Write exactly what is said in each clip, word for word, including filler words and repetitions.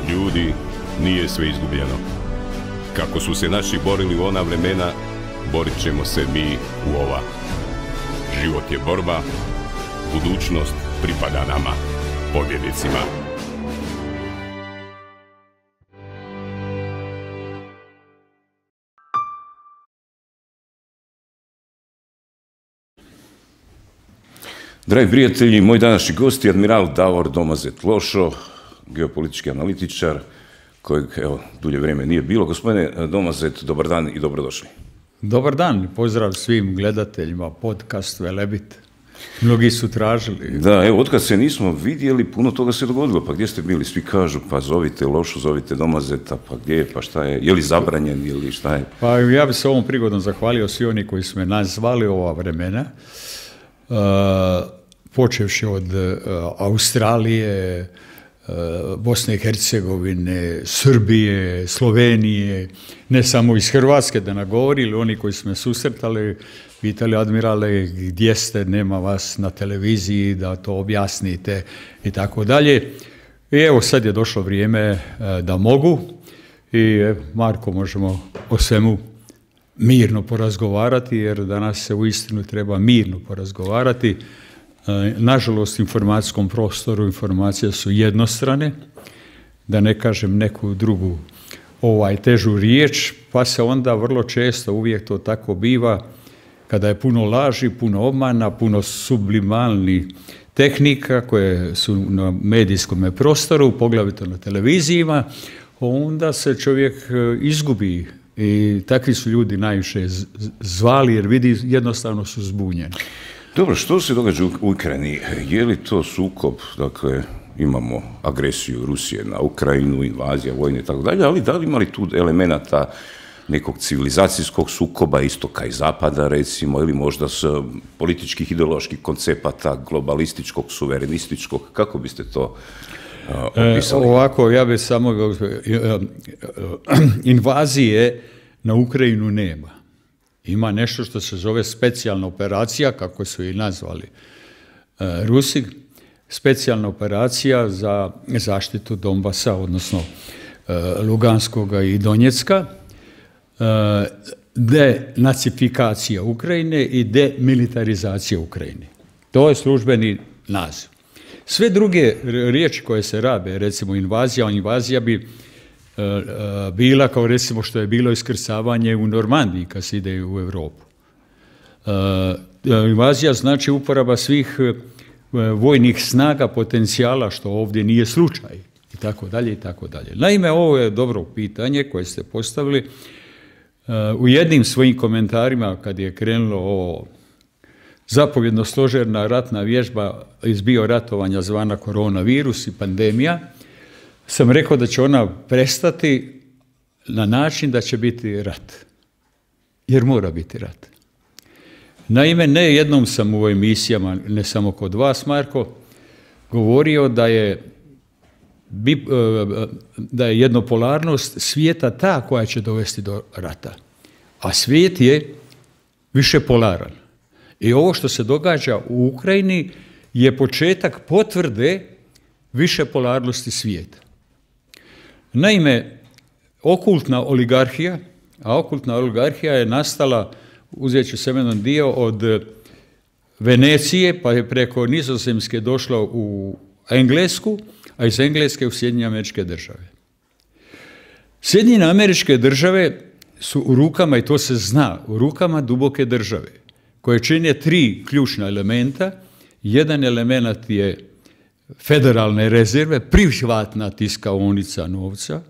Ljudi, nije sve izgubljeno. Kako su se naši borili u ona vremena, borit ćemo se mi u ova. Život je borba, budućnost pripada nama, pobjednicima. Dragi prijatelji, moj današnji gost je admiral Davor Domazet-Lošo, geopolitički analitičar, kojeg, evo, dulje vrijeme nije bilo. Gospodine Domazet, dobar dan i dobrodošli. Dobar dan, pozdrav svim gledateljima, podcast Velebit. Mnogi su tražili. Da, evo, otkad se nismo vidjeli, puno toga se dogodilo. Pa gdje ste bili? Svi kažu, pa zovite Lošu, zovite Domazeta, pa gdje je, pa šta je? Je li zabranjen ili šta je? Pa ja bih se ovom prigodom zahvalio svi oni koji su me nazvali ova vremena. Uh, počevši od uh, Australije, uh, Bosne i Hercegovine, Srbije, Slovenije, ne samo iz Hrvatske da nagovorili, oni koji su me susretali, pitali admirale gdje ste, nema vas na televiziji, da to objasnite i tako dalje. I evo sad je došlo vrijeme uh, da mogu i Marko, možemo o svemu mirno porazgovarati, jer danas se uistinu treba mirno porazgovarati. Nažalost, u informacijskom prostoru informacije su jednostrane, da ne kažem neku drugu ovaj, težu riječ, pa se onda vrlo često, uvijek to tako biva, kada je puno laži, puno obmana, puno sublimalnih tehnika koje su na medijskom prostoru, poglavito na televizijima, onda se čovjek izgubi. I takvi su ljudi najviše zvali jer vidi jednostavno su zbunjeni. Dobro, što se događa u Ukrajini? Je li to sukob, dakle, imamo agresiju Rusije na Ukrajinu, invazija, vojne i tako dalje, ali da li ima li tu elemenata nekog civilizacijskog sukoba, istoka i zapada, recimo, ili možda s političkih, ideoloških koncepata, globalističkog, suverenističkog, kako biste to E, ovako, ja bih samo invazije na Ukrajinu nema. Ima nešto što se zove specijalna operacija, kako su i nazvali e, Rusi, specijalna operacija za zaštitu Donbasa, odnosno e, Luganskoga i Donjecka, e, denacifikacija Ukrajine i demilitarizacija Ukrajine. To je službeni naziv. Sve druge riječi koje se rabe, recimo invazija, invazija bi e, e, bila kao recimo što je bilo iskrcavanje u Normandiji kad se ide u Europu. E, invazija znači uporaba svih e, vojnih snaga, potencijala, što ovdje nije slučaj, i tako dalje, i tako dalje. Naime, ovo je dobro pitanje koje ste postavili. E, u jednim svojim komentarima, kad je krenulo ovo zapovjedno-stožerna ratna vježba iz bioratovanja zvana koronavirus i pandemija, sam rekao da će ona prestati na način da će biti rat. Jer mora biti rat. Naime, ne jednom sam u emisijama, ne samo kod vas, Marko, govorio da je, da je jednopolarnost svijeta ta koja će dovesti do rata. A svijet je više polaran. I ovo što se događa u Ukrajini je početak potvrde više polarnosti svijeta. Naime, okultna oligarhija, a okultna oligarhija je nastala, uzet ću se jedan dio, od Venecije, pa je preko Nizozemske došla u Englesku, a iz Engleske u Sjedinjene Američke Države. Sjedinjene Američke Države su u rukama, i to se zna, u rukama duboke države, koje čine tri ključna elementa. Jedan element je federalne rezerve, privatna tiskaonica novca.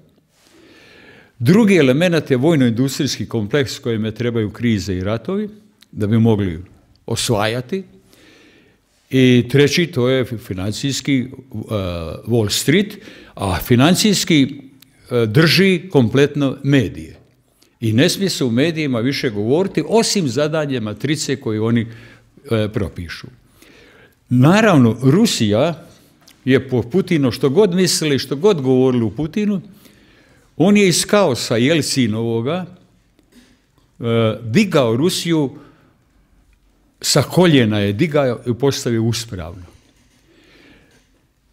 Drugi element je vojno-industrijski kompleks kojime trebaju krize i ratovi, da bi mogli osvajati. I treći, to je financijski uh, Wall Street, a financijski uh, drži kompletno medije. I ne smije se u medijima više govoriti, osim zadanje matrice koje oni e, propišu. Naravno, Rusija je po Putinu, što god mislili, što god govorili u Putinu, on je iz kaosa Jelcinovoga e, digao Rusiju, sa koljena je digao i postavio uspravno.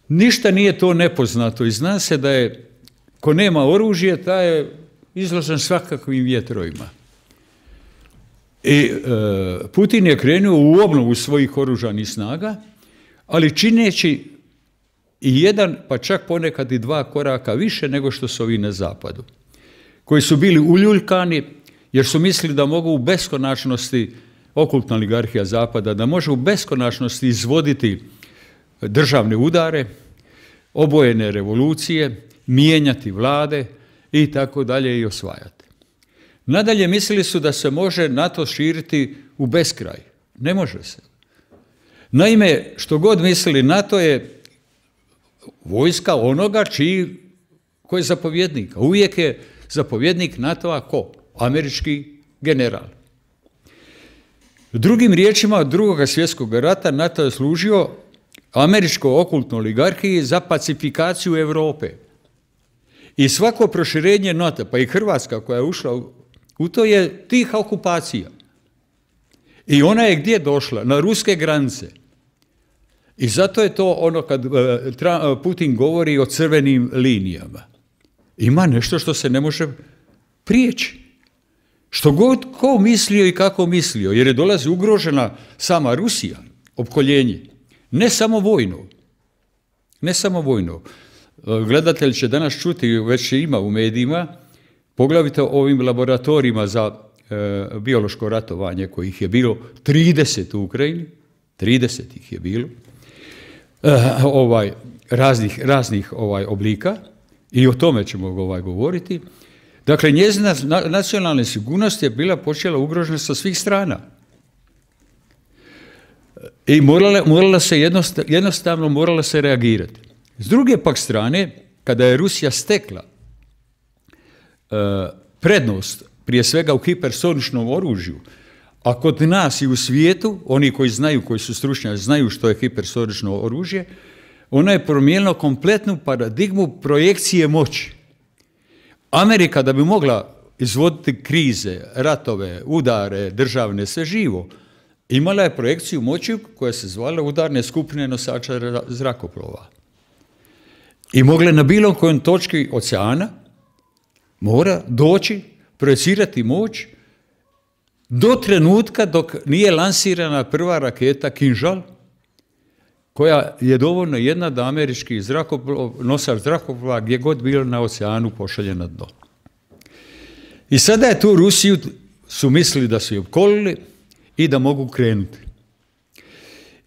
ništa nije to nepoznato i zna se da je, ko nema oružje, taj je izložen svakakvim vjetrovima. I e, Putin je krenuo u obnovu svojih oružanih snaga, ali čineći i jedan, pa čak ponekad i dva koraka više nego što su ovi na zapadu, koji su bili uljuljkani jer su mislili da mogu u beskonačnosti, okultna oligarhija zapada, da može u beskonačnosti izvoditi državne udare, obojene revolucije, mijenjati vlade i tako dalje i osvajati. Nadalje mislili su da se može NATO širiti u beskraj. Ne može se. Naime, što god mislili, NATO je vojska onoga čiji, ko je zapovjednik. A uvijek je zapovjednik NATO-a ko? Američki general. Drugim riječima, od drugog svjetskog rata NATO je služio američkoj okultnoj oligarhiji za pacifikaciju Europe. I svako proširenje NATO, pa i Hrvatska koja je ušla u to, je tiha okupacija. I ona je gdje došla? Na ruske granice. I zato je to ono kad Putin govori o crvenim linijama. Ima nešto što se ne može prijeći. Što god ko mislio i kako mislio, jer je dolazi ugrožena sama Rusija, opkoljenje. Ne samo vojno. Ne samo vojno. Gledatelj će danas čuti, već ima u medijima, poglavito ovim laboratorijima za e, biološko ratovanje, kojih je bilo trideset u Ukrajini, trideset ih je bilo, e, ovaj, raznih, raznih ovaj, oblika, i o tome ćemo ovaj, govoriti. Dakle, njezina nacionalna sigurnost je bila počela ugrožena sa svih strana. I morala, morala se jednostavno, jednostavno morala se reagirati. S druge pak strane, kada je Rusija stekla e, prednost, prije svega u hipersoničnom oružju, a kod nas i u svijetu, oni koji znaju, koji su stručnjaci, znaju što je hipersonično oružje, ona je promijenila kompletnu paradigmu projekcije moći. Amerika, da bi mogla izvoditi krize, ratove, udare, državne, sve živo, imala je projekciju moći koja se zvala udarne skupine nosača zrakoplova. I mogla na bilo kojoj točki oceana mora doći, projecirati moć do trenutka dok nije lansirana prva raketa Kinžal, koja je dovoljno jedna da američki zrakoplov, nosač zrakoplova gdje god bilo na oceanu pošalje na dno. I sada je tu Rusiju su mislili da su je opkolili i da mogu krenuti.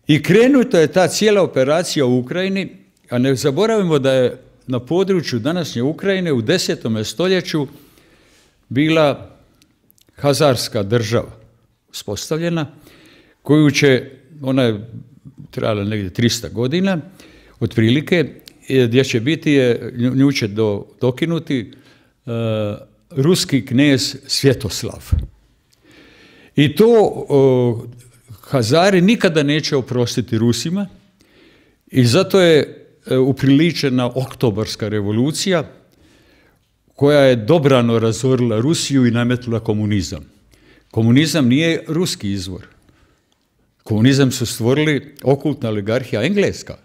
I krenuta je ta cijela operacija u Ukrajini, a ne zaboravimo da je na području današnje Ukrajine u desetom stoljeću bila Hazarska država uspostavljena, koju će, ona je trajala negdje trista godina, otprilike, gdje će biti, je, nju će do, dokinuti uh, ruski knez Svjetoslav. I to uh, Hazari nikada neće oprostiti Rusima i zato je uh, upriličena Oktobarska revolucija koja je dobrano razorila Rusiju i nametnula komunizam. Komunizam nije ruski izvor. Komunizam su stvorili okultna oligarhija engleska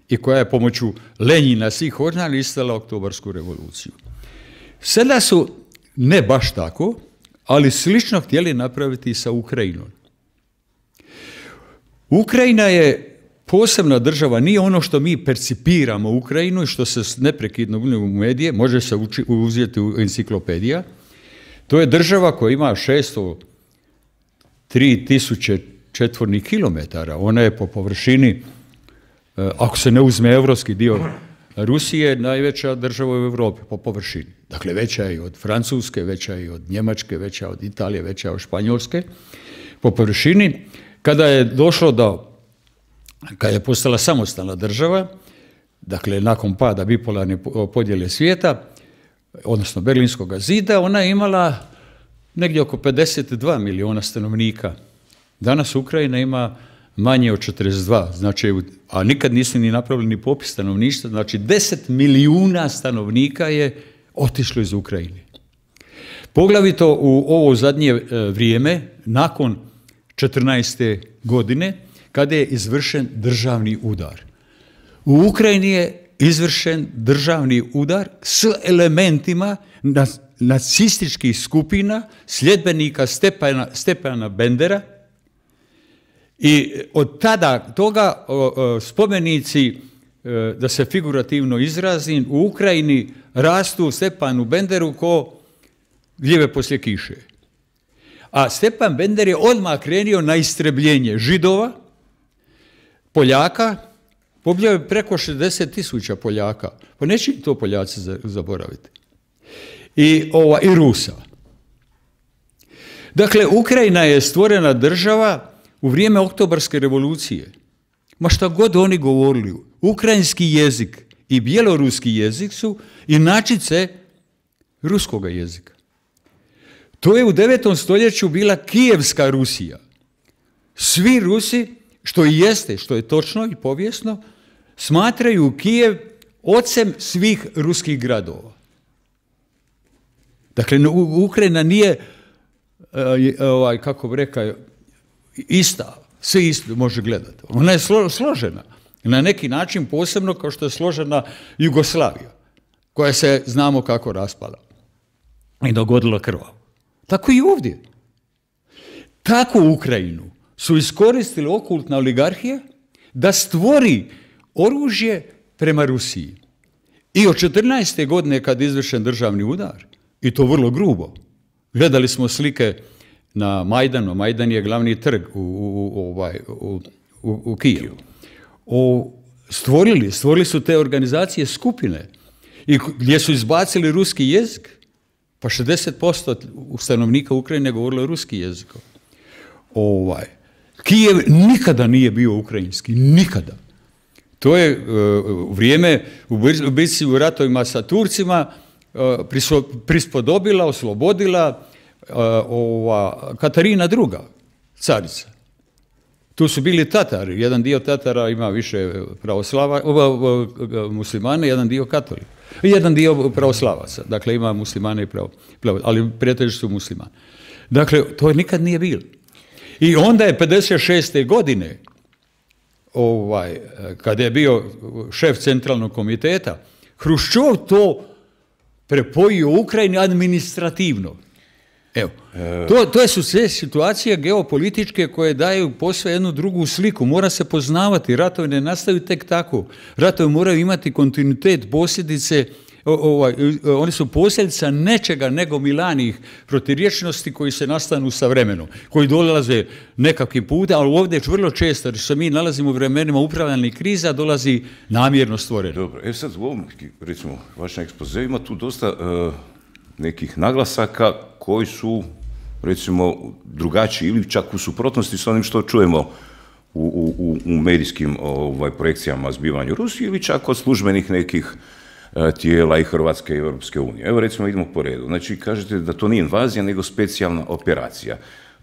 i koja je pomoću Lenjina svih organa istala Oktobarsku revoluciju. Sada su, ne baš tako, ali slično htjeli napraviti i sa Ukrajinom. Ukrajina je posebna država, nije ono što mi percipiramo Ukrajinu i što se neprekidno u medije, može se uči, uzeti u enciklopedija. To je država koja ima šesto tri tisuće četvornih kilometara. Ona je po površini, ako se ne uzme evropski dio Rusije, najveća država u Europi po površini. Dakle, veća je i od Francuske, veća je i od Njemačke, veća je od Italije, veća je od Španjolske po površini. Kada je došlo do, kada je postala samostalna država, dakle, nakon pada bipolarne podjele svijeta, odnosno Berlinskog zida, ona je imala negdje oko pedeset dva miliona stanovnika. Danas Ukrajina ima manje od četrdeset dva, znači, a nikad nisu ni napravili ni popis stanovništva, znači deset milijuna stanovnika je otišlo iz Ukrajine. Poglavito u ovo zadnje vrijeme, nakon četrnaeste godine, kada je izvršen državni udar. U Ukrajini je izvršen državni udar s elementima nacističkih skupina, sljedbenika Stepana, Stepana Bendera, i od tada toga o, o, spomenici, e, da se figurativno izrazim, u Ukrajini rastu Stepanu Benderu ko gljive poslije kiše. A Stepan Bender je odmah krenio na istrebljenje Židova, Poljaka, pobijao je preko šezdeset tisuća Poljaka, pa neće to Poljaci zaboraviti, i, ova, i Rusa. Dakle, Ukrajina je stvorena država u vrijeme Oktobarske revolucije. Ma šta god oni govorili, ukrajinski jezik i bjeloruski jezik su inačice ruskoga jezika. To je u devetom stoljeću bila Kijevska Rusija. Svi Rusi, što i jeste, što je točno i povijesno, smatraju Kijev ocem svih ruskih gradova. Dakle, Ukrajina nije, ovaj, kako bi rekao, ista, sve isto može gledati. Ona je složena. Na neki način posebno kao što je složena Jugoslavija, koja se znamo kako raspala i dogodila krvavu. Tako i ovdje. Tako Ukrajinu su iskoristili okultna oligarhija da stvori oružje prema Rusiji. I od četrnaeste godine kad je izvršen državni udar, i to vrlo grubo, gledali smo slike na Majdanu. Majdan je glavni trg u, u, ovaj, u, u, u Kijevu. O, stvorili, stvorili su te organizacije skupine i gdje su izbacili ruski jezik. Pa šezdeset posto stanovnika Ukrajine govorilo ruski jezik. Ovaj. Kijev nikada nije bio ukrajinski, nikada. To je u vrijeme u bitci u ratovima sa Turcima prispodobila, oslobodila ova Katarina druga, carica. Tu su bili Tatari, jedan dio Tatara ima više pravoslava, muslimane, jedan dio katolika. Jedan dio pravoslavaca, dakle ima muslimane i pravo, ali prijatelji su muslimani. Dakle, to nikad nije bilo. I onda je pedeset šeste godine, ovaj, kada je bio šef centralnog komiteta, Hruščov to prepojio Ukrajini administrativno. Evo, to, to su sve situacije geopolitičke koje daju posve jednu drugu sliku. Mora se poznavati, ratovi ne nastaju tek tako. Ratovi moraju imati kontinuitet, posljedice, ovaj, oni su posljedica nečega nego milanih protirječnosti koji se nastanu sa vremenom, koji dolaze nekakvim putem, ali ovdje vrlo često, jer se mi nalazimo u vremenima upravljanih kriza, dolazi namjerno stvoreno. Dobro, e sad u ovom, recimo, vašem ekspozeu ima tu dosta uh, nekih naglasaka koji su, recimo, drugačiji ili čak u suprotnosti s onim što čujemo u, u, u medijskim ovaj, projekcijama o zbivanju Rusije ili čak od službenih nekih uh, tijela i Hrvatske i Europske unije. Evo, recimo, idemo po redu. Znači, kažete da to nije invazija, nego specijalna operacija.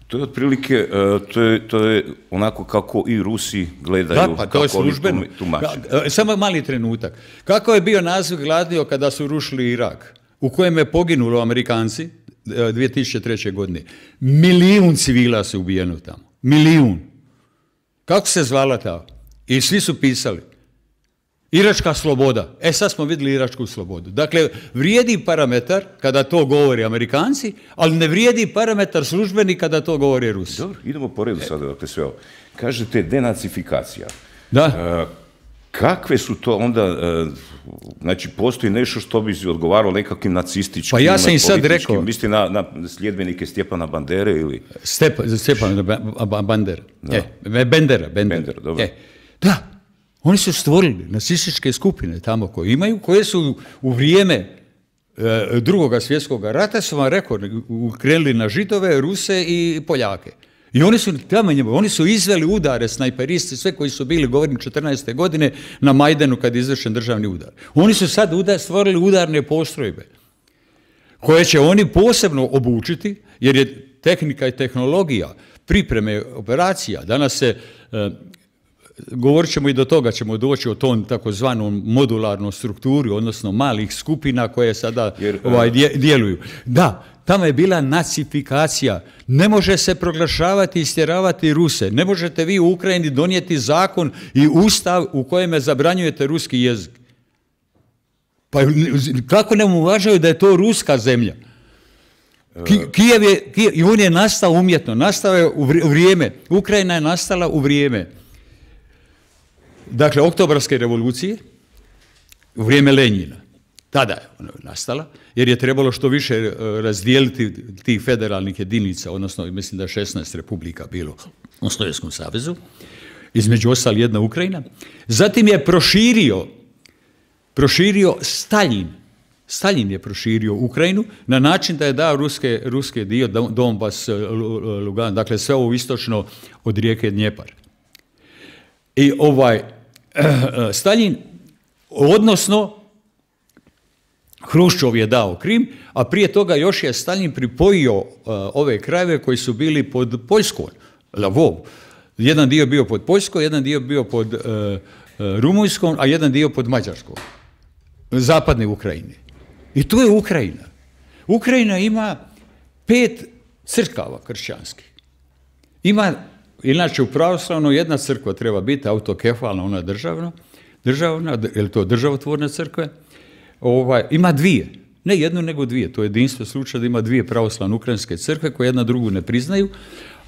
To je otprilike, uh, to, je, to je onako kako i Rusi gledaju, da, pa to je službeno. Tumače. Samo mali trenutak. Kako je bio naziv gladio kada su rušili Irak, u kojem je poginulo Amerikanci dvije tisuće treće. godine? Milijun civila se ubijeno tamo. Milijun. Kako se zvala ta? I svi su pisali. Iračka sloboda. E sad smo vidjeli iračku slobodu. Dakle, vrijedi parametar kada to govori Amerikanci, ali ne vrijedi parametar službeni kada to govori Rusi. Dobro, idemo po redu sada, dakle sve ovo. Kažete denacifikacija. Da. Uh, kakve su to onda, uh, znači postoji nešto što bi odgovaralo nekakvim nacističkim, pa ja sam i sad rekao. Misli na, na sljedbenike Stjepana Bandere ili? Step, Stjepana Bandera. E, Bendera. Bendera, dobro. E, da. Oni su stvorili nacističke skupine tamo koje imaju, koje su u vrijeme e, drugoga svjetskog rata, su vam rekao, krenuli na Židove, Ruse i Poljake. I oni su tamo njemu, oni su izveli udare, snajperisti, sve koji su bili, govorim, četrnaeste. godine na Majdanu kad je izvršen državni udar. Oni su sad udar, stvorili udarne postrojbe koje će oni posebno obučiti, jer je tehnika i tehnologija, pripreme operacija, danas se e, govorit ćemo i do toga, ćemo doći o tom takozvanom modularnom strukturi, odnosno malih skupina koje sada Jer, ovaj, djeluju. Da, tamo je bila nacifikacija. Ne može se proglašavati i istjeravati Ruse. Ne možete vi u Ukrajini donijeti zakon i ustav u kojem zabranjujete ruski jezik. Pa kako ne uvažaju da je to ruska zemlja? Kijev je, Kijev, i on je nastao umjetno, nastao je u vrijeme, Ukrajina je nastala u vrijeme, dakle, oktobarske revolucije, u vrijeme Lenjina. Tada je ona nastala, jer je trebalo što više razdijeliti tih federalnih jedinica, odnosno, mislim da je šesnaest republika bilo u Sovjetskom savezu, između ostali jedna Ukrajina. Zatim je proširio, proširio Staljin. Staljin je proširio Ukrajinu na način da je dao ruske, ruske dio, Donbas, Lugan, dakle sve ovo istočno od rijeke Dnjepar. I ovaj, Staljin, odnosno, Hruščov je dao Krim, a prije toga još je Staljin pripojio uh, ove krajeve koji su bili pod Poljskom, Lvov. Jedan dio bio pod Poljskom, jedan dio bio pod uh, uh, Rumunjskom, a jedan dio pod Mađarskom. Zapadne Ukrajine. I to je Ukrajina. Ukrajina ima pet crkava kršćanskih. Ima, inače u pravoslavno jedna crkva treba biti autokefalna, ona državna, državna, je to državotvorna crkva. Ovaj, ima dvije, ne jednu nego dvije, to je jedinstvo slučaj da ima dvije pravoslavne ukrajinske crkve koje jedna drugu ne priznaju,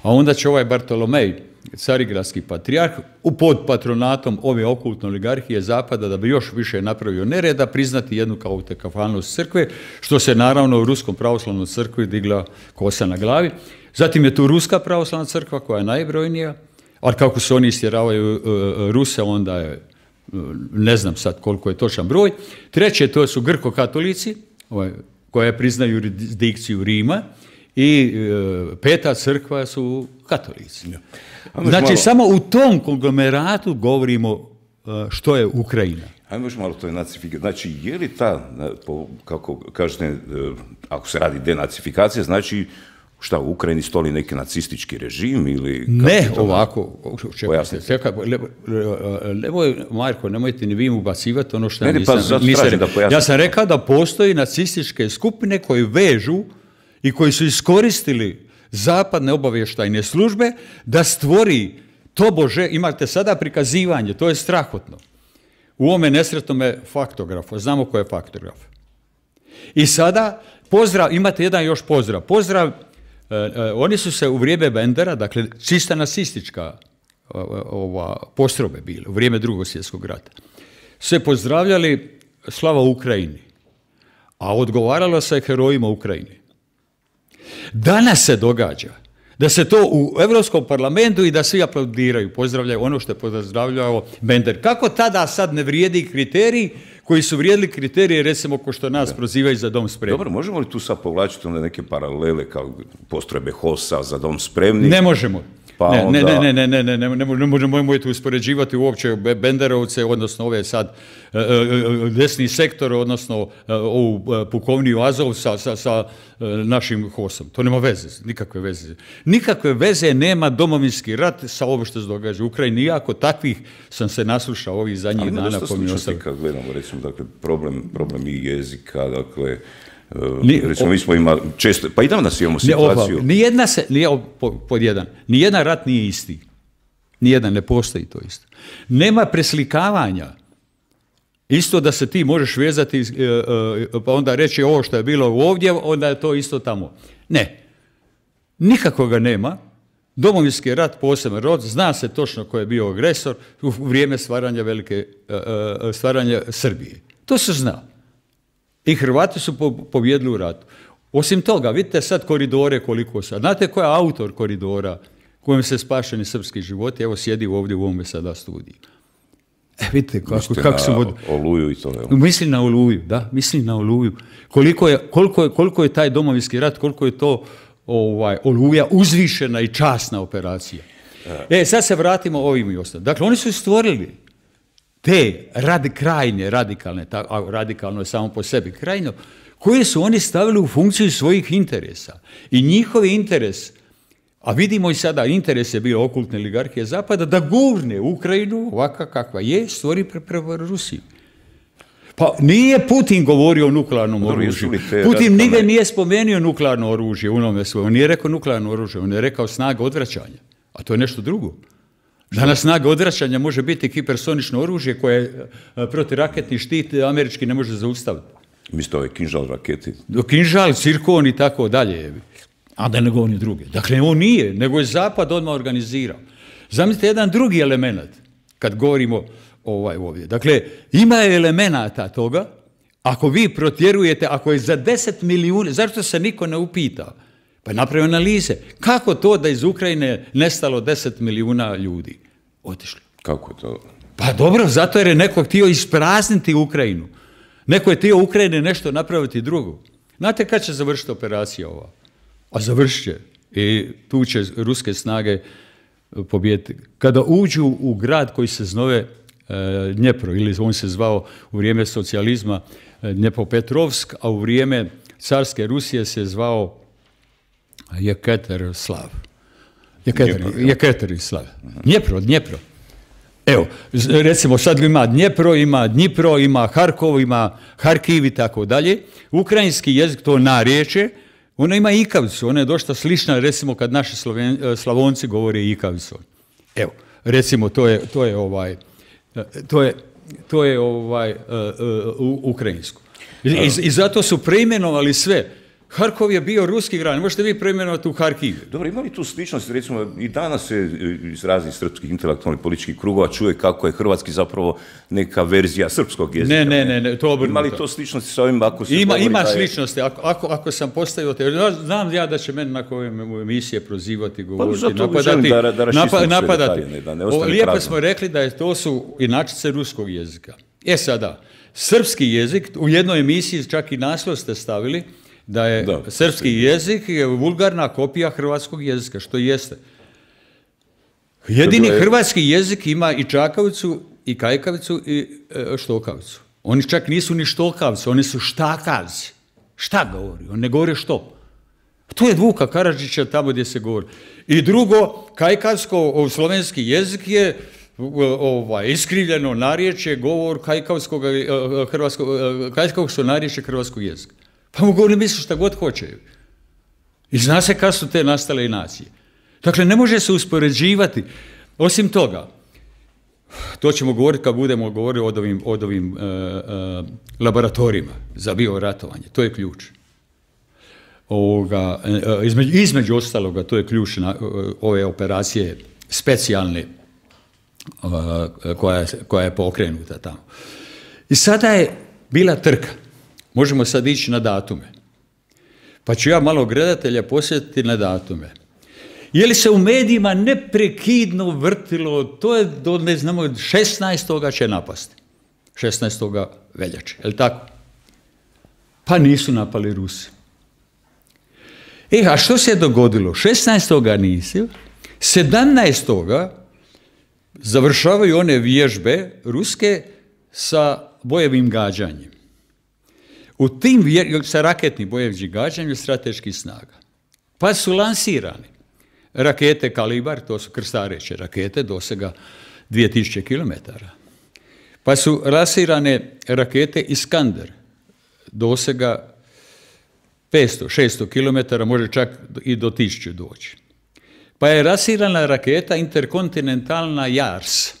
a onda će ovaj Bartolomej, carigradski patrijarh, pod patronatom ove okultne oligarhije Zapada, da bi još više napravio nereda, priznati jednu kao autokefalnost crkve, što se naravno u Ruskom pravoslavnom crkvi digla kosa na glavi. Zatim je tu Ruska pravoslavna crkva koja je najbrojnija, ali kako se oni istjeravaju uh, Ruse, onda je ne znam sad koliko je točan broj. Treće, to su grko-katolici, ovaj, koje priznaju jurisdikciju Rima, i e, peta crkva su katolici. Ja. Znači, malo... samo u tom konglomeratu govorimo e, što je Ukrajina. Ajmo još malo to je nacifikacija. Znači, je li ta, kako kažete, ako se radi denacifikacija, znači šta, u Ukrajini stoli neki nacistički režim ili... Ne, ovako, čekaj, nemoj, Marko, nemojte ni vi mu bacivati ono što ja nisam... Ja sam rekao da postoji nacističke skupine koje vežu i koji su iskoristili zapadne obavještajne službe da stvori, tobože, imate sada prikazivanje, to je strahotno. U ovome nesretnome faktografu, znamo ko je faktograf. I sada, pozdrav, imate jedan još pozdrav, pozdrav, Uh, uh, oni su se u vrijeme Bendera, dakle čista nacistička uh, ova, postrobe bile, u vrijeme Drugog svjetskog rata, se pozdravljali slava Ukrajini, a odgovaralo se herojima Ukrajine. Danas se događa da se to u Europskom parlamentu i da svi aplaudiraju, pozdravljaju ono što je pozdravljao Bender. Kako tada sad ne vrijedi kriterij koji su vrijedili kriterije, recimo, ko što nas da. prozivaju za Dom spremni? Dobro, možemo li tu sad povlačiti onda neke paralele kao postrojbe HOS-a za Dom spremni? Ne možemo. Pa ne, onda... ne, ne, ne, ne, ne, ne, ne, ne možemo ih uspoređivati uopće Benderovce, odnosno ove sad desni sektor, odnosno ovu pukovniju Azov sa, sa, sa našim HOS-om. To nema veze, nikakve veze. Nikakve veze nema domovinski rat sa ovo što se događa u Ukrajini. Iako takvih sam se naslušao ovih zadnjih dana. Ali dosta sličnosti kad gledamo, recimo, dakle, problem, problem i jezika, dakle, Ni, recimo, mi smo imali često, pa i danas imamo situaciju. Ne, nijedna se, nije, pod jedan, nijedan rat nije isti. Nijedan, ne postoji to isto. Nema preslikavanja. Isto da se ti možeš vezati, pa onda reći ovo što je bilo ovdje, onda je to isto tamo. Ne. Nikakvoga nema. Domovinski rat, poseban rod, zna se točno ko je bio agresor u vrijeme stvaranja velike, stvaranja Srbije. To se zna. I Hrvati su pobjedili u ratu. Osim toga, vidite sad koridore koliko sad. Znate ko je autor koridora kojim se spašeni srpski životi? Evo sjedi ovdje u ovome sada studiju. E, vidite kako, kako su... Vod... Oluju i to. Evo. Misli na Oluju, da, misli na Oluju. Koliko je, koliko je, koliko je taj domovinski rat, koliko je to ovaj, Oluja uzvišena i časna operacija. E, sad se vratimo ovim i ostalim. Dakle, oni su stvorili te radi, krajnje radikalne, a radikalno je samo po sebi krajno, koje su oni stavili u funkciju svojih interesa. I njihov interes A vidimo i sada, interes je bio okultne oligarhije Zapada da gurne Ukrajinu ovakva kakva je, stvori prema Rusiji. Pa nije Putin govorio o nuklearnom oružju. Putin nigdje nije spomenuo nuklearno oružje u onome svojem. On nije rekao nuklearno oružje, on je rekao snaga odvraćanja. A to je nešto drugo. Danas snaga odvraćanja može biti hipersonično oružje koje protiraketni štit američki ne može zaustaviti. Mislite ove kinžal raketi? Kinžal, cirkon i tako dalje. A da ne govorim druge. Dakle, on nije, nego je Zapad odmah organizirao. Zamislite jedan drugi element, kad govorimo ovaj ovdje. Dakle, ima elemenata toga, ako vi protjerujete, ako je za deset milijuna, zašto se niko ne upita? Pa napravi analize. Kako to da iz Ukrajine nestalo deset milijuna ljudi? Otišli. Kako je to? Pa dobro, zato jer je neko htio isprazniti Ukrajinu. Neko je htio Ukrajine nešto napraviti drugo. Znate kad će završiti operacija ova? A završit će. I tu će ruske snage pobijediti. Kada uđu u grad koji se zove e, Dnjepro, ili on se zvao u vrijeme socijalizma e, Dnjepropetrovsk, a u vrijeme carske Rusije se zvao Jekaterslav. Jekaterislav. Dnjepro, Dnjepro. Evo, recimo sad ima Dnjepro, ima Dnjipro, ima Harkov, ima Harkiv i tako dalje. Ukrajinski jezik, to narječje, ona ima ikavicu, ona je dosta slična, recimo kad naši Sloven, Slavonci govore ikavicom. Evo, recimo to je, to je ovaj, to je, to je ovaj, uh, uh, ukrajinsko. I, i, I zato su preimenovali sve. Harkov je bio ruski grad, ne možete vi preimenovati u Harkiv. Dobro, ima li tu sličnost, recimo, i danas se iz raznih srpskih intelektualnih političkih krugova čuje kako je hrvatski zapravo neka verzija srpskog jezika. Ne, ne, ne, ne to obrnuto. Ima li to sličnosti sa ovim, ako se ima, govori ima da je... sličnosti, ako, ako, ako sam postavio te, znam ja da će meni nakon ove emisije prozivati, govoriti, pa, napadati, da, da napa, napadati. Detalje, da ne o, lijepo prazno. Smo rekli da je, to su inačice ruskog jezika. E sada, srpski jezik, u jednoj emisiji čak i naslov ste stavili, da je da, srpski jezik je vulgarna kopija hrvatskog jezika, što jeste. Jedini je... hrvatski jezik ima i čakavicu, i kajkavicu, i e, štokavicu. Oni čak nisu ni štokavci, oni su štakavci. Šta govori? On ne govori što. To je Vuka Karadžića tamo gdje se govori. I drugo, kajkavsko, slovenski jezik je ovaj, iskrivljeno narječje, govor kajkavskog, hrvatskog, kajkavskog narječje hrvatskog jezika. Pa mogu oni misliti šta god hoće. I zna se kad su te nastale i nacije. Dakle, ne može se uspoređivati. Osim toga, to ćemo govoriti kad budemo govorili o ovim, od ovim uh, uh, laboratorijima za bioratovanje. To je ključ. Ovoga, uh, između, između ostaloga, to je ključ na uh, ove operacije specijalne uh, koja, koja je pokrenuta tamo. I sada je bila trka. Možemo sad ići na datume. Pa ću ja malo gledatelja posjetiti na datume. Je li se u medijima neprekidno vrtilo, to je do, ne znamo, šesnaestoga će napasti. šesnaestoga veljače, je li tako? Pa nisu napali Rusi. E, a što se je dogodilo? šesnaestoga nisu, sedamnaestoga završavaju one vježbe ruske sa bojevim gađanjem. U tim, sa raketnim bojevim gađanjem strateških snaga. Pa su lansirani rakete Kalibar, to su krstareće rakete, dosega dvije tisuće kilometara. Pa su lansirane rakete Iskander, dosega petsto šesto kilometara, može čak i do tisuću doći. Pa je lansirana raketa interkontinentalna Jars,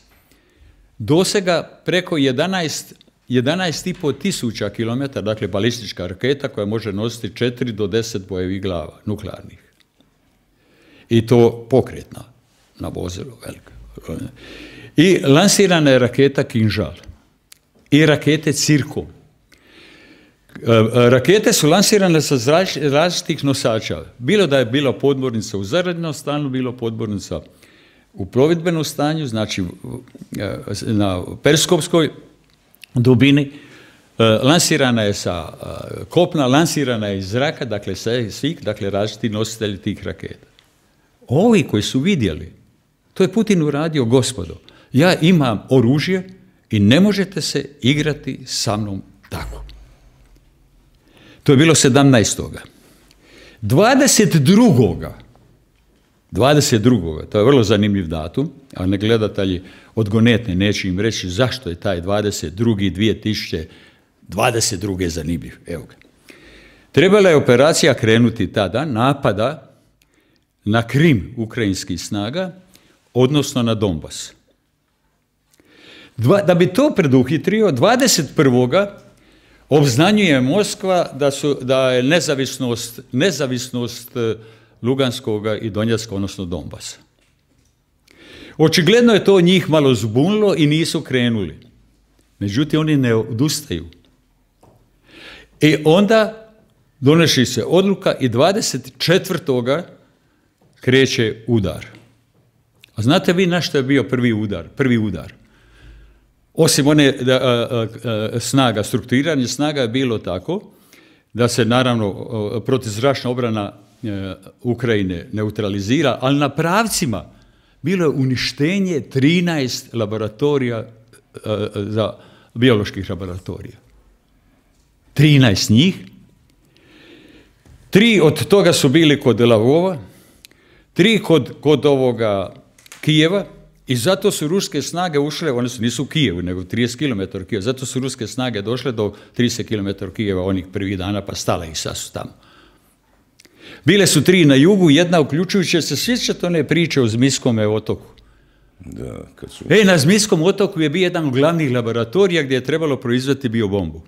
dosega preko jedanaest jedanaest i pol tisuća kilometara, dakle balistička raketa koja može nositi četiri do deset bojevih glava, nuklearnih. I to pokretna, na vozilo velika. I lansirana je raketa Kinžal i rakete Cirkon. Rakete su lansirane sa različitih nosača. Bilo da je bila podmornica u zarađenom stanju, bilo podmornica u plovidbenom stanju, znači na periskopskoj dubini, lansirana je sa kopna, lansirana je iz zraka, dakle svih, dakle različiti nositelji tih raketa. Ovi koji su vidjeli, to je Putin uradio, gospodo, ja imam oružje i ne možete se igrati sa mnom tako. To je bilo sedamnaestoga dvadeset drugoga dvadeset drugog to je vrlo zanimljiv datum, a ne gledatelji odgonetne neće im reći zašto je taj dvadeset drugi dvije tisuće dvadeset druge zanimljiv. Evo ga. Trebala je operacija krenuti tada, napada na Krim ukrajinskih snaga, odnosno na Donbas. Dva, da bi to preduhitrio, dvadeset prvoga obznanjuje Moskva da, su, da je nezavisnost, nezavisnost Luganskoga i Donjecka, odnosno Donbasa. Očigledno je to njih malo zbunilo i nisu krenuli. Međutim, oni ne odustaju. I onda donosi se odluka i dvadeset četvrtoga kreće udar. A znate vi na što je bio prvi udar? Prvi udar. Osim one da, a, a, snaga, strukturiranje snaga je bilo tako da se naravno protuzračna obrana a, Ukrajine neutralizira, ali na pravcima bilo je uništenje trinaest laboratorija a, za bioloških laboratorija. trinaest njih. Tri od toga su bili kod Lavova, tri kod, kod ovoga Kijeva, i zato su ruske snage ušle, one su nisu u Kijevu, nego trideset kilometara od Kijeva, zato su ruske snage došle do trideset kilometara od Kijeva onih prvih dana, pa stale ih sad su tamo. Bile su tri na jugu, jedna uključujući se, sjećate one priče o Zmijskome otoku. Da, kad su... E, na Zmijskom otoku je bio jedan od glavnih laboratorija gdje je trebalo proizvesti biobombu.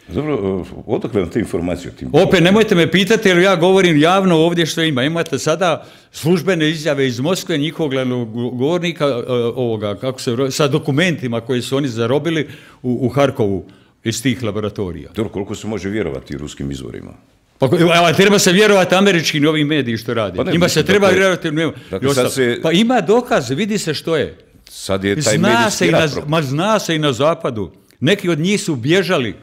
Dobro, odakle vam te informacije o tim? Opet, nemojte me pitati, jer ja govorim javno ovdje što ima. Imate sada službene izjave iz Moskve, njihovog glavnog govornika, ovoga, kako se, sa dokumentima koje su oni zarobili u, u Harkovu iz tih laboratorija. Dobro, koliko se može vjerovati ruskim izvorima? Pa, a treba se vjerovati američkim ovim mediji što radi. Pa ne, Njima se treba dakle, vjerovati. Dakle, sad se... Pa ima dokaz, vidi se što je. Sad je taj zna medijski se, rat. na, ma zna se i na zapadu. Neki od njih su bježali.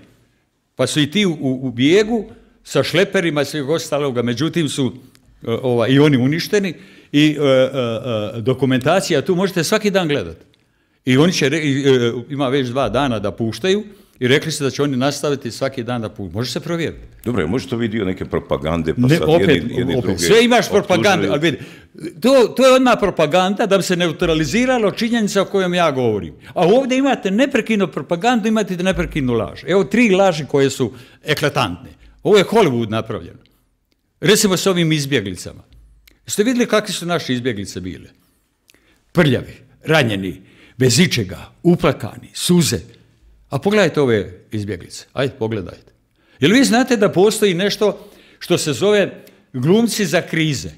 Pa su i ti u, u bijegu sa šleperima i svih ostaloga, međutim su uh, ova, i oni uništeni i uh, uh, uh, dokumentacija tu možete svaki dan gledati. I oni će, uh, ima već dva dana da puštaju i rekli su da će oni nastaviti svaki dan da puštaju. Može se provjeriti. Dobro, može to vidio neke propagande, pa ne, sad opet, jedni, jedni opet. druge... Sve imaš propagandu, ali vidi, to, to je odmah propaganda da bi se neutraliziralo činjenica o kojom ja govorim. A ovdje imate neprekidnu propagandu, imate neprekidnu laž. Evo tri laži koje su eklatantne. Ovo je Hollywood napravljeno. Recimo s ovim izbjeglicama. Jeste vidjeli kakve su naše izbjeglice bile? Prljavi, ranjeni, bez ičega, uplakani, suze. A pogledajte ove izbjeglice. Ajde, pogledajte. Jel vi znate da postoji nešto što se zove glumci za krize?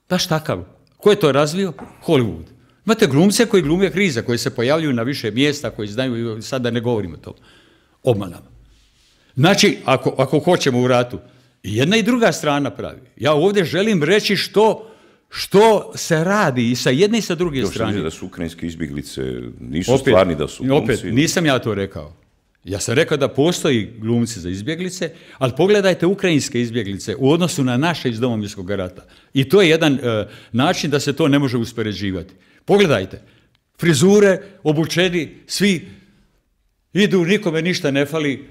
Baš takav. Ko je to razvio? Hollywood. Imate glumce koji glume krize, koji se pojavljuju na više mjesta, koji znaju, sad da ne govorimo o tom, obmanama. Znači, ako, ako hoćemo u ratu, i jedna i druga strana pravi. Ja ovdje želim reći što, što se radi i sa jedne i sa druge Još strane. da su ukrajinske izbjeglice, nisu opet, stvarni da su glumci. Opet, nisam ja to rekao. Ja sam rekao da postoji glumci za izbjeglice, ali pogledajte ukrajinske izbjeglice u odnosu na naše iz Domovinskog rata. I to je jedan e, način da se to ne može uspoređivati. Pogledajte, frizure, obučeni, svi idu, nikome ništa ne fali,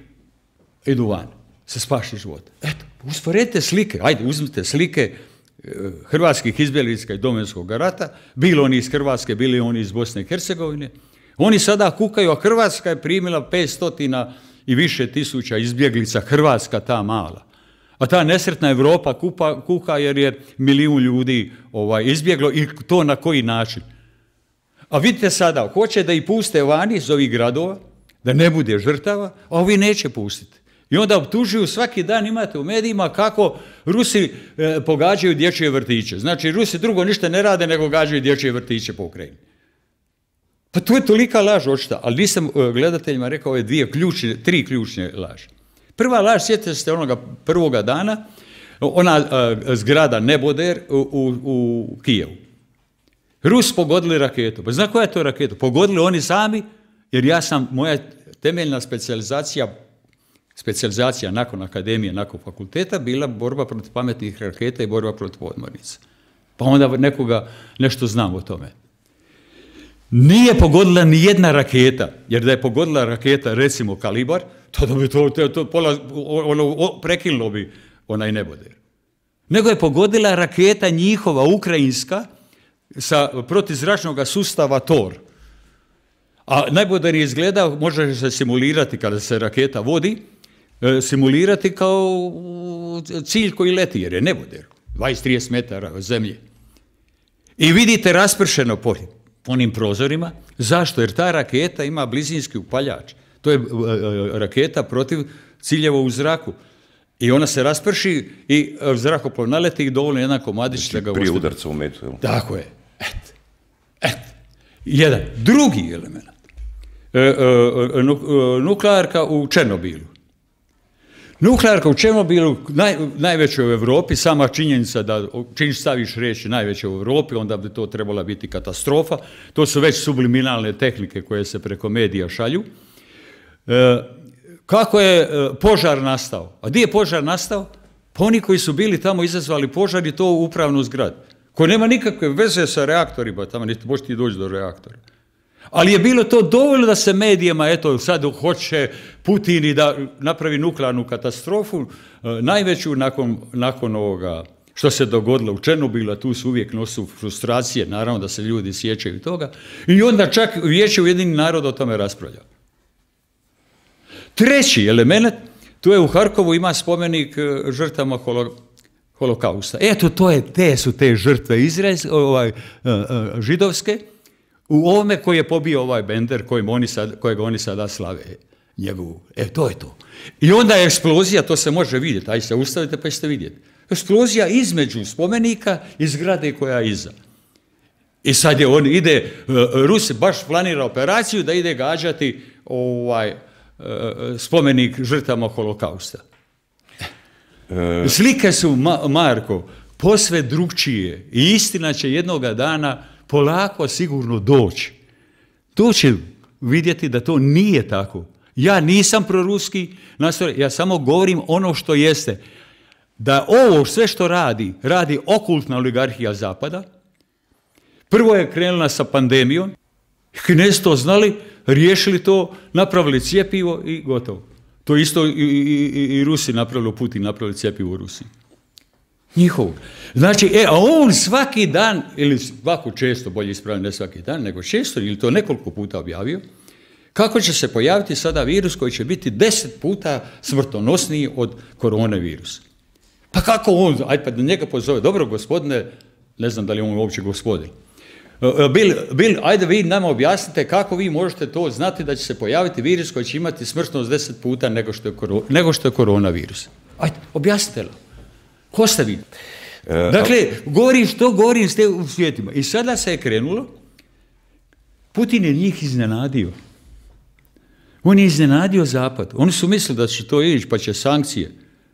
idu van, se spaši život. Eto, usporedite slike, ajde, uzmite slike e, hrvatskih izbjeglica iz Domovinskog rata, bilo oni iz Hrvatske, bili oni iz Bosne i Hercegovine. Oni sada kukaju, a Hrvatska je primila petsto i više tisuća izbjeglica, Hrvatska ta mala. A ta nesretna Europa kupa, kuka jer je milijun ljudi ovaj, izbjeglo i to na koji način. A vidite sada, hoće da ih puste vani iz ovih gradova, da ne bude žrtava, a ovi neće pustiti. I onda optužuju, svaki dan imate u medijima kako Rusi e, pogađaju dječje vrtiće. Znači, Rusi drugo ništa ne rade nego gađaju dječje vrtiće po Ukrajini. Pa to je tolika laž očita, ali nisam gledateljima rekao ove dvije ključne, tri ključne laži. Prva laž, sjetite se onoga prvoga dana, ona a, zgrada Neboder u, u, u Kijevu. Rus pogodili raketu. Pa zna koja je to raketa? Pogodili oni sami, jer ja sam, moja temeljna specijalizacija, specijalizacija nakon akademije, nakon fakulteta, bila borba protiv pametnih raketa i borba protiv podmornica. Pa onda nekoga nešto znam o tome. Nije pogodila ni jedna raketa, jer da je pogodila raketa, recimo kalibar, to bi to, to, to pola, ono, prekinulo bi onaj Neboder. nego je pogodila raketa njihova, ukrajinska, sa protizračnog sustava Tor. A najbolje izgleda, može se simulirati kada se raketa vodi, simulirati kao cilj koji leti, jer je neboder, dvadeset do trideset metara od zemlje. I vidite raspršeno po onim prozorima. Zašto? Jer ta raketa ima blizinski upaljač. To je raketa protiv ciljeva u zraku. I ona se rasprši i zrakoplov naleti i dovoljno jedan komadić znači, da ga prije ostavi. udarca u metu. Jel? Tako je. Et. Et. Jedan. Drugi element. E, e, nuklearka u Černobilu. Nuklearka u Černobilu, naj, najveća u Europi, sama činjenica da čim staviš reći najveća u Europi, onda bi to trebala biti katastrofa. To su već subliminalne tehnike koje se preko medija šalju. E, kako je e, požar nastao? A gdje je požar nastao? Pa oni koji su bili tamo izazvali požar i to u upravnu zgradu, koja nema nikakve veze sa reaktorima, tamo niti možeš ti doći do reaktora. Ali je bilo to dovoljno da se medijima, eto, sad hoće Putin i da napravi nuklearnu katastrofu, najveću nakon, nakon ovoga što se dogodilo u Černobilu, a tu su uvijek nosu frustracije, naravno da se ljudi sjećaju toga, i onda čak Vijeće Ujedinjenih naroda o tome raspravlja. Treći element, tu je u Harkovu ima spomenik žrtvama holo, holokausta. Eto, to je, te su te žrtve izraelske, ovaj, židovske, u ovome koji je pobio ovaj Bender, kojim oni sad, kojeg oni sada slave njegovu. E, to je to. I onda je eksplozija, to se može vidjeti, aj se ustavite pa ćete vidjeti. Eksplozija između spomenika i zgrade koja je iza. I sad je on ide, Rusi baš planira operaciju da ide gađati ovaj, spomenik žrtvama holokausta. E. Slike su, Marko, posve drugčije i istina će jednoga dana polako sigurno doći. To će vidjeti da to nije tako. Ja nisam proruski nastrojen, ja samo govorim ono što jeste. Da ovo sve što radi, radi okultna oligarhija Zapada. Prvo je krenula sa pandemijom, Kinezi to znali, riješili to, napravili cjepivo i gotovo. To isto i, i, i, i Rusi napravili, Putin napravili cjepivo u Rusiji. Njihovo. Znači, e, a on svaki dan, ili svako često, bolje ispravljeno, ne svaki dan, nego često, ili to nekoliko puta objavio, kako će se pojaviti sada virus koji će biti deset puta smrtonosniji od koronavirusa. Pa kako on, ajde pa da njega pozove, dobro gospodine, ne znam da li on uopće gospodin, Bil, Bil, ajde vi nama objasnite kako vi možete to znati da će se pojaviti virus koji će imati smrtnost deset puta nego što je, koro, nego što je koronavirus. Ajde, objasnite li. Ko ste vi? Dakle, govorim što govorim ste u svijetima. I sada se je krenulo, Putin je njih iznenadio. On je iznenadio Zapad. Oni su mislili da će to ići, pa će sankcije.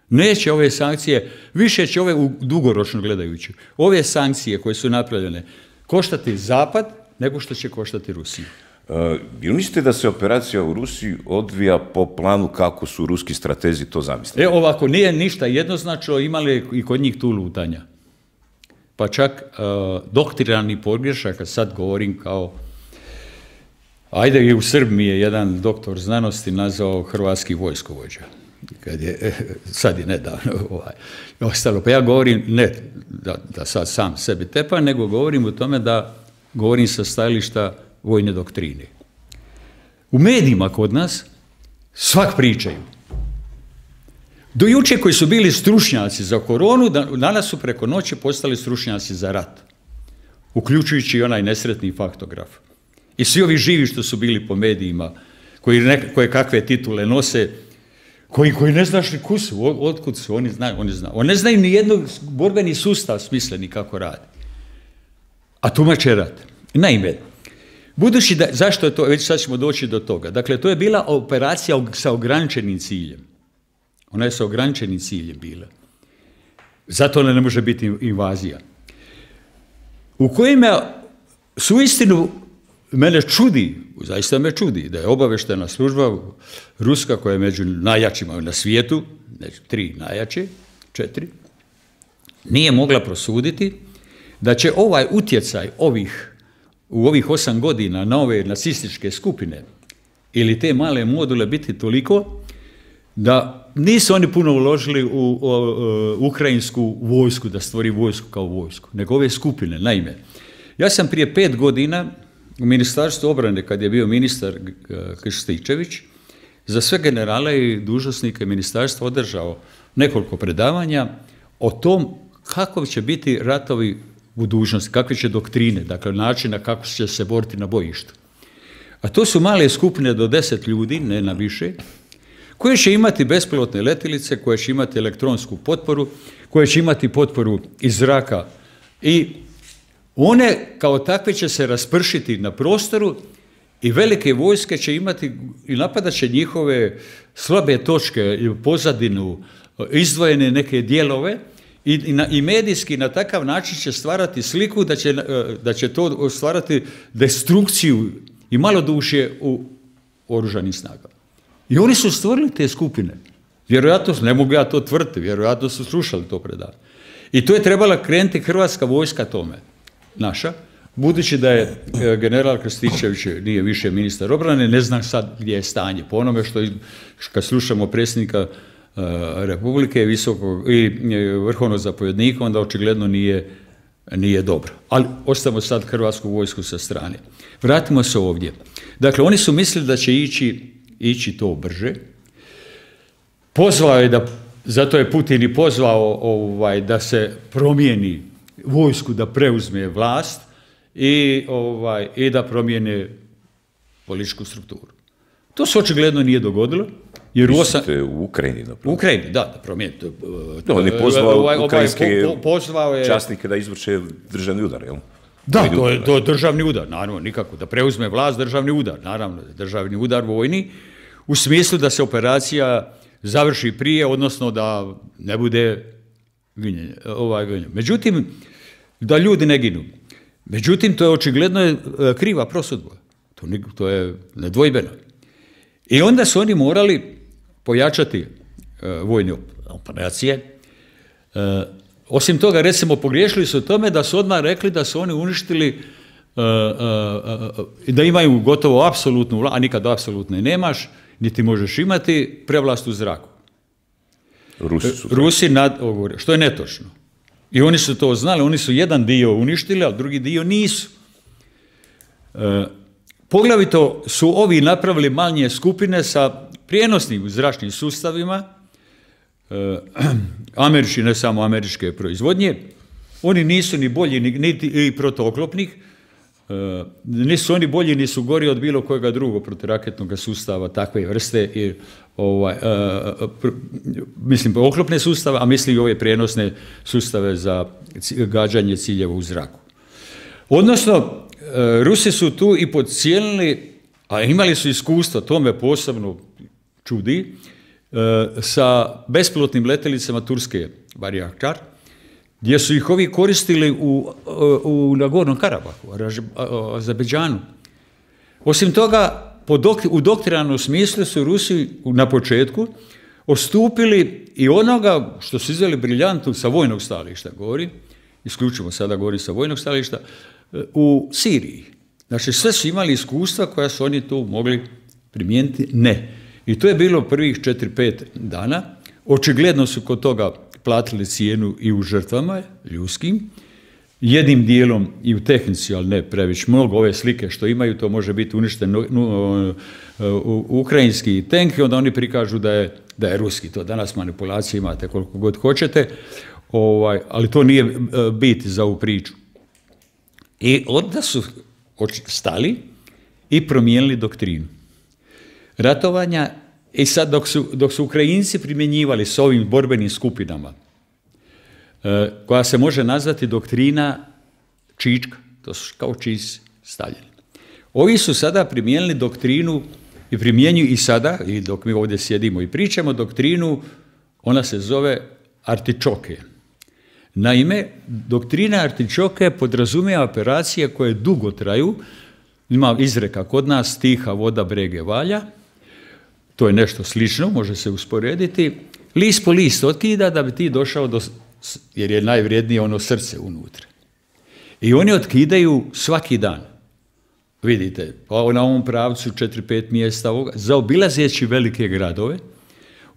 Neće ove sankcije, više će ove dugoročno gledajući. Ove sankcije koje su napravljene koštati Zapad nego što će koštati Rusiju. Uh, jel mislite da se operacija u Rusiji odvija po planu kako su ruski stratezi to zamislili? E, ovako, nije ništa jednoznačno, imali i kod njih tu lutanja. Pa čak uh, doktrinarni pogrešaka, sad govorim kao, ajde i u Srbiji je jedan doktor znanosti nazvao hrvatski vojskovođa. Kad je, sad je nedavno ovaj, ostalo. Pa ja govorim, ne da, da sad sam sebi tepam, nego govorim o tome da govorim sa stajališta vojne doktrine. U medijima kod nas svak pričaju. Do juče koji su bili stručnjaci za koronu, danas su preko noći postali stručnjaci za rat. Uključujući i onaj nesretni faktograf. I svi ovi živi što su bili po medijima, koji ne, koje kakve titule nose, koji, koji ne znaš ni ku su, od, otkud su, oni znaju, oni znaju. Oni ne znaju ni jednog borbeni sustav smisleni kako radi. A tumače rat. Naime, budući da, zašto je to, već sad ćemo doći do toga. Dakle, to je bila operacija sa ograničenim ciljem. Ona je sa ograničenim ciljem bila. Zato ona ne može biti invazija. U kojima su istinu, mene čudi, zaista me čudi, da je obaveštena služba ruska koja je među najjačima na svijetu, znači tri najjače, četiri, nije mogla prosuditi da će ovaj utjecaj ovih u ovih osam godina na ove nacističke skupine ili te male module biti toliko da nisu oni puno uložili u, u, u ukrajinsku vojsku, da stvori vojsku kao vojsku, nego ove skupine. Naime, ja sam prije pet godina u Ministarstvu obrane, kad je bio ministar Krstičević, za sve generale i dužnosnike ministarstva održao nekoliko predavanja o tom kako će biti ratovi u budućnosti, kakve će doktrine, dakle načina kako će se boriti na bojištu. A to su male skupine do deset ljudi, ne na više, koje će imati bespilotne letjelice, koje će imati elektronsku potporu, koje će imati potporu iz zraka i one kao takve će se raspršiti na prostoru i velike vojske će imati i napadat će njihove slabe točke, pozadinu, izdvojene neke dijelove i, i, na, i medijski na takav način će stvarati sliku da će, da će to stvarati destrukciju i malodušje u oružanim snagama. I oni su stvorili te skupine. Vjerojatno, ne mogu ja to tvrditi, vjerojatno su slušali to predavanje. I to je trebala krenuti hrvatska vojska tome, naša, budući da je general Krstičević nije više ministar obrane, ne znam sad gdje je stanje. Po onome što kad slušamo predsjednika uh, Republike visokog, i vrhovnog zapovjednika, onda očigledno nije, nije dobro. Ali ostavimo sad hrvatsku vojsku sa strane. Vratimo se ovdje. Dakle, oni su mislili da će ići, ići to brže. Pozvao je da, zato je Putin i pozvao ovaj, da se promijeni vojsku, da preuzme vlast i, ovaj, i da promijene političku strukturu. To se očigledno nije dogodilo. Jer u, osam... u Ukrajini, da u Ukrajini, da, da promijeni. Da, on je pozvao ovaj, ukrajinske po, po, pozvao je... časnike da izvrše državni udar, jel? Da, to je, to je državni udar, naravno, nikako. Da preuzme vlast, državni udar, naravno, državni udar vojni, u smislu da se operacija završi prije, odnosno da ne bude ginjenje, ovaj ginjenje. Međutim, da ljudi ne ginu. Međutim, to je očigledno je kriva prosudba. To, to je nedvojbeno. I onda su oni morali pojačati uh, vojne operacije. Uh, osim toga, recimo, pogriješili su u tome da su odmah rekli da su oni uništili uh, uh, uh, da imaju gotovo apsolutnu vlast, a nikad apsolutno nemaš, niti možeš imati prevlast u zraku. Rusi su Rusi nad, što je netočno. I oni su to znali, oni su jedan dio uništili, a drugi dio nisu. E, poglavito su ovi napravili manje skupine sa prijenosnim zračnim sustavima, e, američki, ne samo američke proizvodnje. Oni nisu ni bolji, niti i protuoklopnih, e, nisu oni bolji, nisu gori od bilo kojega drugog proturaketnog sustava takve vrste i ovaj, uh, pr, mislim oklopne sustave, a mislim i ove prijenosne sustave za gađanje ciljeva u zraku. Odnosno, uh, Rusi su tu i podcijenili, a imali su iskustvo, to me posebno čudi, uh, sa bespilotnim letjelicama turske Bayraktar, gdje su ih ovi koristili u, u, u Nagornom Karabahu, Azerbejdžanu. Osim toga, Po dok, u doktrinanom smislu su Rusi na početku odstupili i onoga što su izveli briljantno sa vojnog stajališta, govori, isključivo sada govori sa vojnog stajališta, u Siriji. Znači sve su imali iskustva koja su oni tu mogli primijeniti? Ne. I to je bilo prvih četiri pet dana. Očigledno su kod toga platili cijenu i u žrtvama ljudskim, jednim dijelom i u tehnici, ali ne previše mnogo. Ove slike što imaju, to može biti uništen uh, uh, uh, ukrajinski tank i onda oni prikažu da je, da je ruski. To danas manipulacije imate koliko god hoćete, ovaj, ali to nije uh, bit za ovu priču. I onda su stali i promijenili doktrinu ratovanja. I sad dok su, dok su Ukrajinci primjenjivali s ovim borbenim skupinama, koja se može nazvati doktrina Čička, to su kao čist stavljeni. Ovi su sada primijenili doktrinu i primjenjuju i sada, i dok mi ovdje sjedimo i pričamo, doktrinu, ona se zove artičoke. Naime, doktrina artičoke podrazumijeva operacije koje dugo traju, ima izreka kod nas, tiha voda brege valja, to je nešto slično, može se usporediti, list po list otkida da bi ti došao do, jer je najvrijednije ono srce unutra. I oni otkidaju svaki dan. Vidite, na ovom pravcu četiri pet mjesta ovoga, zaobilazeći velike gradove,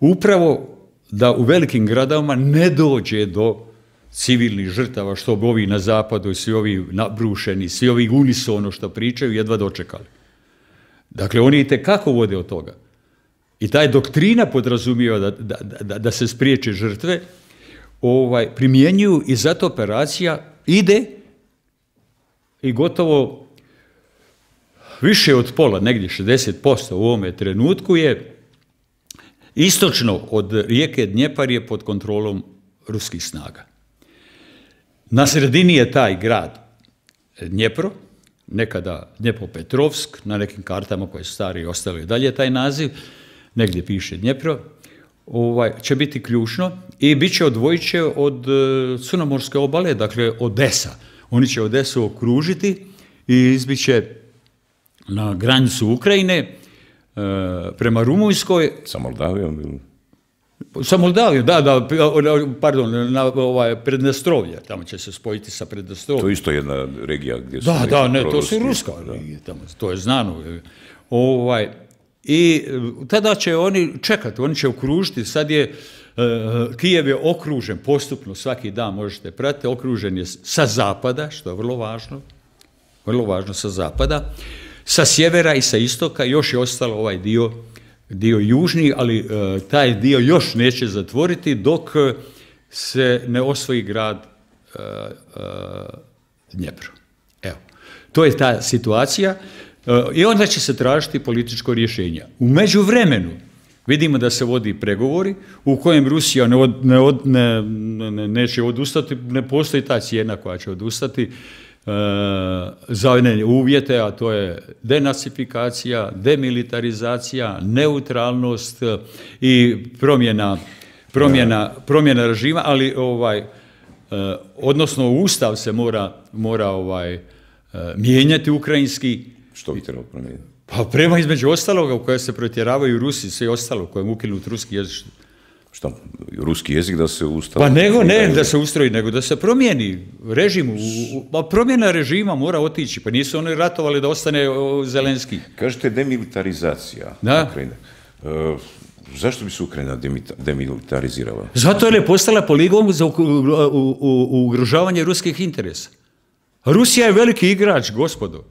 upravo da u velikim gradovima ne dođe do civilnih žrtava, što bi ovi na zapadu, svi ovi nabrušeni, svi ovi unisono što pričaju, jedva dočekali. Dakle, oni itekako vode od toga. I taj doktrina podrazumijeva da, da, da, da se spriječe žrtve, ovaj, primjenjuju i zato operacija ide i gotovo više od pola, negdje šezdeset posto u ovome trenutku je istočno od rijeke Dnjepar je pod kontrolom ruskih snaga. Na sredini je taj grad Dnjepro, nekada Dnjepropetrovsk, na nekim kartama koje su stari i ostali dalje taj naziv, negdje piše Dnjepro, ovaj, će biti ključno i bit će odvojiće od Crnomorske obale, dakle Odesa. Oni će Odesu okružiti i izbit će na granicu Ukrajine e, prema Rumunjskoj. Sa Moldavijom ili? Sa Moldavijom, da, da, pardon, na ovaj, Prednestrovlje, tamo će se spojiti sa Prednestrovljem. To je isto jedna regija gdje su... Da, da, ne, to su ruska regija, tamo, to je znano. Ovaj, I tada će oni čekati, oni će okružiti, sad je, uh, Kijev je okružen postupno, svaki dan možete pratiti, okružen je sa zapada, što je vrlo važno, vrlo važno sa zapada, sa sjevera i sa istoka, još je ostalo ovaj dio, dio južni, ali uh, taj dio još neće zatvoriti dok se ne osvoji grad uh, uh, Dnjepro. Evo, to je ta situacija. I onda će se tražiti političko rješenje. U međuvremenu vidimo da se vodi pregovori u kojem Rusija ne od, ne od, ne, ne, neće odustati, ne postoji ta cijena koja će odustati e, za one uvjete, a to je denacifikacija, demilitarizacija, neutralnost i promjena, promjena, promjena režima, ali ovaj, e, odnosno Ustav se mora, mora ovaj, e, mijenjati ukrajinski. Što bi trebalo promijeniti? Pa prema između ostaloga u koje se protjeravaju Rusi, sve ostalo, u kojem ukinut ruski jezik. Šta? Ruski jezik da se ustavi? Pa nego ne da se ustroji, nego da se promijeni režim. Pa promjena režima mora otići, pa nisu oni ratovali da ostane Zelenski. Kažete demilitarizacija Ukrajine. E, zašto bi se Ukrajina demilitarizirala? Zato jer je postala poligon za ugrožavanje ruskih interesa. Rusija je veliki igrač, gospodo.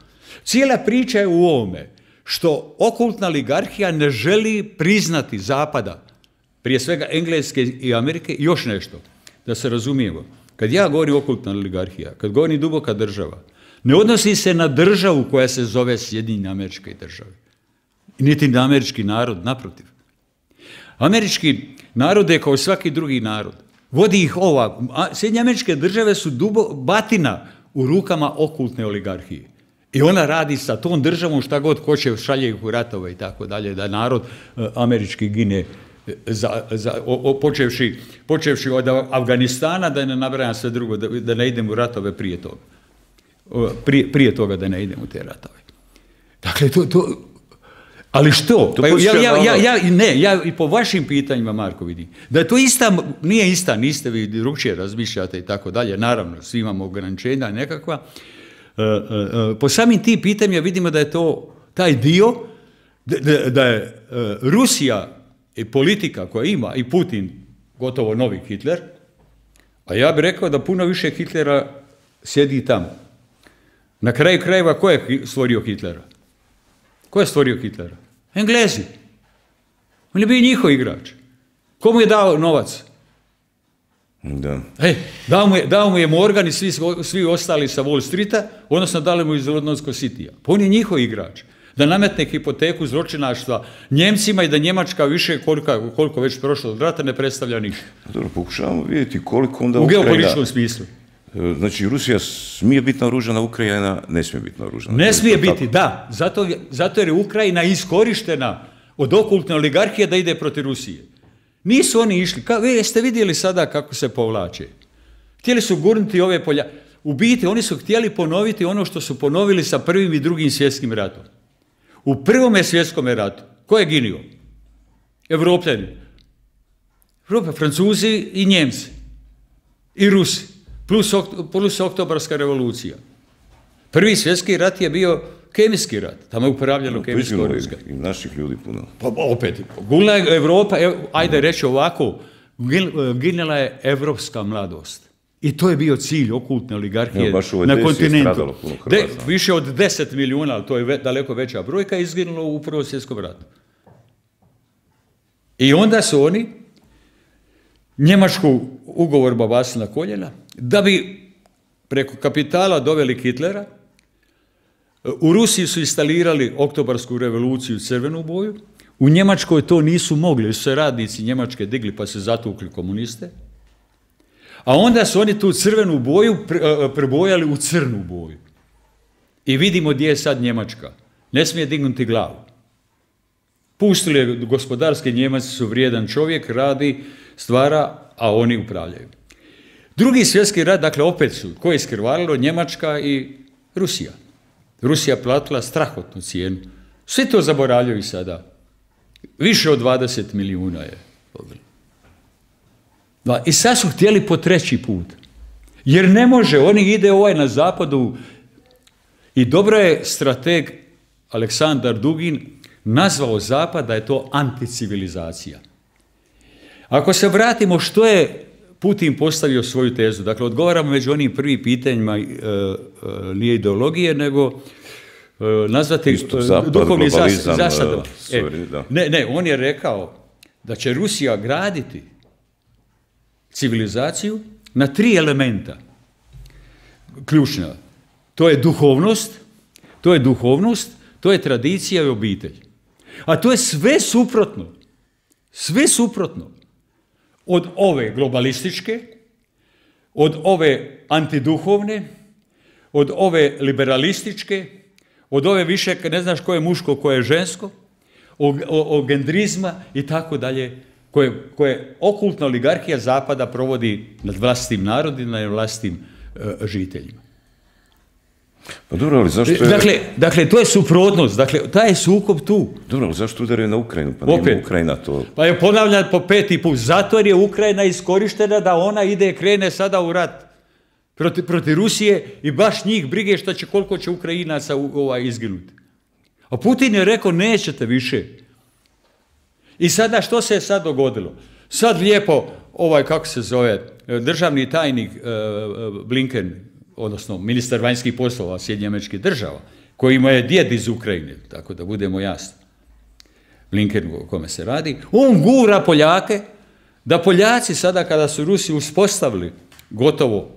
Cijela priča je u ovome što okultna oligarhija ne želi priznati Zapada, prije svega Engleske i Amerike, i još nešto, da se razumijemo. Kad ja govorim okultna oligarhija, kad govorim duboka država, ne odnosi se na državu koja se zove Sjedinjene Američke Države, niti na američki narod, naprotiv. Američki narod je kao svaki drugi narod. Vodi ih ova. Sjedinjene Američke Države su dubo, batina u rukama okultne oligarhije. I ona radi sa tom državom šta god hoće, šalje ih u ratove i tako dalje, da narod američki gine, za, za, o, o, počevši, počevši od Afganistana, da ne nabrajam sve drugo, da, da ne idem u ratove prije toga. Prije, prije toga da ne idem u te ratove. Dakle, to... to ali što? To pa ja, ja, ja, ja, ne, ja i po vašim pitanjima, Marko, vidim, da je to ista, nije ista, niste vi drugčije razmišljate i tako dalje, naravno, svi imamo ograničenja nekakva. Po samim tim pitanjima vidimo da je to taj dio, da, da je Rusija i politika koja ima i Putin gotovo novi Hitler, a ja bih rekao da puno više Hitlera sjedi tamo. Na kraju krajeva ko je stvorio Hitlera? Ko je stvorio Hitlera? Englezi. On je bio njihov igrač. Komu je dao novac? Da. E, dao, mu je, dao mu je Morgan i svi, svi ostali sa Wall Streeta, odnosno dali mu iz Londonskog Citya. Pa on je njihov igrač. Da nametne hipoteku zločinaštva Njemcima i da Njemačka više, koliko, koliko već prošlo od rata, ne predstavlja ništa. Dobro, pokušavamo vidjeti koliko onda u Ukrajina... U geopolitičkom smislu. Znači, Rusija smije biti naoružana, Ukrajina ne smije biti naoružana. Ne smije biti, da. Zato, zato jer je Ukrajina iskorištena od okultne oligarhije da ide protiv Rusije. Nisu oni išli. Ka, vi jeste vidjeli sada kako se povlače. Htjeli su gurnuti ove polja. U biti, oni su htjeli ponoviti ono što su ponovili sa prvim i drugim svjetskim ratom. U prvome svjetskom ratu, ko je ginio? Evropljani. Evropa, Francuzi i Njemci. I Rusi. Plus, plus oktobarska revolucija. Prvi svjetski rat je bio kemijski rat. Tamo je upravljalo No, kemijsko oružje. I naših ljudi puno. Pa opet, ginula je Evropa, ev, ajde reći ovako, ginula je evropska mladost. I to je bio cilj okultne oligarhije Evo, na kontinentu. De, više od deset milijuna, ali to je ve, daleko veća brojka, izginulo u Prvom svjetskom ratu. I onda su oni Njemačku ugovor babasili na koljena, da bi preko kapitala doveli Hitlera. U Rusiji su instalirali oktobarsku revoluciju, crvenu boju. U Njemačkoj to nisu mogli, su se radnici Njemačke digli pa se zatukli komuniste. A onda su oni tu crvenu boju prebojali u crnu boju. I vidimo gdje je sad Njemačka. Ne smije dignuti glavu. Pustili je gospodarski, Njemaci su vrijedan čovjek, radi, stvara, a oni upravljaju. Drugi svjetski rat, dakle opet su, ko je iskrvarilo? Njemačka i Rusija. Rusija platila strahotnu cijenu. Sve to zaboravljaju sada. Više od dvadeset milijuna je. I sad su htjeli po treći put. Jer ne može, oni ide ovaj na zapadu i dobro je strateg Aleksandar Dugin nazvao zapad da je to anticivilizacija. Ako se vratimo što je Putin postavio svoju tezu, dakle odgovaramo među onim prvim pitanjima, e, e, nije ideologije, nego e, nazvati Isto, zapad, duhovni zasadama. E, ne, ne, on je rekao da će Rusija graditi civilizaciju na tri elementa ključna. To je duhovnost, to je duhovnost, to je tradicija i obitelj. A to je sve suprotno. Sve suprotno. Od ove globalističke, od ove antiduhovne, od ove liberalističke, od ove više, ne znaš ko je muško, ko je žensko, o, o, o gendrizma i tako dalje, koje, koje okultna oligarhija Zapada provodi nad vlastitim narodima i vlastitim uh, žiteljima. Pa dobro, ali zašto je... Dakle, dakle, to je suprotnost, dakle, taj je sukob tu. Dobro, ali zašto udaraju na Ukrajinu? Pa nije Ukrajina to... Pa je ponavljam po peti put, zato jer je Ukrajina iskorištena da ona ide, krene sada u rat protiv, protiv Rusije i baš njih brige što će, koliko će Ukrajinaca ovaj, izginuti. A Putin je rekao, nećete više. I sada što se je sad dogodilo? Sad lijepo, ovaj, kako se zove, državni tajnik uh, Blinken, odnosno ministar vanjskih poslova Sjedinjenih Američkih Država, koji ima je djed iz Ukrajine, tako da budemo jasni, Blinken o kome se radi, on gura Poljake, da Poljaci sada kada su Rusi uspostavili gotovo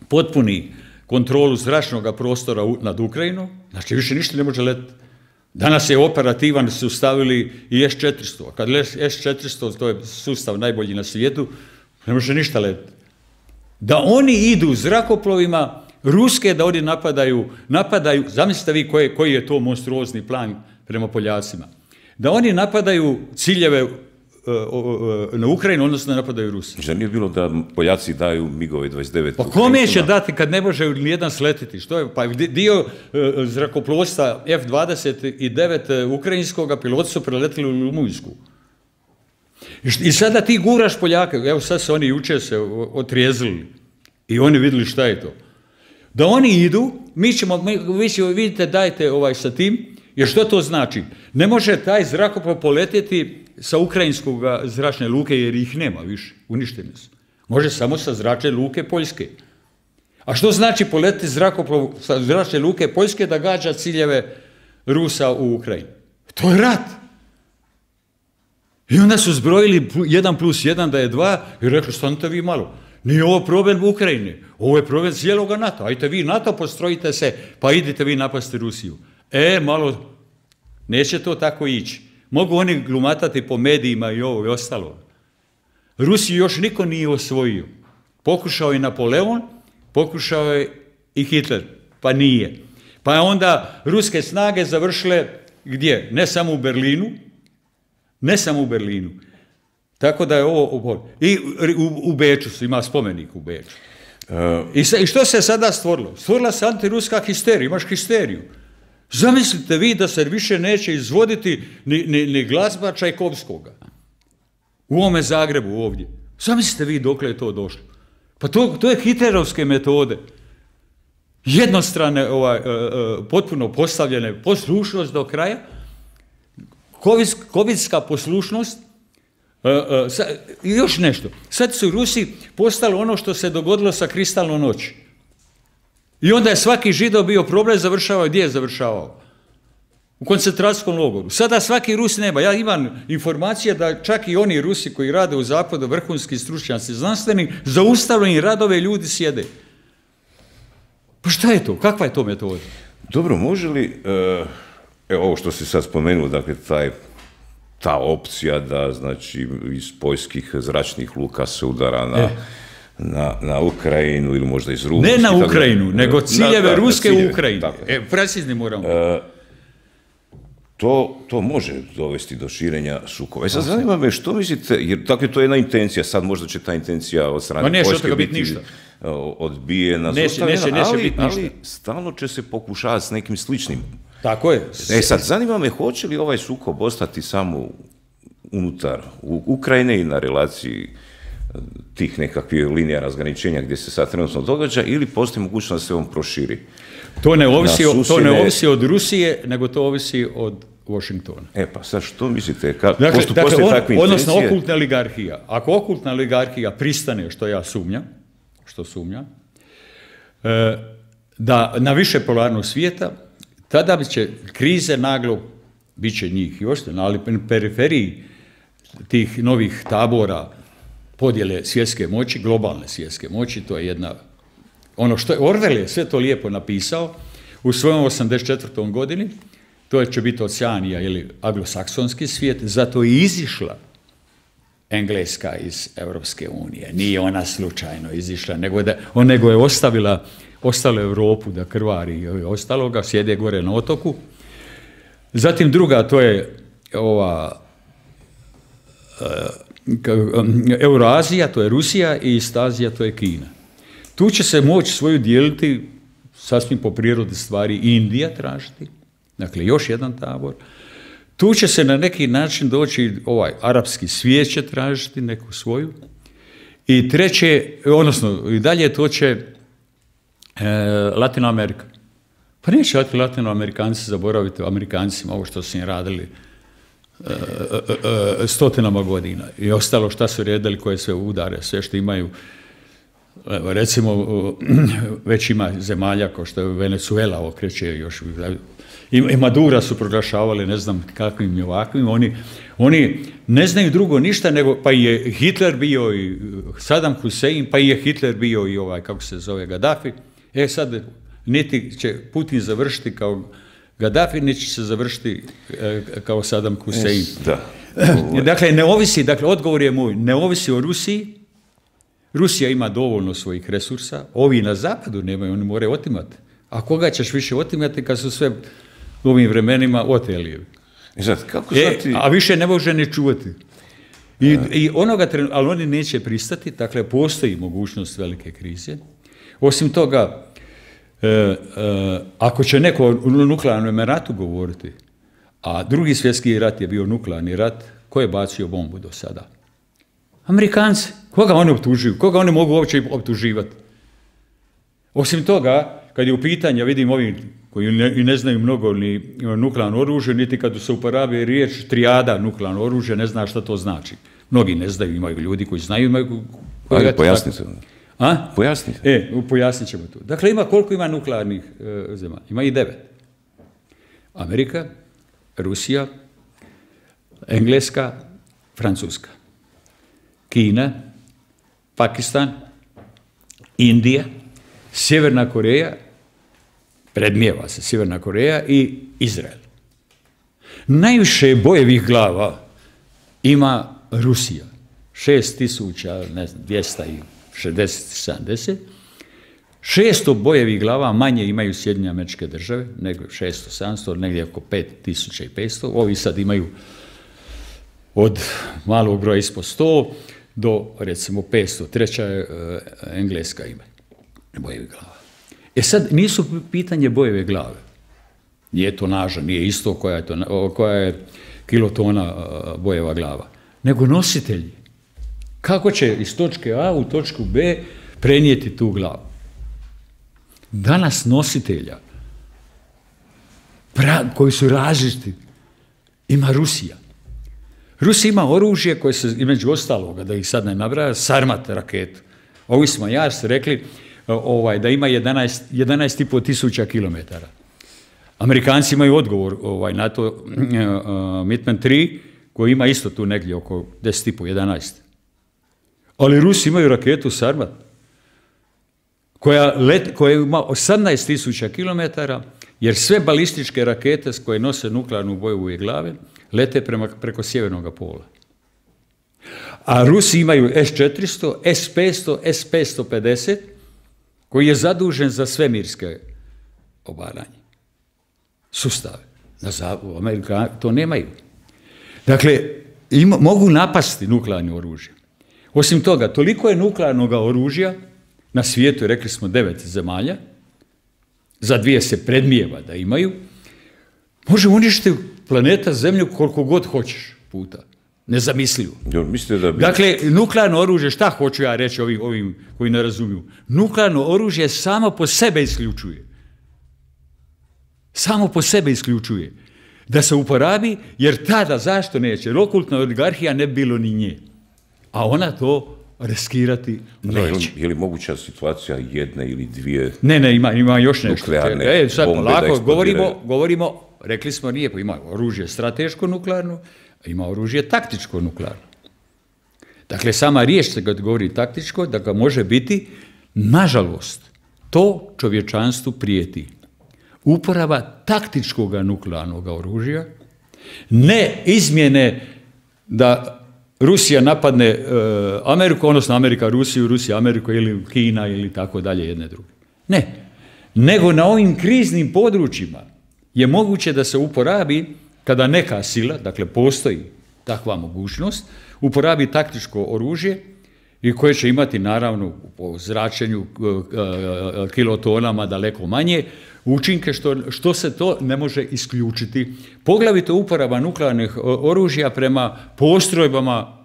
potpuni kontrolu zračnog prostora nad Ukrajinom, znači više ništa ne može letiti. Danas je operativan, su stavili i S četiristo, a kad S četiristo, to je sustav najbolji na svijetu, ne može ništa letiti. Da oni idu zrakoplovima ruske, da oni napadaju, napadaju, zamislite vi koji, koji je to monstruozni plan prema Poljacima, da oni napadaju ciljeve uh, uh, na Ukrajinu, odnosno napadaju Rusiju. Že nije bilo da Poljaci daju migove dvadeset devet? Pa kome će dati kad ne može nijedan sletiti? Što je? Pa dio uh, zrakoplovstva F dvadeset devet uh, ukrajinskoga piloti su preletili u Rumunjsku. I sada ti guraš Poljake, evo sad se oni jučer se otrijezili i oni vidjeli šta je to. Da oni idu, mi ćemo, mi, vi ćemo, vidite, dajte ovaj sa tim, jer što to znači? Ne može taj zrakoplov poletjeti sa ukrajinskog zračne luke jer ih nema više, uništeni su. Može samo sa zračne luke Poljske. A što znači poletiti zrakoplov sa zračne luke Poljske da gađa ciljeve Rusa u Ukrajini? To je rat. I onda su zbrojili jedan plus jedan da je dva i rekli, stanite vi malo. Nije ovo problem Ukrajine, ovo je problem cijeloga NATO. Ajte vi NATO, postrojite se, pa idite vi napasti Rusiju. E, malo, neće to tako ići. Mogu oni glumatati po medijima i ovo i ostalo. Rusiju još niko nije osvojio. Pokušao je Napoleon, pokušao je i Hitler, pa nije. Pa je onda ruske snage završile gdje? Ne samo u Berlinu, ne samo u Berlinu. Tako da je ovo... I u, u Beču su, ima spomenik u Beču. Uh, I, se, I što se sada stvorilo? Stvorila se antiruska histerija, imaš histeriju. Zamislite vi da se više neće izvoditi ni, ni, ni glazba Čajkovskoga. U ovome Zagrebu ovdje. Zamislite vi dokle je to došlo. Pa to, to je hitlerovske metode. jednostrane, ovaj, potpuno postavljene, poslušnost do kraja, kovidska poslušnost, i još nešto. Sad su Rusi postali ono što se dogodilo sa kristalnom noći. I onda je svaki Židov bio problem, završavao, gdje je završavao? U koncentracijskom logoru. Sada svaki Rus nema. Ja imam informacije da čak i oni Rusi koji rade u zapadu, vrhunski stručnjaci, znanstveni, zaustavljeni radove ljudi sjede. Pa šta je to? Kakva je to metoda? Dobro, može li, evo ovo što si sad spomenuo, dakle, taj, ta opcija da, znači, iz poljskih zračnih luka se udara na... E. Na, na Ukrajinu ili možda iz Rusije. Ne na Ukrajinu, nego ciljeve Ruske u Ukrajini. E, precizni moramo. E, to, to može dovesti do širenja sukoba. E sad zanima me što mislite, jer tako je to jedna intencija, sad možda će ta intencija od strane Poljske biti ništa. odbijena, neće, neće, neće ali, biti ništa. Ali stalno će se pokušavati s nekim sličnim. Tako je. E sad, zanima me, hoće li ovaj sukob ostati samo unutar Ukrajine i na relaciji tih nekakvih linija razgraničenja gdje se sad trenutno događa, ili postoji mogućnost da se on proširi? To ne ovisi, to ne ovisi od Rusije, nego to ovisi od Washingtona. E pa sad što mislite? Ka, dakle, posto, dakle on, takve odnosno okultna oligarhija. Ako okultna oligarhija pristane, što ja sumnjam, što sumnjam, e, da na više polarnog svijeta, tada bi će krize naglo, bit će njih još, ali na periferiji tih novih tabora podjele svjetske moći, globalne svjetske moći, to je jedna, ono što je Orwell je sve to lijepo napisao u svojom osamdeset četvrtoj godini, to će biti Oceanija ili anglosaksonski svijet, zato je izišla Engleska iz Europske unije. Nije ona slučajno izišla, nego, da, on, nego je ostavila, ostavila Europu da krvari i ostaloga, sjede gore na otoku. Zatim druga, to je ova Euroazija, to je Rusija, i Istazija, to je Kina. Tu će se moći svoju dijeliti, sasvim po prirodi stvari, Indija tražiti, dakle još jedan tabor. Tu će se na neki način doći, ovaj arapski svijet će tražiti neku svoju. I treće, odnosno i dalje to će e, Latino Amerika. Pa neće Latinoamerikanci zaboraviti o Amerikancima ovo što su im radili e, e, e, stotinama godina. I ostalo šta su redali, koje sve udare, sve što imaju. Recimo, već ima zemalja kao što je Venezuela okreće još, i Madura su proglašavali ne znam kakvim i ovakvim, oni, oni ne znaju drugo ništa, nego pa je Hitler bio i Saddam Hussein, pa je Hitler bio i ovaj, kako se zove, Gaddafi. E sad, niti će Putin završiti kao Gaddafi, niti će se završiti kao Saddam Hussein. Da. Dakle, ne ovisi, dakle, odgovor je moj, ne ovisi o Rusiji. Rusija ima dovoljno svojih resursa, ovi na zapadu nemaju, oni moraju otimati. A koga ćeš više otimati kad su sve u ovim vremenima oteli? Zato, kako e, ti... A više ne može ni čuvati. I, i onoga trenutka, ali oni neće pristati, dakle postoji mogućnost velike krize. Osim toga, e, e, ako će neko o nuklearnom ratu govoriti, a drugi svjetski rat je bio nuklearni rat, ko je bacio bombu do sada? Amerikanci. Koga oni optužuju? Koga oni mogu uopće optuživati? Osim toga, kad je u pitanju, vidim ovi koji ne, ne znaju mnogo ni nuklearno oružje, niti kad se uporabi riječ trijada nuklearno oružje, ne zna šta to znači. Mnogi ne znaju, imaju ljudi koji znaju. Imaju, koji Ali pojasnite. A? Pojasnite. E, pojasnit ćemo to. Dakle, ima koliko ima nuklearnih e, zemalja? Ima i devet. Amerika, Rusija, Engleska, Francuska, Kina, Pakistan, Indija, Sjeverna Koreja, predmijeva se Sjeverna Koreja, i Izrael. Najviše bojevih glava ima Rusija, šest tisuća, ne znam, dvjesto šezdeset sedamdeset. šesto bojevih glava manje imaju Sjedinjene Američke Države, nego šesto sedamsto, negdje oko pet tisuća petsto. Ovi sad imaju od malog broja ispod sto do, recimo, petsto. Treća je uh, Engleska ima bojevi glava. E sad, nisu pitanje bojeve glave. Nije to naža, nije isto koja je, to, koja je kilotona uh, bojeva glava. Nego nositelji. Kako će iz točke A u točku B prenijeti tu glavu? danas nositelja pra, koji su različiti ima Rusija. Rusija ima oružje koje se, između ostaloga, da ih sad ne nabraja, Sarmat raketu. Ovi smo jas rekli ovaj, da ima jedanaest i pol tisuća kilometara. Amerikanci imaju odgovor ovaj, na to uh, Mitman tri, koji ima isto tu negdje oko deset i pol, jedanaest. Ali Rusi imaju raketu Sarmat, koja, let, koja ima osamnaest tisuća kilometara, jer sve balističke rakete koje nose nuklearnu boju glave lete prema, preko sjevernog pola. A Rusi imaju S četiristo, S petsto, S petsto pedeset, koji je zadužen za svemirske obaranje. Sustave. U Amerika to nemaju. Dakle, ima, mogu napasti nuklearno oružje. Osim toga, toliko je nuklearnog oružja na svijetu, rekli smo devet zemalja, za dvije se predmijeva da imaju, može uništiti planeta Zemlju koliko god hoćeš puta. Nezamislivo. Da bi... Dakle, nuklearno oružje, šta hoću ja reći ovim, ovim koji ne razumiju? Nuklearno oružje samo po sebe isključuje. Samo po sebe isključuje. Da se uporabi, jer tada, zašto neće? Okultna oligarhija ne bi bilo ni nje. A ona to riskirati neće. Je li moguća situacija jedne ili dvije Ne, ne, ima, ima još nešto. Nuklearne e, sad, bombe lako, da govorimo, govorimo, rekli smo nije, pa ima oružje strateško nuklearno, a ima oružje taktičko nuklearno. Dakle, sama riječ se kad govori taktičko, da ga može biti, nažalost, to čovječanstvu prijeti. Uporaba taktičkog nuklearnog oružja, ne izmjene da Rusija napadne uh, Ameriku, odnosno Amerika Rusiju, Rusija Ameriku ili Kina ili tako dalje, jedne druge. Ne. Nego na ovim kriznim područjima je moguće da se uporabi kada neka sila, dakle postoji takva mogućnost, uporabi taktičko oružje i koje će imati naravno po zračenju kilotonama daleko manje učinke što, što se to ne može isključiti. Poglavito uporaba nuklearnih oružja prema postrojbama,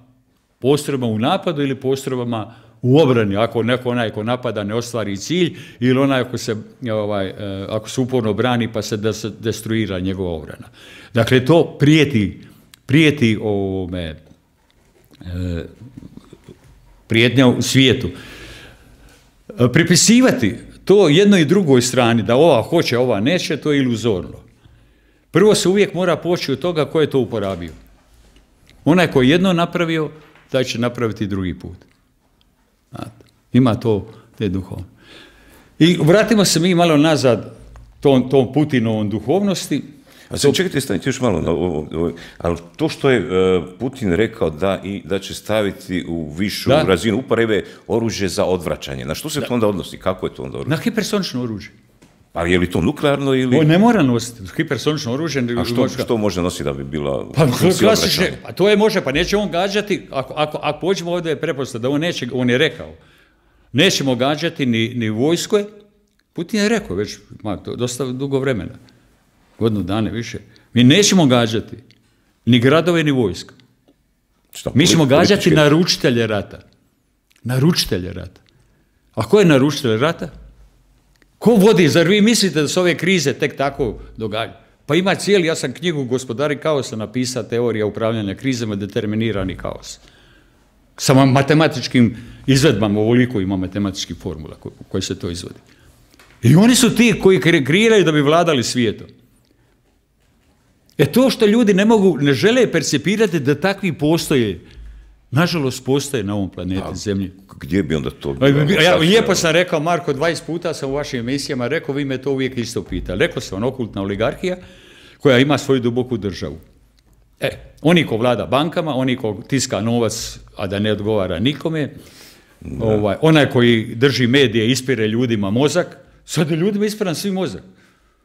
postrojbama u napadu ili postrojbama u obrani, ako neko onaj ko napada ne ostvari cilj ili onaj ako se, ovaj, ako se uporno brani pa se, da se destruira njegova obrana. Dakle, to prijeti, prijeti ovome, e, prijetnja u svijetu. Pripisivati to jednoj i drugoj strani, da ova hoće, ova neće, to je iluzorno. Prvo se uvijek mora poći od toga ko je to uporabio. Onaj ko je jedno napravio, taj će napraviti drugi put. Znate, ima to, te duhovno. I vratimo se mi malo nazad tom, tom Putinovom duhovnosti. A sad čekajte, stanite još malo, ali to što je Putin rekao da, i, da će staviti u višu da. razinu uporabe oružje za odvraćanje, na što se da. to onda odnosi? Kako je to onda oružje? Na hipersonično oružje. Pa je li to nuklearno ili... O, ne mora nositi, hipersonično oružje... A što, što može nositi da bi bila... Pa klasične, pa to je može, pa neće on gađati, ako, ako, ako pođemo ovdje je prepostavljeno da on neće, on je rekao, nećemo gađati ni, ni vojske, Putin je rekao već, ma, to dosta dugo vremena, godinu dana više, mi nećemo gađati ni gradove, ni vojska. Šta, mi ćemo gađati političke... naručitelje rata. Naručitelje rata. A ko je naručitelj rata? Ko vodi? Zar vi mislite da se ove krize tek tako događaju? Pa ima cijeli, ja sam knjigu Gospodari kaosa napisao, teorija upravljanja krizama, determinirani kaos. Sa matematičkim izvedbama, ovoliko ima matematičkih formula koje se to izvodi. I oni su ti koji kreiraju da bi vladali svijetom. E to što ljudi ne mogu, ne žele percipirati da takvi postoje, nažalost postoje na ovom planeti A, Zemlji. Gdje bi onda to bilo? Ja, lijepo sam rekao, Marko, dvadeset puta sam u vašim emisijama rekao, vi me to uvijek isto pitali. Rekao sam, okultna oligarhija koja ima svoju duboku državu. E, oni ko vlada bankama, oni ko tiska novac, a da ne odgovara nikome, ovaj, onaj koji drži medije, ispire ljudima mozak, sad je ljudima ispiran svi mozak.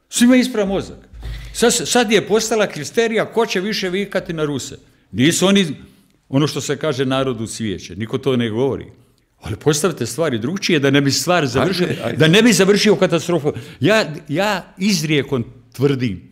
Svima ispira mozak. Sad, sad je postala kristerija ko će više vikati na Ruse. Nisu oni, ono što se kaže, narodu cvijeće. Niko to ne govori. Ali postavite stvari drugčije da ne bi stvar završio, ajde, ajde. da ne bi završio katastrofu. Ja, ja izrijekom tvrdim,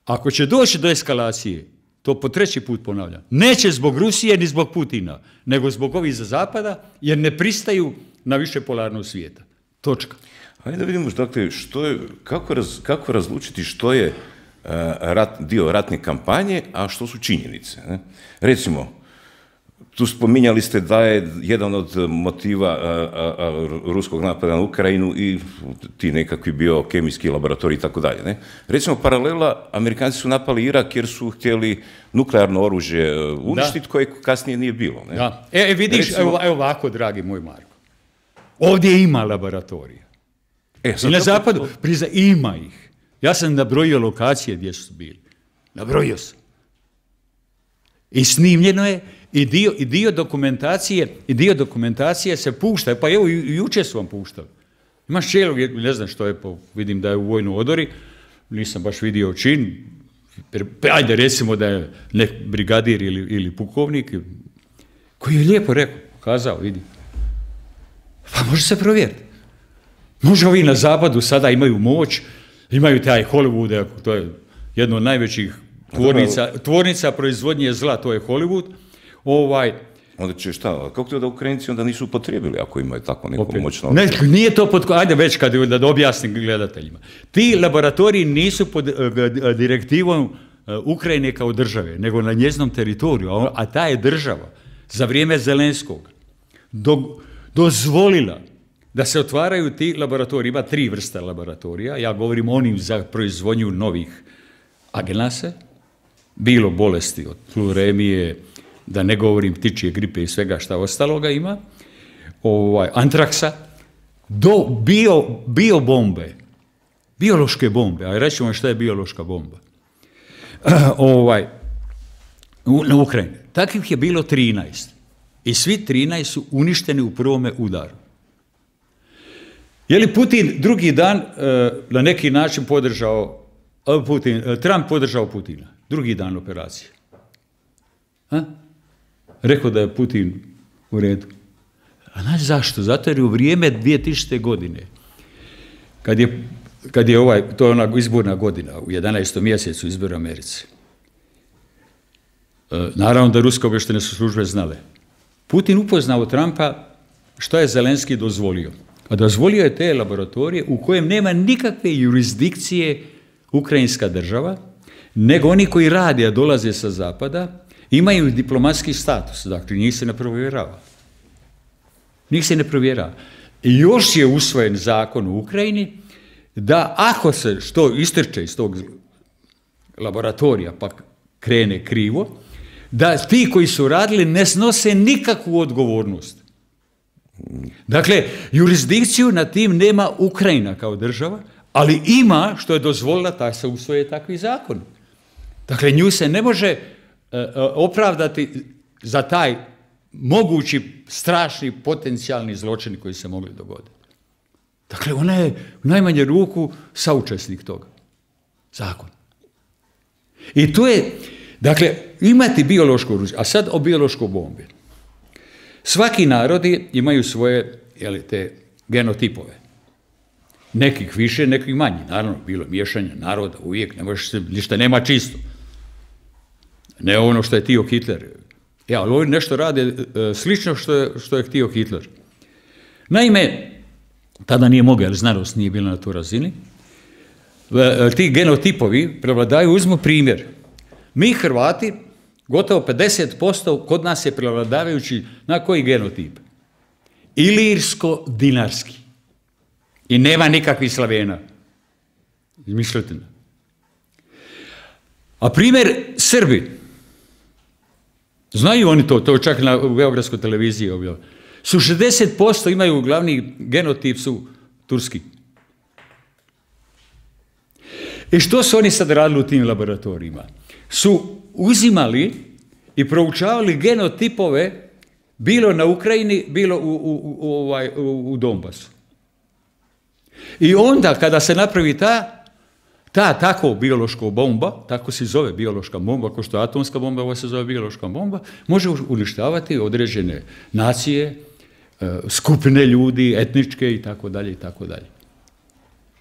ako će doći do eskalacije, to po treći put ponavljam, neće zbog Rusije ni zbog Putina, nego zbog ovih za zapada, jer ne pristaju na više polarnog svijeta. Točka. Ajde da vidimo, dakle, što je, kako, raz, kako razlučiti što je uh, rat, dio ratne kampanje, a što su činjenice. Ne? Recimo, tu spominjali ste da je jedan od motiva a, a, a, ruskog napada na Ukrajinu i ti nekakvi biokemijski laboratoriji i tako dalje. Ne? Recimo, paralela, Amerikanci su napali Irak jer su htjeli nuklearno oružje uništiti, koje kasnije nije bilo. Ne? Da. E, vidiš, Recimo, evo, evo ovako, dragi moj Marko. Ovdje ima laboratorija. E, I na zapadu, to... priza, ima ih. Ja sam nabrojio lokacije gdje su bili. Nabrojio sam. I snimljeno je, i dio, i dio dokumentacije, i dio dokumentacije se pušta. Pa evo, i jučer su vam puštali. Imaš čelog, ne znam što je, po, vidim da je u vojnoj odori, nisam baš vidio čin, ajde recimo da je nek brigadir ili, ili pukovnik, koji je lijepo rekao, kazao, vidi. Pa može se provjeriti. Može ovi na zapadu sada imaju moć, imaju taj Hollywood, to je jedno od najvećih tvornica, tvornica proizvodnje zla, to je Hollywood. Ovaj, onda će šta, kako to da Ukrajinci onda nisu upotrijebili ako imaju tako neko opet, moćno... Ne, nije to pod... Ajde već kad da objasnim gledateljima. Ti laboratoriji nisu pod direktivom Ukrajine kao države, nego na njeznom teritoriju, a ta je država za vrijeme Zelenskog do, dozvolila da se otvaraju ti laboratoriji. Ima tri vrste laboratorija. Ja govorim onim za proizvodnju novih agenasa, bilo bolesti od fluremije, da ne govorim ptičje gripe i svega šta ostaloga ima, ovaj, antraksa, do bio, bio bombe, biološke bombe, a reći vam šta je biološka bomba, ovaj, u, na Ukrajini. Takvih je bilo trinaest. I svi trinaest su uništeni u prvome udaru. Je li Putin drugi dan uh, na neki način podržao, uh, Putin, uh, Trump podržao Putina? Drugi dan operacije. Ha? Rekao da je Putin u redu. A znaš zašto? Zato jer u vrijeme dvije tisućite. godine, kad je, kad je ovaj, to je ona izborna godina, u jedanaestom mjesecu izbora Americi, uh, naravno da ruske obavještajne su službe znale. Putin upoznao Trumpa što je Zelenski dozvolio. A dozvolio je te laboratorije u kojem nema nikakve jurisdikcije ukrajinska država, nego oni koji rade, a dolaze sa zapada, imaju diplomatski status, dakle njih se ne provjerava. Njih se ne provjerava. I još je usvojen zakon u Ukrajini da ako se što istrče iz tog laboratorija pa krene krivo, da ti koji su radili ne snose nikakvu odgovornost. Dakle, jurisdikciju na tim nema Ukrajina kao država, ali ima što je dozvolila da se usvoje takvi zakon. Dakle, nju se ne može uh, opravdati za taj mogući strašni potencijalni zločin koji se mogli dogoditi. Dakle, ona je u najmanje ruku saučesnik toga. Zakon. I to je, dakle, imati biološko oružje, a sad o biološkoj bombi. Svaki narodi imaju svoje, jeli, te genotipove. Nekih više, nekih manje. Naravno, bilo miješanje naroda, uvijek, ne možeš se, ništa nema čisto. Ne ono što je htio Hitler. Ja, ali oni nešto rade e, slično što je, što je htio Hitler. Naime, tada nije mogao, jer znanost nije bila na toj razini, e, ti genotipovi prevladaju, uzmu primjer. Mi Hrvati, gotovo pedeset posto kod nas je prevladavajući na koji genotip? Ilirsko-dinarski. I nema nikakvih Slavena. Izmišljotina. A primjer Srbi. Znaju oni to, to čak na beogradskoj televiziji objavljaju. Su šezdeset posto imaju glavni genotip su turski. I što su oni sad radili u tim laboratorijima? Su uzimali i proučavali genotipove bilo na Ukrajini, bilo u, u, u, ovaj, u, u Donbasu. I onda kada se napravi ta, ta tako biološka bomba, tako se zove biološka bomba, kao što je atomska bomba, ovo se zove biološka bomba, može uništavati određene nacije, skupine ljudi, etničke i tako dalje i tako dalje.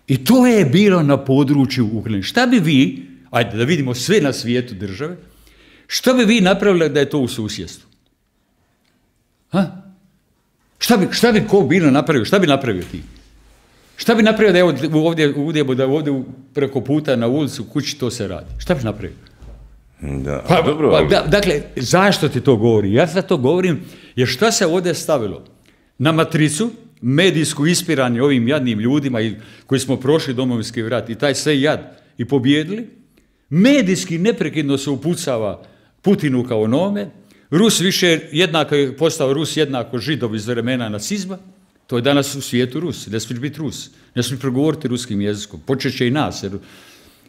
I to je bilo na području Ukrajine. Šta bi vi, ajde da vidimo sve na svijetu države, što bi vi napravili da je to u susjedstvu? Ha? Šta bi, šta bi ko bilo napravio? Šta bi napravio ti? Šta bi napravio da je ovdje, ovdje, da ovdje preko puta na ulicu u kući to se radi? Šta bi napravio? Da, pa, dobro, pa, ali... da, dakle, zašto ti to govorim? Ja sad to govorim jer šta se ovdje stavilo? Na matricu, medijsku ispiranje ovim jadnim ljudima i, koji smo prošli Domovinski rat i taj sve jad i pobjedili, medijski neprekidno se upucava Putinu kao onome, Rus više jednako je postao Rus jednako Židov iz vremena nacizma, to je danas u svijetu Rus, ne smiješ biti Rus, ne smiješ progovoriti ruskim jezikom, počeće i nas, jer,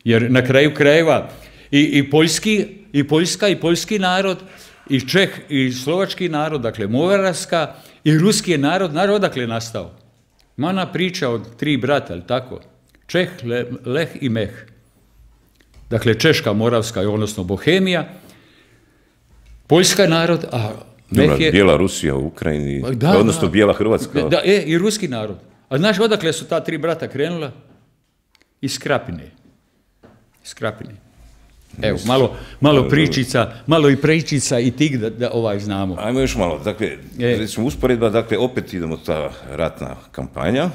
jer na kraju krajeva i, i, poljski, i Poljska i poljski narod, i Čeh i slovački narod, dakle Moravska i ruski je narod, narod odakle je nastao. Mana priča od tri brata, ali tako, Čeh, Le, Leh i Meh. Dakle, Češka, Moravska, odnosno Bohemija, Poljska je narod, a Meh je... Bijela Rusija u Ukrajini, da, odnosno da, Bijela Hrvatska. Da, e, i ruski narod. A znaš odakle su ta tri brata krenula? Iz Krapine. Iz Krapine. Evo, malo, malo pričica, malo i prečica i tik da, da ovaj znamo. Ajmo još malo, dakle, e. recimo usporedba, dakle, opet idemo ta ratna kampanja,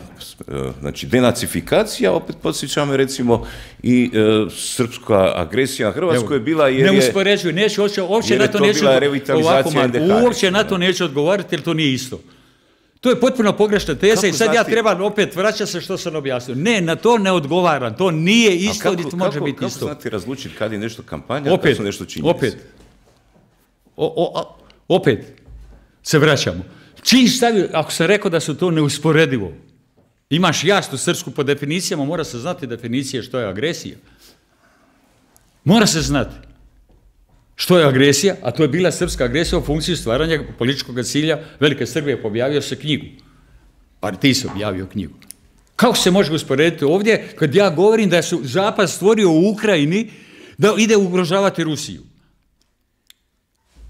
znači denacifikacija, opet podsjećamo recimo i e, srpska agresija na Hrvatskoj je bila jer ne je... uspoređuju, neću, uopće, uopće na to, to neću, ovako, uopće na to neću odgovarati jer to nije isto. To je potpuno pogrešna teza. Kako i sad znati? Ja trebam opet vraćati se što sam objasnio. Ne, na to ne odgovaram. To nije isto, niti može kako, biti kako isto. Kako znati razlučiti kad je nešto kampanja, opet, kad su nešto činjenice? Opet, o, o, opet se vraćamo. Čim stavio, ako sam rekao da su to neusporedivo, imaš jasnu srpsku po definicijama, mora se znati definicije što je agresija. Mora se znati što je agresija, a to je bila srpska agresija u funkciji stvaranja političkog cilja Velike Srbije. Objavio se knjigu. Pa ti si objavio knjigu. Kako se može usporediti ovdje kad ja govorim da su Zapad stvorio u Ukrajini da ide ugrožavati Rusiju?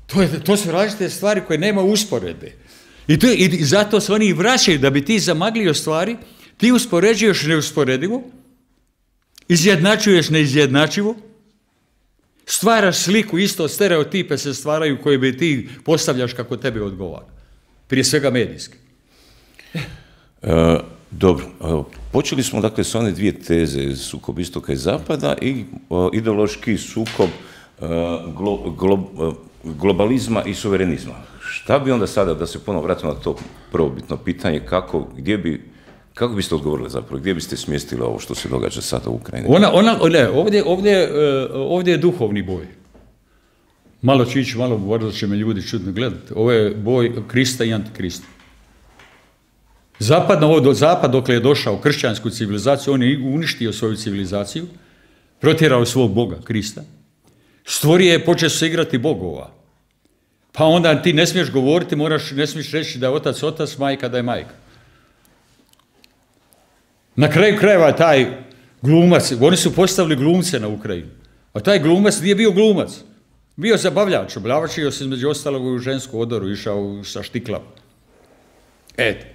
To, je, to su različite stvari koje nema usporede. I, to je, i zato se oni i vraćaju da bi ti zamaglio stvari, ti uspoređuješ neusporedivo, izjednačuješ neizjednačivo, stvaraš sliku, isto stereotipe se stvaraju koje bi ti postavljaš kako tebi odgovara. Prije svega medijski. E, dobro, počeli smo dakle s one dvije teze, sukob istoka i zapada i o, ideološki sukob o, glo, glo, globalizma i suverenizma. Šta bi onda sada, da se ponovo vratimo na to prvobitno pitanje, kako, gdje bi, kako biste odgovorili zapravo, gdje biste smjestili ovo što se događa sada u Ukrajini? Ona, ona, ne, ovdje, ovdje, ovdje je duhovni boj. Malo ću ići, malo možda će me ljudi čudno gledati. Ovo je boj Krista i Antikrista. Zapad, ovo, zapad dokle je došao kršćansku civilizaciju, on je uništio svoju civilizaciju, protjerao svog Boga, Krista, stvorio je, počeo se igrati bogova. Pa onda ti ne smiješ govoriti, moraš, ne smiješ reći da je otac otac, majka da je majka. Na kraju krajeva taj glumac, oni su postavili glumce na Ukrajinu, a taj glumac nije bio glumac, bio zabavljač, oblavčio se između ostalog u žensku odoru, išao sa štiklama. Eto,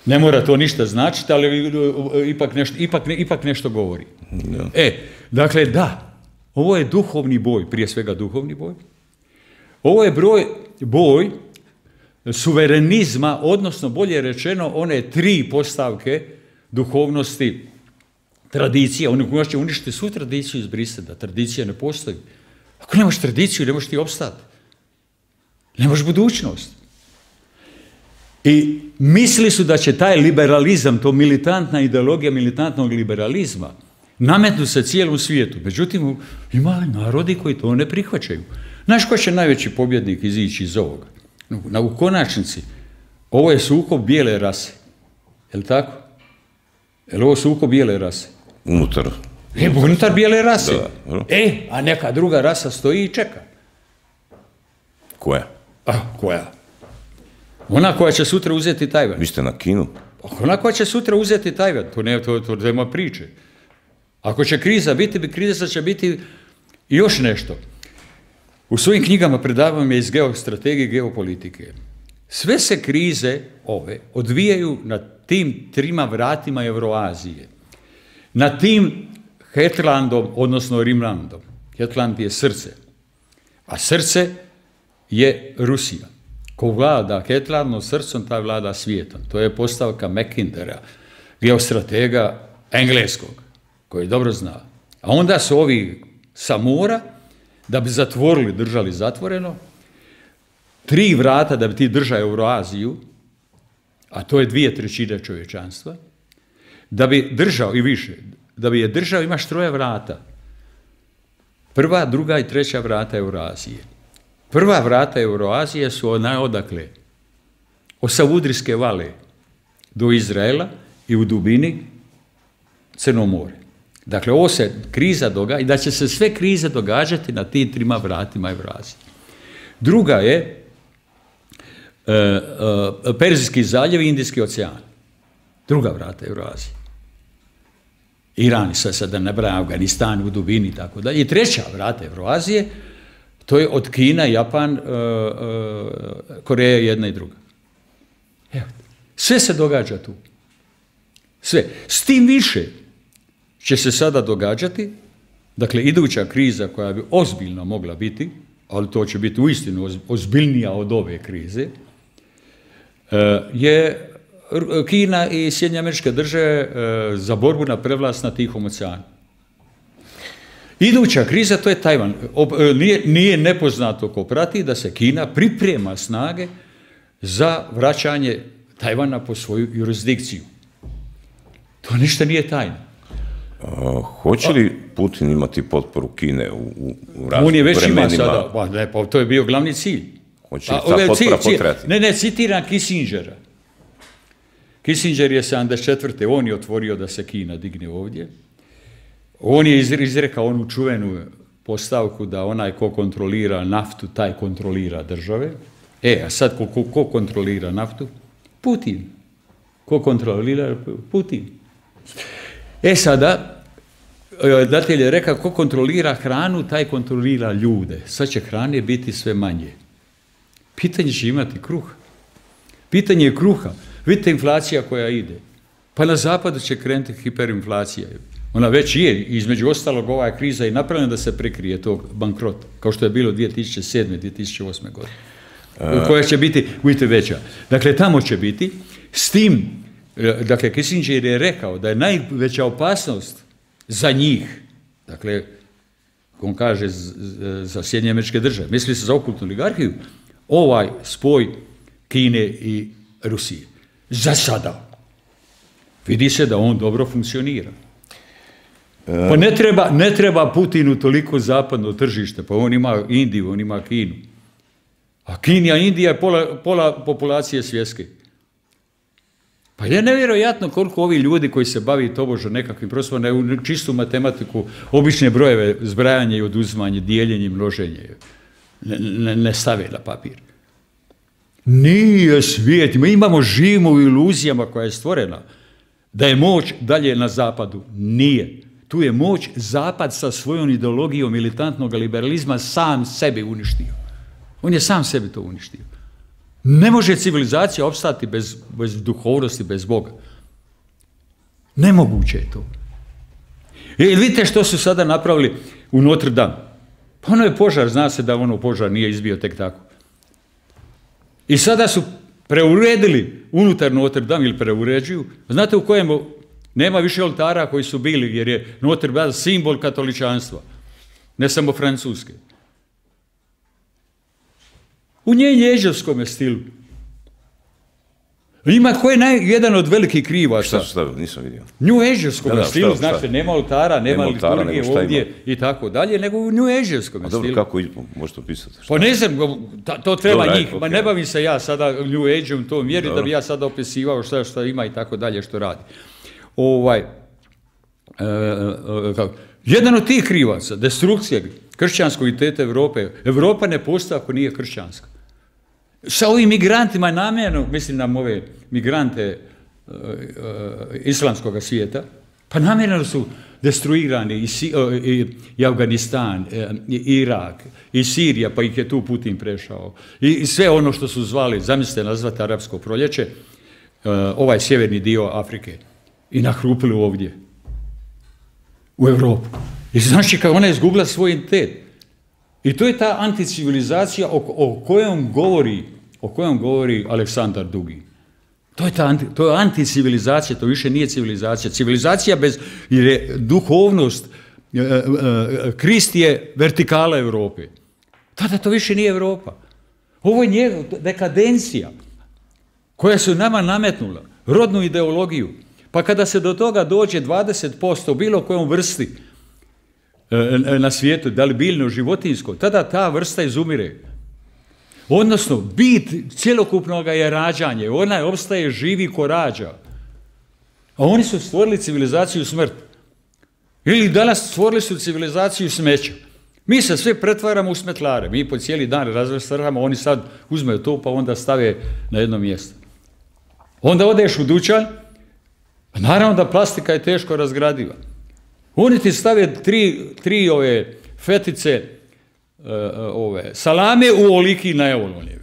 ne mora to ništa značiti, ali ipak nešto, ipak, ipak nešto govori. No. E, dakle, da, ovo je duhovni boj, prije svega duhovni boj. Ovo je broj, boj suverenizma, odnosno bolje rečeno, one tri postavke duhovnosti, tradicija. Oni će uništiti svu tradiciju izbrisati, da tradicija ne postoji. Ako nemaš tradiciju, ne možeš ti opstati. Nemaš budućnost. I mislili su da će taj liberalizam, to militantna ideologija militantnog liberalizma, nametnuti se cijelom svijetu. Međutim, ima narodi koji to ne prihvaćaju. Znaš ko će najveći pobjednik izići iz ovoga? Na, u konačnici, ovo je sukob bijele rase. Je li tako? Je li ovo sukob bijele rase? Unutar. E, unutar bijele rase. Da, da. E, a neka druga rasa stoji i čeka. Koja? A, koja? Ona koja će sutra uzeti Tajvan. Vi ste na Kinu? Ona koja će sutra uzeti Tajvan. To ne, to, to nema priče. Ako će kriza biti, kriza će biti još nešto. U svojim knjigama predavam je iz geostrategije i geopolitike. Sve se krize ove odvijaju na tim trima vratima Euroazije. Na tim Hetlandom, odnosno Rimlandom. Hetland je srce. A srce je Rusija. Ko vlada Hetlandom srcom, taj vlada svijetom. To je postavka Mackintera. geostratega engleskog, koji dobro zna. A onda su ovi sa mora, da bi zatvorili, držali zatvoreno, tri vrata da bi ti držao Euroaziju, a to je dvije trećine čovječanstva, da bi držao i više, da bi je držao imaš troje vrata. Prva, druga i treća vrata Euroazije. Prva vrata Euroazije su ona odakle, od Savudrijske vale do Izraela i u dubini Crno more. Dakle, ovo se kriza događa i da će se sve krize događati na tim trima vratima Eurazije. Druga je e, e, Perzijski zaljev i Indijski ocean. Druga vrata Eurazije. Iran, sve sad da ne brajam, Afganistan u dubini i tako dalje. I treća vrata Eurazije, to je od Kina, Japan, e, e, Koreja jedna i druga. Evo, sve se događa tu. Sve. S tim više će se sada događati, dakle, iduća kriza koja bi ozbiljno mogla biti, ali to će biti uistinu ozbiljnija od ove krize, je Kina i Sjedinjene Američke Države za borbu na prevlast na Tihom oceanu. Iduća kriza, to je Tajvan. Nije, nije nepoznato ko prati da se Kina priprema snage za vraćanje Tajvana po svoju jurisdikciju. To ništa nije tajno. A, hoće li Putin imati potporu Kine u, u, u raznim On je već vremenima? ima sada, pa, ne, pa to je bio glavni cilj. Hoće li ta potpora cilj, potrebati? Ne, ne, citiram Kissingera. Kissinger je sedamdeset četvrte on je otvorio da se Kina digne ovdje. On je izrekao onu čuvenu postavku da onaj ko kontrolira naftu, taj kontrolira države. E, a sad ko, ko, ko kontrolira naftu? Putin. Ko kontrolira? Putin. E sada, datelj je rekao, ko kontrolira hranu, taj kontrolira ljude. Sad će hrane biti sve manje. Pitanje će imati kruh. Pitanje je kruha. Vidite inflacija koja ide. Pa na zapadu će krenuti hiperinflacija. Ona već je, između ostalog, ova kriza je napravljena da se prekrije tog bankrota, kao što je bilo dvije tisuće sedme. dvije tisuće osme. godine. A... koja će biti, vidite, veća. Dakle, tamo će biti. S tim, dakle, Kissinger je rekao da je najveća opasnost za njih, dakle, on kaže za Sjedinjene Američke Države, misli se za okultnu oligarhiju, ovaj spoj Kine i Rusije. Za sada. Vidi se da on dobro funkcionira. Pa ne treba, ne treba Putinu toliko zapadno tržište, pa on ima Indiju, on ima Kinu. A Kinija, Indija je pola, pola populacije svjetske. Pa je nevjerojatno koliko ovi ljudi koji se bavi tobože nekakvim prostorima, ne u čistu matematiku, obične brojeve, zbrajanje i oduzimanje, dijeljenje i množenje, ne, ne, ne stave na papir. Nije svijet, mi imamo, živimo u iluzijama koja je stvorena, da je moć dalje na zapadu. Nije. Tu je moć zapad sa svojom ideologijom militantnog liberalizma sam sebe uništio. On je sam sebi to uništio. Ne može civilizacija opstati bez, bez duhovnosti, bez Boga. Nemoguće je to. I vidite što su sada napravili u Notre Dame. Pa ono je požar, zna se da ono požar nije izbio tek tako. I sada su preuredili unutar Notre Dame ili preuređuju. Znate u kojem nema više oltara koji su bili, jer je Notre Dame simbol katoličanstva. Ne samo francuske. U nježevskom stilu. Ima ko je naj, jedan od velikih krivaca. Šta su stavili? Nisam vidio. Njueževskom da, stilu, znači nema oltara, nema, nema liturgije ovdje ima. I tako dalje, nego u njueževskom stilu. Dobro, kako možete opisati? Pa ne znam, to treba Dobre, njih, okay. Ma ne bavim se ja sada New Age-om to mjeri da bi ja sada opisivao šta, šta ima i tako dalje što radi. Ovaj, e, e, kako, jedan od tih krivaca, destrukcije kršćanskog identiteta Evrope, Evropa ne postoji ako nije kršćanska. Sa ovim migrantima namjerno, mislim na ove migrante uh, uh, islamskog svijeta, pa namjerno su destruirani i, si, uh, i, i Afganistan, i Irak, i Sirija, pa ih je tu Putin prešao. I, i sve ono što su zvali, zamislite nazvati arapsko proljeće, uh, ovaj sjeverni dio Afrike. I nahrupili ovdje, u Europu. I znači kako ona je izgubila svoj identitet. I to je ta anticivilizacija o, o kojom govori, o kojom govori Aleksandar Dugi. To je, ta anti, to je anticivilizacija, to više nije civilizacija. Civilizacija bez, jer je duhovnost, e, e, Krist je vertikala Europe. Tada to više nije Europa. Ovo je njegov dekadencija koja su nama nametnula, rodnu ideologiju. Pa kada se do toga dođe dvadeset posto bilo kojom vrsti e, na svijetu, da li biljno, životinjsko, tada ta vrsta izumire. Odnosno, bit cjelokupnog je rađanje. Ona opstaje živi ko rađa. A oni su stvorili civilizaciju smrt. Ili danas stvorili su civilizaciju smeća. Mi se sve pretvaramo u smetlare. Mi po cijeli dan razvrstamo, oni sad uzmeju to pa onda stave na jedno mjesto. Onda odeš u dućan, a naravno da plastika je teško razgradiva. Oni ti stave tri, tri ove fetice ove salame u oliki na evolonjevi.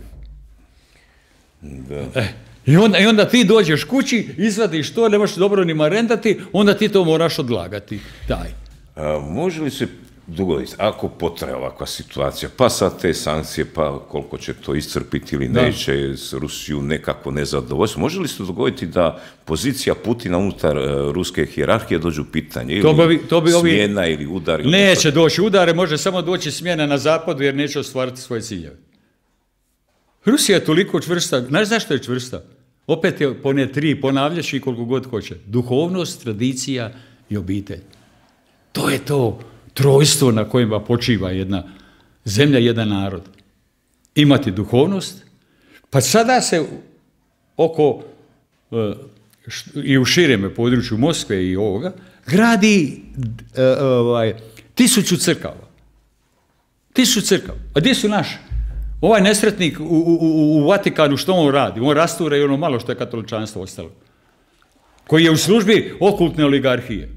Da. E, i, onda, I onda ti dođeš kući, izvadiš to, ne možeš dobro ni marendati, onda ti to moraš odlagati. Daj. A, može li se dogoditi, ako potraje ovakva situacija, pa sad te sankcije, pa koliko će to iscrpiti ili neće, s Rusiju nekako nezadovoljstvo, može li se dogoditi da pozicija Putina unutar uh, ruske hijerarhije dođu u pitanje, ili to bi, to bi smjena ovi... ili udar? Ili neće doći udare, može samo doći smjena na zapadu jer neće ostvariti svoje ciljeve. Rusija je toliko čvrsta, znaš zašto je čvrsta? Opet je po ne tri, ponavljaš i koliko god hoće. Duhovnost, tradicija i obitelj. To je to trojstvo na kojima počiva jedna zemlja, jedan narod. Imati duhovnost, pa sada se oko i u širem području Moskve i ovoga gradi ovaj, tisuću crkava. Tisuću crkava. A gdje su naši? Ovaj nesretnik u, u, u Vatikanu, što on radi? On rastura i ono malo što je katoličanstvo ostalo. Koji je u službi okultne oligarhije.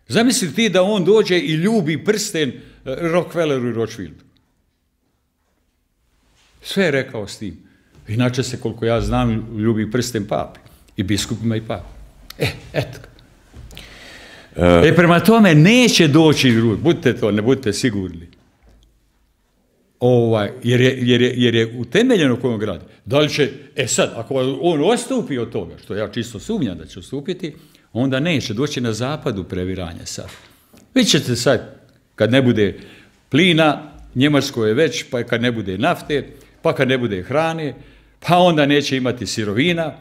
Zamisli ti da on dođe i ljubi prsten Rockefelleru i Rothschildu. Sve je rekao s tim. Inače se, koliko ja znam, ljubi prsten papi. I biskupima i papi. E, eto. E, prema tome, neće doći drugi. Budite to, ne budite sigurni. Ovaj, jer, je, jer, je, jer je utemeljeno kojom gradi. Da li će, e sad, ako on ostupi od toga, što ja čisto sumnjam da će ostupiti, onda neće doći na zapadu previranje sad. Vi ćete sad, kad ne bude plina, Njemačko je već, pa kad ne bude nafte, pa kad ne bude hrane, pa onda neće imati sirovina.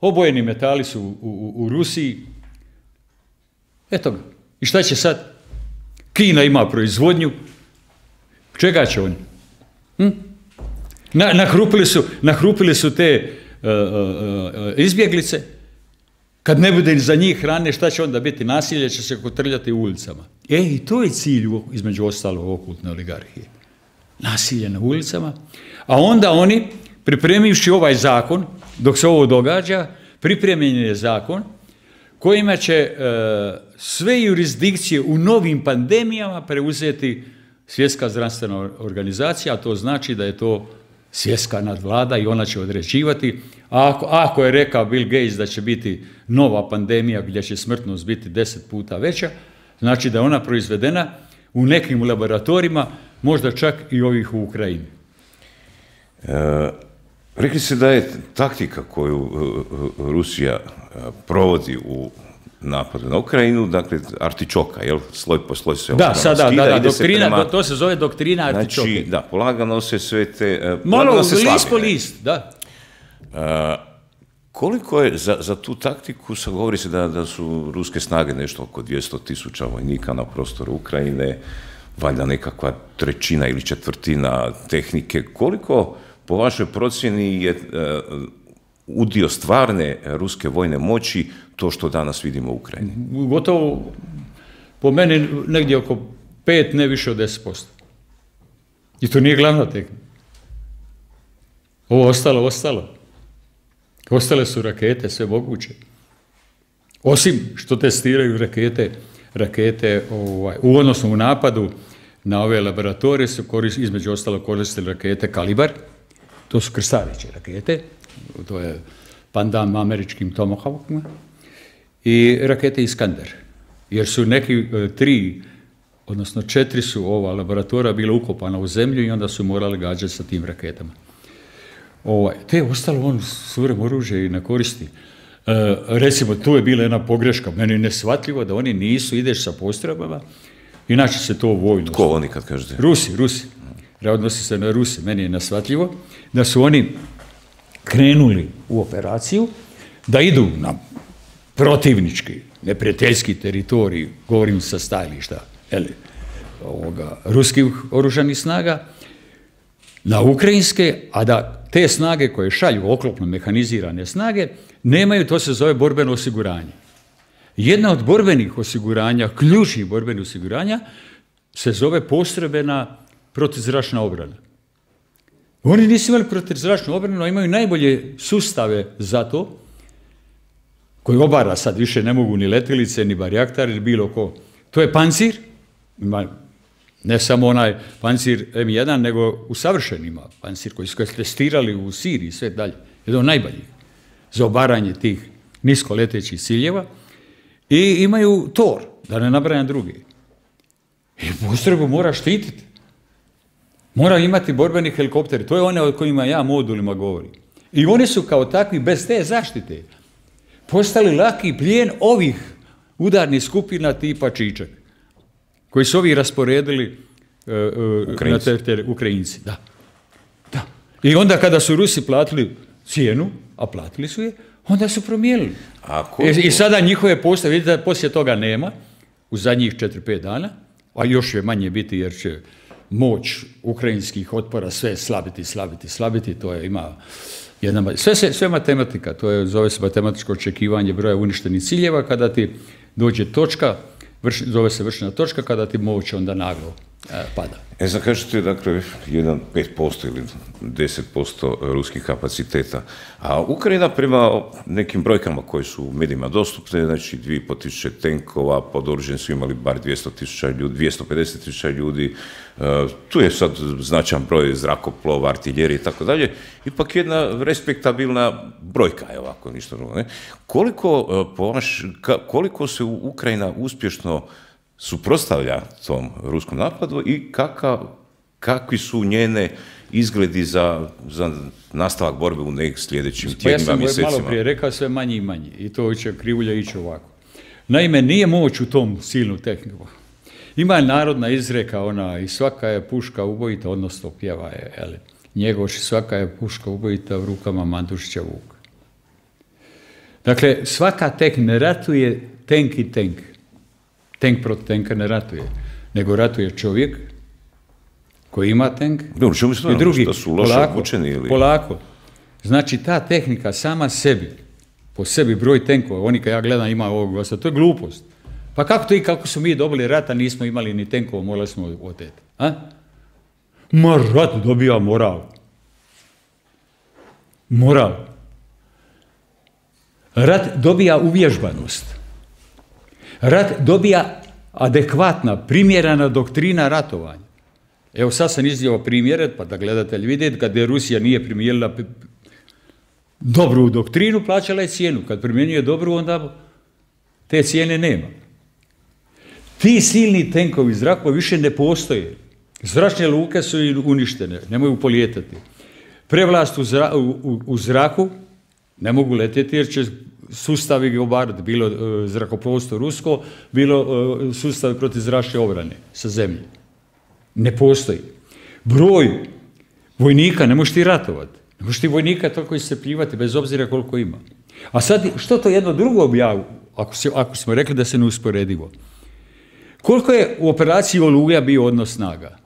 Obojeni metali su u, u, u Rusiji. Eto ga. I šta će sad? Kina ima proizvodnju. Čega će oni? Hm? Na, nahrupili, su, nahrupili su te uh, uh, izbjeglice. Kad ne bude za njih hrane, šta će onda biti? Nasilje će se kotrljati u ulicama. E, i to je cilj, između ostalog, okultne oligarhije. Nasilje na ulicama. A onda oni, pripremivši ovaj zakon, dok se ovo događa, pripremljen je zakon kojima će e, sve jurisdikcije u novim pandemijama preuzeti Svjetska zdravstvena organizacija, a to znači da je to svjetska nadvlada i ona će određivati. A ako, ako je rekao Bill Gates da će biti nova pandemija gdje će smrtnost biti deset puta veća, znači da je ona proizvedena u nekim laboratorijima, možda čak i ovih u Ukrajini. E, rekli ste da je taktika koju Rusija provodi u napadu na Ukrajinu, dakle, artičoka, jel? Sloj po sloj se da, sada, skida, da, da, doktrina, prema, to se zove doktrina artičoke. Znači, da, polagano se sve te... Malo, se list po list, da. A, koliko je za, za tu taktiku, sad govori se da, da su ruske snage nešto oko dvjesto tisuća vojnika na prostoru Ukrajine, valjda nekakva trećina ili četvrtina tehnike. Koliko, po vašoj procjeni, je uh, udio stvarne ruske vojne moći to što danas vidimo u Ukrajini? Gotovo, po meni, negdje oko pet, ne više od deset posto. I to nije glavna tehnika. Ovo ostalo, ostalo. Ostale su rakete, sve moguće. Osim što testiraju rakete, rakete ovaj, u odnosu u napadu na ove laboratorije su korist, između ostalo koristili rakete Kalibar, to su krstareće rakete, to je pandan američkim Tomahawkima, i rakete Iskander. Jer su neki tri, odnosno četiri su ova laboratorija bila ukopana u zemlju i onda su morali gađati sa tim raketama. Ovaj, te ostalo on surem oružje i ne koristi. E, recimo, tu je bila jedna pogreška. Meni je nesvatljivo da oni nisu, ideš sa postrojbama, inače se to vojno... Tko oni kad kažete? Rusi, Rusi. Odnosi se na Rusi. Meni je nesvatljivo da su oni krenuli u operaciju, da idu na protivnički, neprijateljski teritorij, govorim sa stajališta eli, ovoga, ruskih oružanih snaga, na ukrajinske, a da te snage koje šalju oklopno mehanizirane snage, nemaju, to se zove borbeno osiguranje. Jedna od borbenih osiguranja, ključnih borbenih osiguranja, se zove postrojbena protuzračna obrana. Oni nisu imali protuzračnu obranu, a imaju najbolje sustave za to, koji obara sad više ne mogu ni letilice, ni barjaktari, ni bilo ko. To je pancir, ima ne samo onaj pancir em jedan, nego usavršen ima pancir koji su testirali u Siriji i sve dalje. Jedan od najboljih za obaranje tih nisko letećih ciljeva. I imaju Tor, da ne nabrajam drugi. I postrojbu mora štititi. Mora imati borbeni helikopteri. To je one o kojima ja modulima govorim. I oni su kao takvi, bez te zaštite, postali laki plijen ovih udarnih skupina tipa Čičak, koji su ovi rasporedili uh, uh, na te, te Ukrajinci. Da. Da. I onda kada su Rusi platili cijenu, a platili su je, onda su promijenili. I, I sada njihove postave, vidite da poslije toga nema, u zadnjih četiri pet dana, a još je manje biti jer će moć ukrajinskih otpora sve slabiti, slabiti, slabiti, to je ima jedna, sve, sve, sve matematika, to je, zove se matematičko očekivanje broja uništenih ciljeva, kada ti dođe točka, vrš, zove se vršna točka, kada ti moć onda naglo e, pada. E, sad kažete, dakle, jedan pet posto ili deset posto ruskih kapaciteta, a Ukrajina prema nekim brojkama koje su u medijima dostupne, znači dvije i pol tisuće tenkova, pod oružjem su imali bar dvjesto tisuća ljudi, dvjesto pedeset tisuća ljudi, uh, tu je sad značajan broj zrakoplova, artiljerije i tako dalje, ipak jedna respektabilna brojka je ovako, ništa drugo, ne? Koliko, uh, po vaš, ka, koliko se Ukrajina uspješno suprotstavlja tom ruskom napadu i kakav, kakvi su njene izgledi za, za nastavak borbe u nekih sljedećim tjednima, mjesecima? Ja sam malo prije rekao sve manje i manje i to će krivulja ići ovako. Naime, nije moć u tom silnu tehniku. Ima narodna izreka ona i svaka je puška ubojita, odnosno pjeva je, jeli, Njegoš, svaka je puška ubojita u rukama Mandušića Vuka. Dakle, svaka tek ne ratuje tenk i tenk. Tenk protiv tenka ne ratuje, nego ratuje čovjek koji ima tenk i drugi. Polako, polako. Znači, ta tehnika sama sebi, po sebi broj tenkova, oni kad ja gledam ima ovog gosta, to je glupost. Pa kako to i kako su mi dobili rata, nismo imali ni tenkova, morali smo oteti. A? Ma rat dobija moral. Moral. Rat dobija uvježbanost. Rat dobija adekvatna, primjerena doktrina ratovanja. Evo sad sam iznio primjere, pa da gledatelj vidjeti, kad je Rusija nije primijenila dobru doktrinu, plaćala je cijenu. Kad primjenjuje dobru, onda te cijene nema. Ti silni tenkovi zrakova više ne postoje. Zračne luke su uništene, ne mogu polijetati. Prevlast u, zra, u, u zraku ne mogu letjeti jer će sustavi ga obarati, bilo uh, zrakoplovstvo rusko, bilo uh, sustavi protiv zračne obrane sa zemlje. Ne postoji. Broj vojnika, ne možeš ti ratovati. Ne možeš ti vojnika toliko iscrpljivati, bez obzira koliko ima. A sad, što to jedno drugo objavu, ako, se, ako smo rekli da se ne usporedivo? Koliko je u operaciji Oluja bio odnos snaga?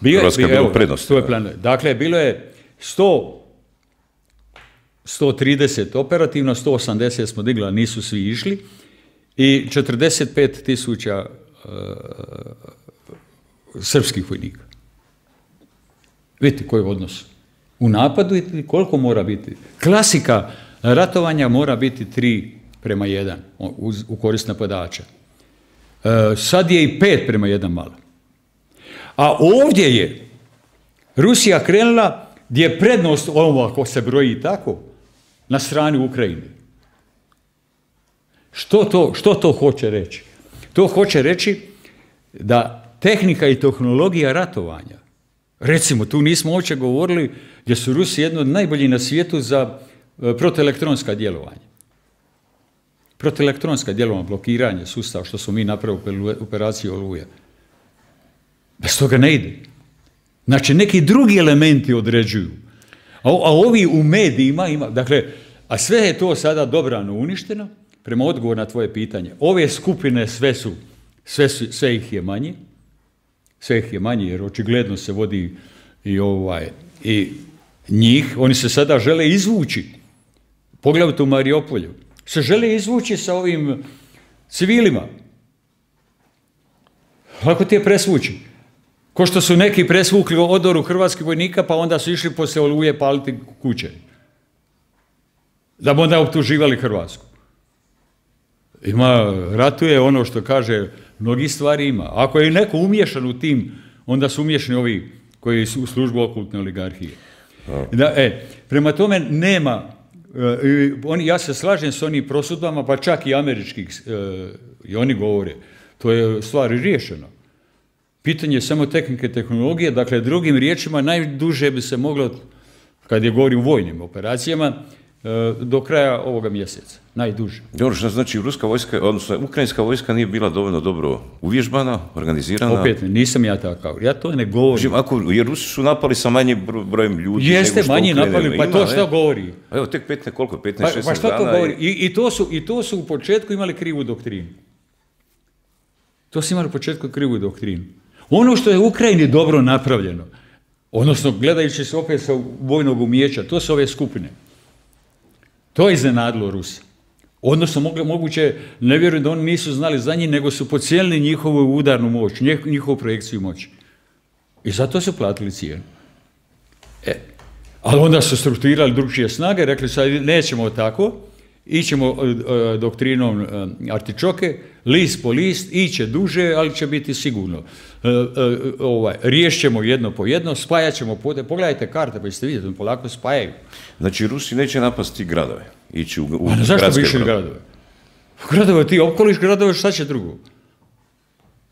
Bio, Hrvatska je bilo prednost. Dakle, bilo je sto, sto trideset operativno, sto osamdeset smo digli, a nisu svi išli, i četrdeset pet tisuća uh, srpskih vojnika. Vidite koji je odnos. U napadu i koliko mora biti. Klasika ratovanja mora biti tri prema jedan u, u korist napadača. Uh, sad je i pet prema jedan malo. A ovdje je Rusija krenula gdje je prednost, ovo ako se broji tako, na strani Ukrajine. Što to, što to hoće reći? To hoće reći da tehnika i tehnologija ratovanja Recimo, tu nismo uopće govorili gdje su Rusi jedno od najboljih na svijetu za protielektronska djelovanja. Protielektronska djelovanja, blokiranje sustava, što smo mi napravili u operaciji Oluja. Bez toga ne ide. Znači, neki drugi elementi određuju. A, a ovi u medijima ima, dakle, a sve je to sada dobrano uništeno, prema odgovoru na tvoje pitanje. Ove skupine sve su, sve, su, sve ih je manje, sve ih je manje, jer očigledno se vodi i, ovaj, i njih, oni se sada žele izvući, poglavito u Mariupolju, se žele izvući sa ovim civilima. Lako ti je presvući. Ko što su neki presvukli odoru hrvatskih vojnika, pa onda su išli poslije Oluje paliti kuće. Da bi onda optuživali Hrvatsku. Ima, ratuje ono što kaže, mnogi stvari ima. Ako je neko umješan u tim, onda su umješani ovi koji su u službu okultne oligarhije. Da, e, prema tome nema, e, oni, ja se slažem s onim prosudbama, pa čak i američkih, e, i oni govore, to je stvar riješeno. Pitanje je samo tehnike, tehnologije, dakle, drugim riječima, najduže bi se moglo, kad je govorim o vojnim operacijama, do kraja ovoga mjeseca, najduže. Dobro, što znači ruska vojska, odnosno ukrajinska vojska nije bila dovoljno dobro uvježbana, organizirana? Opet, nisam ja takav, ja to ne govorim. Ako, jer Rusi su napali sa manjim brojem ljudi. Jeste, manji napali, pa ima, to što ne? Govori? Evo, tek petnaest, koliko, petnaest, šesnaest pa, pa dana. To govori? I, i, to su, I to su u početku imali krivu doktrinu. To su imali u početku krivu doktrinu. Ono što je u Ukrajini dobro napravljeno, odnosno gledajući se opet sa vojnog umijeća, to su ove skupine. To je iznenadilo Rusa. Odnosno, moguće, ne vjerujem da oni nisu znali za njih, nego su pocijenili njihovu udarnu moć, njihovu projekciju moći. I zato su platili cijenu. E, ali onda su strukturirali drugčije snage, rekli su, nećemo tako, ićemo uh, doktrinom uh, artičoke, list po list, iće duže, ali će biti sigurno. Uh, uh, ovaj, riješćemo jedno po jedno, spajat ćemo, pogledajte karte, pa ćete vidjeti, polako spajaju. Znači, Rusi neće napasti gradove, ići u, u A ne, zašto bi išli gradove? Gradove, ti opkoliš gradove, šta će drugo?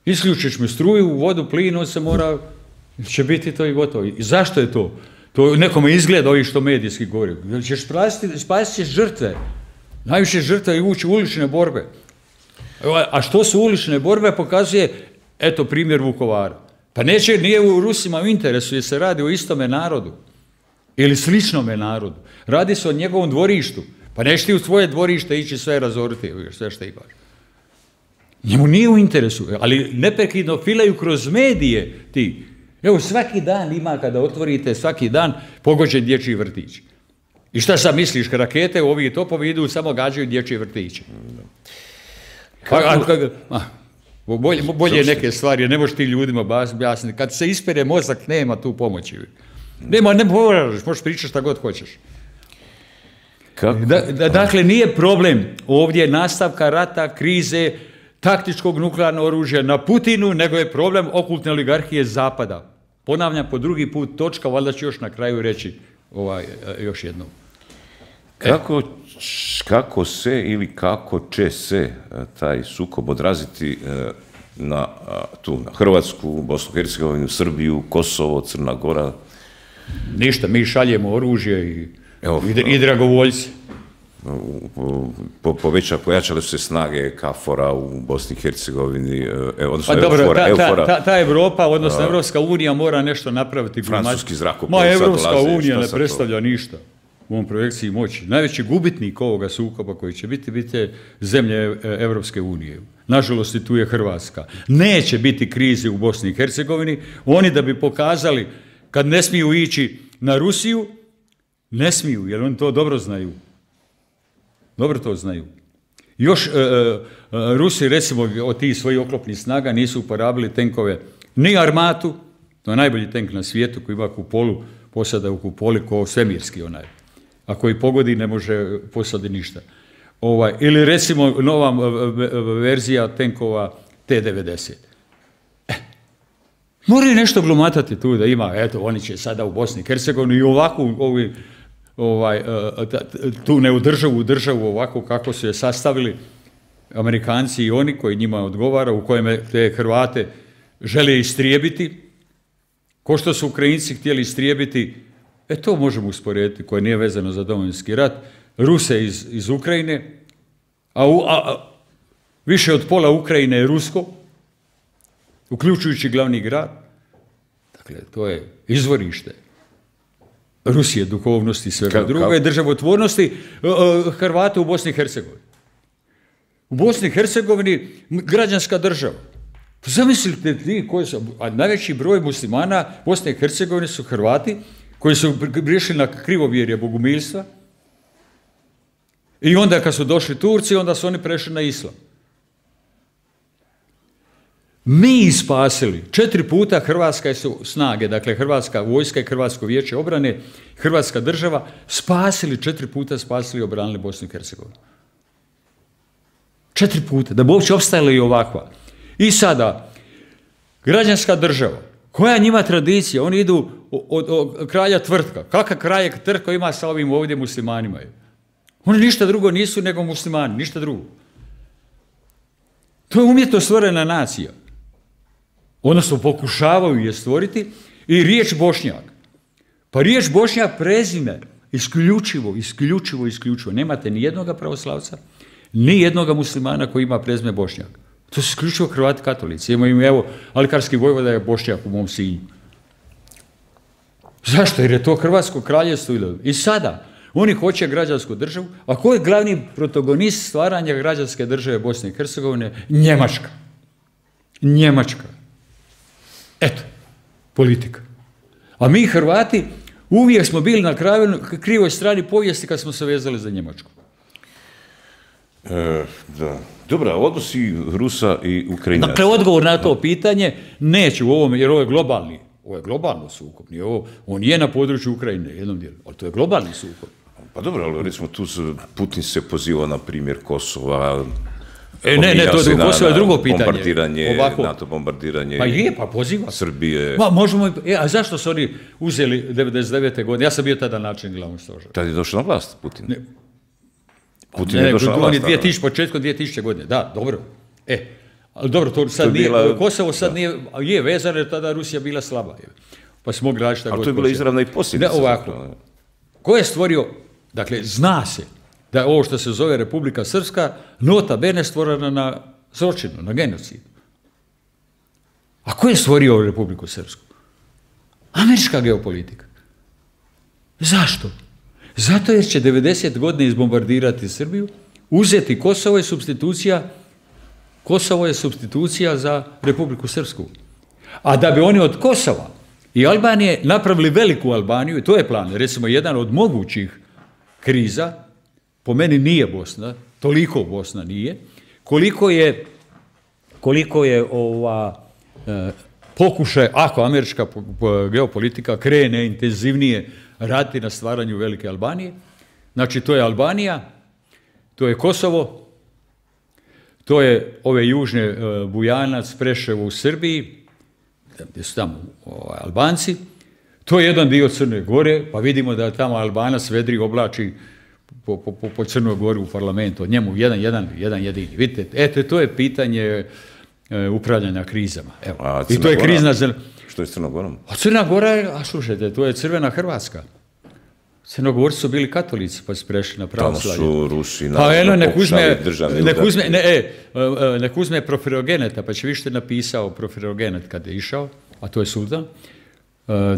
Isključiš mi struju, vodu, plin, on se mora, će biti to i gotovo. I zašto je to? To nekome izgleda ovi što medijski govori. Jer ćeš spasiti, spasiti ćeš žrtve. Najviše žrtve i ući u ulične borbe. A što su ulične borbe pokazuje, eto primjer Vukovara. Pa neće, nije u Rusima u interesu jer se radi o istome narodu. Ili sličnome narodu. Radi se o njegovom dvorištu. Pa neće ti u svoje dvorište ići sve razoriti, sve što imaš. Njemu nije u interesu, ali neprekidno filaju kroz medije ti. Evo, svaki dan ima, kada otvorite, svaki dan pogođen dječji vrtić. I šta sad misliš, rakete, ovi topovi idu, samo gađaju dječje vrtiće. A, a, a, bolje, bolje neke stvari, ne možeš ti ljudima objasniti. Kad se ispere mozak, nema tu pomoći. Nema, ne moraš, možeš pričati šta god hoćeš. Da, da, dakle, nije problem ovdje nastavka rata, krize, taktičkog nuklearnog oružja na Putinu, nego je problem okultne oligarhije Zapada. Ponavljam po drugi put, točka, valjda ću još na kraju reći ovaj, još jednom. Kako, kako se ili kako će se taj sukob odraziti na, tu, na Hrvatsku, Bosnu i Hercegovinu, Srbiju, Kosovo, Crna Gora? Ništa, mi šaljemo oružje i, Evo, i, i dragovoljci. Po, poveća, pojačale su se snage KFOR-a u Bosni i Hercegovini, odnosno pa dobro, Eufora, ta, Eufora. Ta, ta Evropa, odnosno a, Evropska unija mora nešto napraviti. Francuski zrakoplov. Ma Evropska unija ne predstavlja to? Ništa u ovom projekciji moći. Najveći gubitnik ovoga sukoba koji će biti, biti zemlje Evropske unije. Nažalost, i tu je Hrvatska. Neće biti krize u Bosni i Hercegovini. Oni da bi pokazali, kad ne smiju ići na Rusiju, ne smiju, jer oni to dobro znaju. Dobro to znaju. Još e, e, Rusi, recimo, od tih svojih oklopnih snaga nisu uporabili tenkove, ni armatu, to je najbolji tenk na svijetu koji ima kupolu, posada u kupoli ko svemirski onaj. A koji pogodi ne može posadi ništa. Ovaj, ili recimo nova verzija tenkova T devedeset. E, moraju nešto glumatati tu da ima, eto, oni će sada u Bosni i Hercegovini i ovako ovi Ovaj, tu neodržavu državu ovako kako su je sastavili Amerikanci i oni koji njima odgovara, u kojem te Hrvate žele istrijebiti, Ko što su Ukrajinci htjeli istrijebiti, e to možemo usporediti, koje nije vezano za Domovinski rat, Ruse iz, iz Ukrajine, a, u, a, a više od pola Ukrajine je rusko, uključujući glavni grad. Dakle, to je izvorište Rusije, duhovnosti i svega druge, državotvornosti Hrvata u Bosni i Hercegovini. U Bosni i Hercegovini građanska država. Zamislite ti koji su, a najveći broj muslimana Bosne i Hercegovine su Hrvati koji su griješili na krivovjerje bogumilstva i onda kad su došli Turci, onda su oni prešli na islam. Mi spasili četiri puta hrvatske su snage, dakle Hrvatska vojska i Hrvatsko vijeće obrane, Hrvatska država, spasili četiri puta, spasili i obranili Bosnu i Hercegovinu. Četiri puta, da bi uopće opstajala i ovakva. I sada, građanska država, koja njima tradicija, oni idu od, od kralja tvrtka. Kakav kralj tvrtka ima sa ovim ovdje muslimanima? Oni ništa drugo nisu nego muslimani, ništa drugo. To je umjetno stvorena nacija. Odnosno pokušavaju je stvoriti i riječ Bošnjak. Pa riječ Bošnjak prezime, isključivo, isključivo, isključivo. Nemate ni jednoga pravoslavca, ni jednoga muslimana koji ima prezime Bošnjak. To su isključivo Hrvati katolici. Imaju, evo, Alkarski vojvoda je Bošnjak u mom Sinju. Zašto? Jer je to Hrvatsko kraljevstvo. I sada, oni hoće građansku državu, a ko je glavni protagonist stvaranja građanske države Bosne i Hercegovine? Njemačka. Njemačka. Eto, politika. A mi Hrvati uvijek smo bili na krivoj strani povijesti kad smo se vezali za Njemačku. E, da. Dobra, odnosi Rusa i Ukrajinaca. Dakle, odgovor na to pitanje neće u ovom, jer ovo je globalni, ovo je globalno sukob, nije ovo, on je na području Ukrajine, jednom dijelu, ali to je globalni sukob. Pa dobro, ali recimo tu Putin se poziva na primjer Kosova. E, ne, ne, to je Kosovo je drugo pitanje. Bombardiranje, NATO bombardiranje. Pa je, pa poziva. Srbije. Ma, možemo, e, a zašto su oni uzeli devedeset devete godine? Ja sam bio tada načelnik glavnog stožera. Tad je došao na vlast Putin. Ne. Putin ne, je došao na vlast. On je početkom dvije tisuće godine, da, dobro. E, ali dobro, to sad to nije, bila, Kosovo sad da. nije, je vezano jer tada Rusija bila slaba. Pa smo mogli raditi šta god. Ali to je bila izravna i posljedica. Ne, ovako. Ko je stvorio, dakle, zna se da je ovo što se zove Republika Srpska nota bene stvorena na zločinu, na genocidu. A ko je stvorio Republiku Srpsku? Američka geopolitika. Zašto? Zato jer će devedeset godine izbombardirati Srbiju, uzeti Kosovo je supstitucija, Kosovo je supstitucija za Republiku Srpsku. A da bi oni od Kosova i Albanije napravili veliku Albaniju, i to je plan, recimo jedan od mogućih kriza, po meni nije Bosna, toliko Bosna nije, koliko je, koliko je ova, e, pokušaj, ako američka geopolitika krene intenzivnije raditi na stvaranju velike Albanije, znači to je Albanija, to je Kosovo, to je ove južne e, Bujanac, Preševo u Srbiji, gdje su tamo ovaj, Albanci, to je jedan dio Crne Gore, pa vidimo da tamo Albanac vedri oblači po, po, po Crnoj Gori u parlamentu, od njemu jedan, jedan, jedan jedini. Vidite, eto, to je pitanje e, upravljanja krizama. Evo. A i to je Gora? krizna zemlja. Što je s Crnom Gorom? A Crna Gora je, a slušajte, to je crvena Hrvatska. Crnogorci su bili katolici, pa su prešli na pravoslavlje. Tamo su Rusi pa eno, nek uzme, nek udar. uzme, ne, e, nek uzme Profirogeneta, pa će više napisao Profirogenet kad je išao, a to je sultan,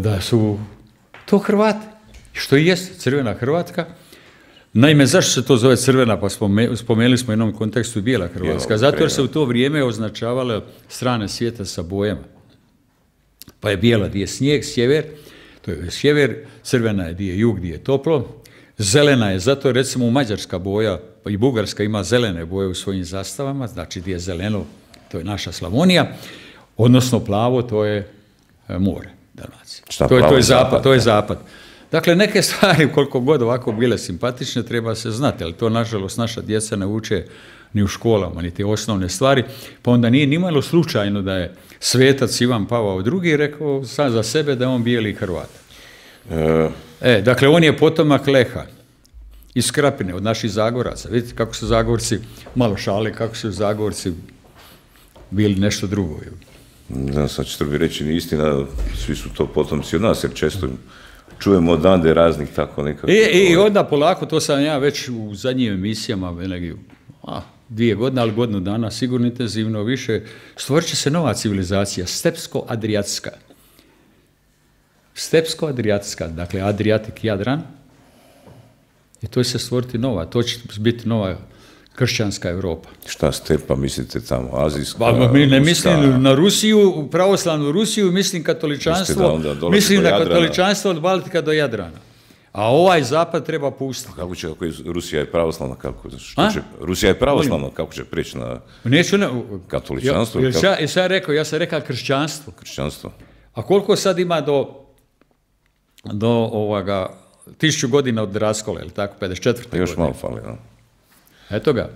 da su to Hrvati, što i jest crvena Hrvatska. Naime, zašto se to zove crvena, pa spomenuli smo u jednom kontekstu i bijela Hrvatska, zato jer se u to vrijeme označavale strane svijeta sa bojama. Pa je bijela gdje je snijeg, sjever, to je sjever, crvena je gdje je jug, gdje je toplo, zelena je, zato recimo u Mađarska boja, pa i Bugarska ima zelene boje u svojim zastavama, znači gdje je zeleno, to je naša Slavonija, odnosno plavo, to je more, Dalmacija. Šta, to, je, to je zapad, zapad, to je zapad. Dakle, neke stvari, koliko god ovako bile simpatične, treba se znati, ali to, nažalost, naša djeca ne uče ni u školama, ni te osnovne stvari, pa onda nije nimalo slučajno da je svetac Ivan Pavao drugi rekao sam za sebe da je on bijeli Hrvat. E, e, dakle, on je potomak Leha iz Krapine, od naših Zagoraca. Vidite kako su Zagorci, malo šale, kako su Zagorci bili nešto drugo. Ne znam, sad ćete bi reći, ni istina, svi su to potomci od nas, jer često čujemo odande raznih tako nekako. I, i onda polako, to sam ja već u zadnjim emisijama, a, dvije godine, ali godinu dana, sigurno intenzivno više, stvorit će se nova civilizacija, stepsko-adriatska. Stepsko-adriatska, dakle Adriatik, Jadran, i to će se stvoriti nova, to će biti nova kršćanska Europa. Šta stepa, mislite tamo, azijska? Pa, mi ne mislim na Rusiju, pravoslavnu Rusiju, mislim katoličanstvo, mislim na katoličanstvo od Baltika do Jadrana. A ovaj zapad treba pustiti. Kako će, ako je Rusija je pravoslavna, kako što će, Rusija je pravoslavna, kako će prijeći na Neću na, katoličanstvo? Ja, ja, ja, sam rekao, ja sam rekao kršćanstvo. Kršćanstvo. A koliko sad ima do, do ovoga, tisuću godina od raskola, ili tako, pedeset četvrte. Pa još godine. malo fali, no. Eto ga.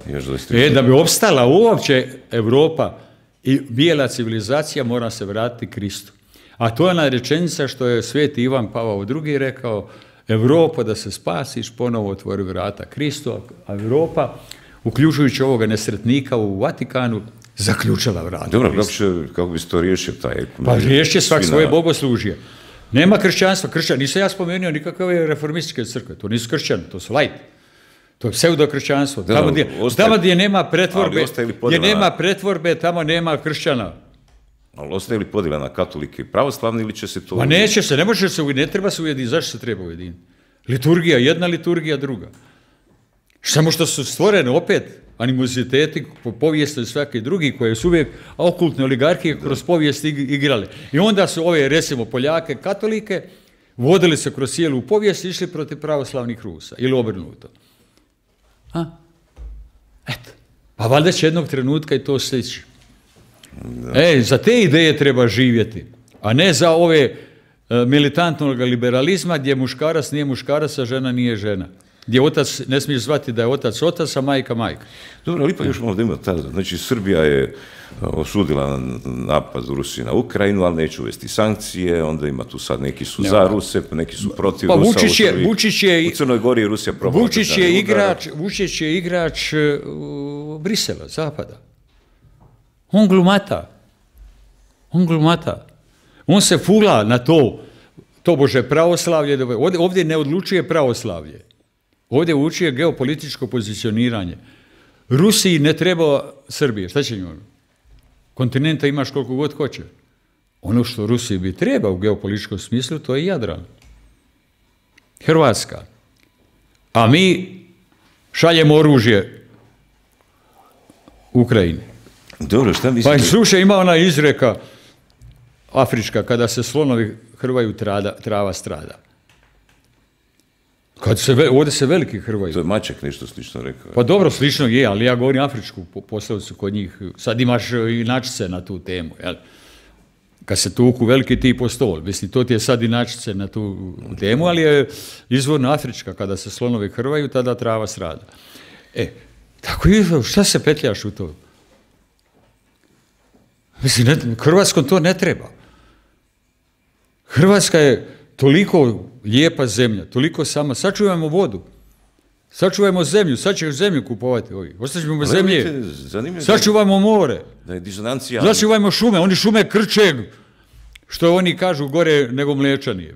E, da bi opstala uopće Europa i bijela civilizacija, mora se vratiti Kristu. A to je ona rečenica što je sveti Ivan Pavao drugi rekao, Europa da se spasiš, ponovo otvori vrata Kristu, a Europa, uključujući ovoga nesretnika u Vatikanu, zaključala vrata. Dobro, kako, će, kako bi se to riješio taj? Pa riješće svak svoje bogoslužje. Nema kršćanstva, kršćan, nisam ja spomenuo nikakve reformističke crkve, to nisu kršćani, to su lajti. To je pseudokršćanstvo. Tamo gdje, ostaje, tamo gdje nema pretvorbe, gdje nema pretvorbe, tamo nema kršćana. Ali ostaje li podjela na katolike i pravoslavni ili će se to... Ma neće se, ne može se ujediniti, ne treba se ujediniti. Zašto se treba ujediniti? Liturgija, jedna liturgija, druga. Samo što su stvorene opet animoziteti po povijesti i svaki drugi koje su uvijek okultne oligarhije kroz povijest igrale. I onda su ove, recimo, Poljake, katolike, vodili se kroz cijelu povijest i išli protiv pravoslavnih Rusa. Ili obrnuto. A? Eto. Pa valjda će jednog trenutka i to stići. E, za te ideje treba živjeti, a ne za ove e, militantnog liberalizma gdje muškarac nije muškarac, a žena nije žena. Gdje otac, ne smiješ zvati da je otac otac, a majka majka. Dobro, ali ipak još malo da ima tada. Znači, Srbija je osudila napad Rusije na Ukrajinu, ali neće uvesti sankcije, onda ima tu sad neki su za Ruse, neki su protiv pa, Rusa Vučić je, u, Vučić je, u Crnoj Gori Rusija probala. Vučić je igrač, Vučić je igrač uh, Brisela, Zapada. On glumata. On glumata. On se fula na to, to bože pravoslavlje. Ovdje, ovdje ne odlučuje pravoslavlje. Ovdje učuje geopolitičko pozicioniranje. Rusiji ne treba Srbije. Šta će njoj? Kontinenta imaš koliko god hoće. Ono što Rusiji bi treba u geopolitičkom smislu, to je Jadran. Hrvatska. A mi šaljemo oružje Ukrajini. Dobro, šta mislite? Pa slušaj, ima ona izreka afrička, kada se slonovi hrvaju, trada, trava strada. Kad se, ovdje se veliki hrvaju. To je Maček nešto slično rekao. Pa dobro, slično je, ali ja govorim afričku poslovicu kod njih. Sad imaš inačice na tu temu, jel? Kad se tuku veliki ti po stol. Mislim, to ti je sad inačice na tu temu, ali je izvorno afrička. Kada se slonovi hrvaju, tada trava strada. E, tako je, šta se petljaš u to? Mislim, ne, Hrvatskom to ne treba. Hrvatska je toliko lijepa zemlja, toliko sama. Sačuvajmo vodu, sačuvajmo zemlju, sad ćeš zemlju kupovati ovi. Ostaćemo zemlje, sačuvajmo more, da je disonancija. Sačuvajmo šume, oni šume krče, što oni kažu gore nego Mlečani.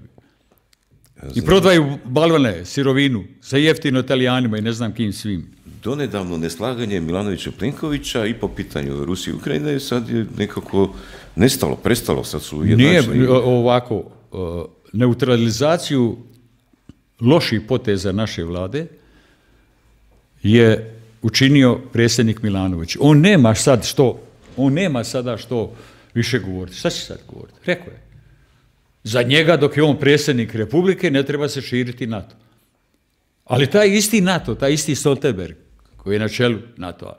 I prodaju balvane, sirovinu, za jeftino Italijanima i ne znam kim svim. Donedavno neslaganje Milanovića Plenkovića i po pitanju Rusije i Ukrajine sad je nekako nestalo, prestalo, sad su ujednačeni. Nije ovako, neutralizaciju loših poteza naše vlade je učinio predsjednik Milanović. On nema sad što, on nema sada što više govoriti. Šta će sad govoriti? Rekao je. Za njega, dok je on predsjednik Republike, ne treba se širiti NATO. Ali taj isti NATO, taj isti Stoltenberg, koji je na čelu NATO-a,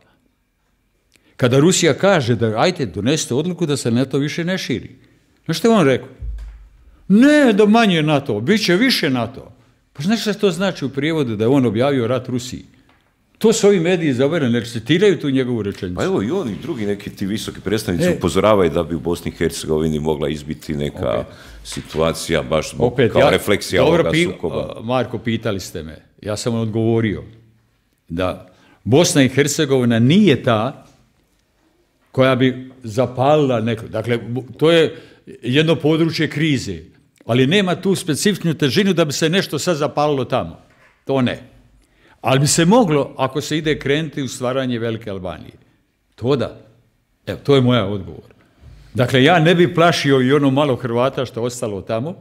kada Rusija kaže da ajte, donesite odluku da se NATO više ne širi. Znaš što je on rekao? Ne, da manje NATO, bit će više NATO. Pa znaš što to znači u prijevodu da je on objavio rat Rusiji? To su ovi mediji zavrljeni, ne citiraju tu njegovu rečenicu. Pa evo i oni drugi neki ti visoki predstavnici e. upozoravaju da bi u Bosni i Hercegovini mogla izbiti neka okay. situacija, baš Opet, kao ja, refleksija ovoga pi, sukoba. Marko, pitali ste me, ja sam odgovorio da Bosna i Hercegovina nije ta koja bi zapalila neko. Dakle, to je jedno područje krize, ali nema tu specifičnu težinu da bi se nešto sad zapalilo tamo. To ne. Ali bi se moglo, ako se ide krenuti u stvaranje Velike Albanije. To da. Evo, to je moja odgovor. Dakle, ja ne bi plašio i ono malo Hrvata što je ostalo tamo,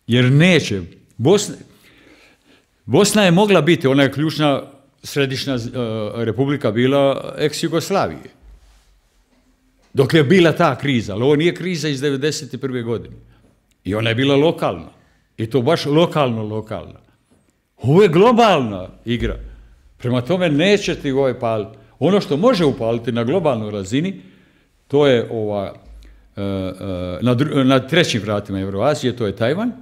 jer neće. Bosna, Bosna je mogla biti, ona je ključna središnja uh, republika bila ex-Jugoslavije. Dok je bila ta kriza, ali ovo nije kriza iz devedeset prve godine. I ona je bila lokalna. I to baš lokalno lokalna. Ovo je globalna igra. Prema tome neće ti ovaj paliti. Ono što može upaliti na globalnoj razini, to je ova, na, na trećim vratima Euroazije, to je Tajvan,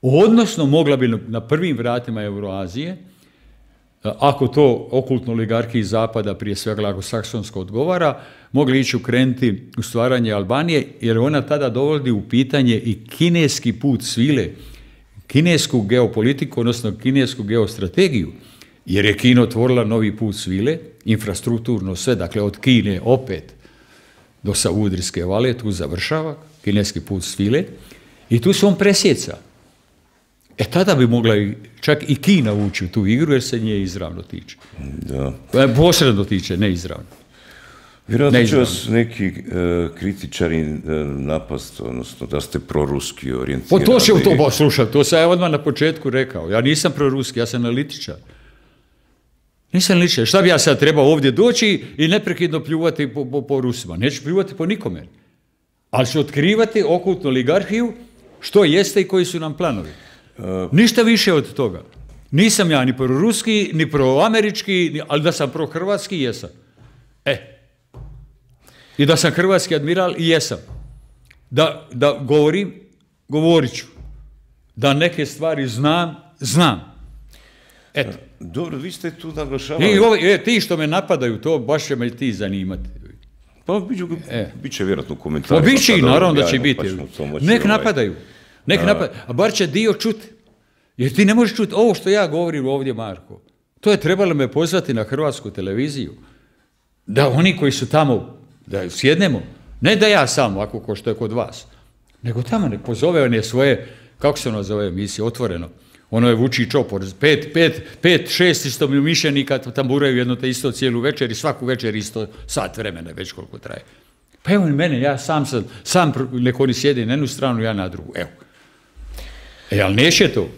odnosno mogla bi na prvim vratima Euroazije, ako to okultno oligarhiji Zapada, prije svega anglosaksonsko odgovara, mogli ići ukrenuti u stvaranje Albanije, jer ona tada dovodi u pitanje i kineski put svile, kinesku geopolitiku, odnosno kinesku geostrategiju, jer je Kina otvorila novi put svile, infrastrukturno sve, dakle od Kine opet do Saudijske vale, tu završava kineski put svile i tu se on presjeca. E tada bi mogla čak i Kina ući u tu igru jer se nje izravno tiče. Da. Posredno tiče, ne izravno. Vjerojatno će vas neki uh, kritičari uh, napast, odnosno da ste proruski orijentirani. Pa to će u to, slušaj, to sam ja odmah na početku rekao. Ja nisam proruski, ja sam analitičar. Nisam analitičar. Šta bi ja sad trebao ovdje doći i neprekidno pljuvati po, po, po Rusima? Neću pljuvati po nikome. Ali ću otkrivati okultnu oligarhiju, što jeste i koji su nam planovi. Uh, Ništa više od toga. Nisam ja ni proruski, ni proamerički, ali da sam prohrvatski, jesam. E. I da sam hrvatski admiral, i jesam. Da, da govorim, govorit ću. Da neke stvari znam, znam. Eto. Dobro, vi ste tu naglašavali. I ovi, e, ti što me napadaju, to baš će me ti zanimati. Pa biću, e. bit će vjerojatno u Pa komentarima. bit će i naravno da će biti. Nek napadaju. Nek A. napadaju. A bar će dio čuti. Jer ti ne možeš čuti ovo što ja govorim ovdje, Marko. To je trebalo me pozvati na hrvatsku televiziju. Da oni koji su tamo, da sjednemo, ne da ja sam, ako ko što je kod vas, nego tamo ne pozove on je svoje, kako se ono zove emisije, Otvoreno. Ono je Vuči Čopor, pet, pet, pet, šest isto mišljenika tamburaju jedno te isto cijelu večer i svaku večer isto sat vremena, već koliko traje. Pa evo mene, ja sam sam, sam neko oni sjedi na jednu stranu, ja na drugu, evo. E, ali neće to.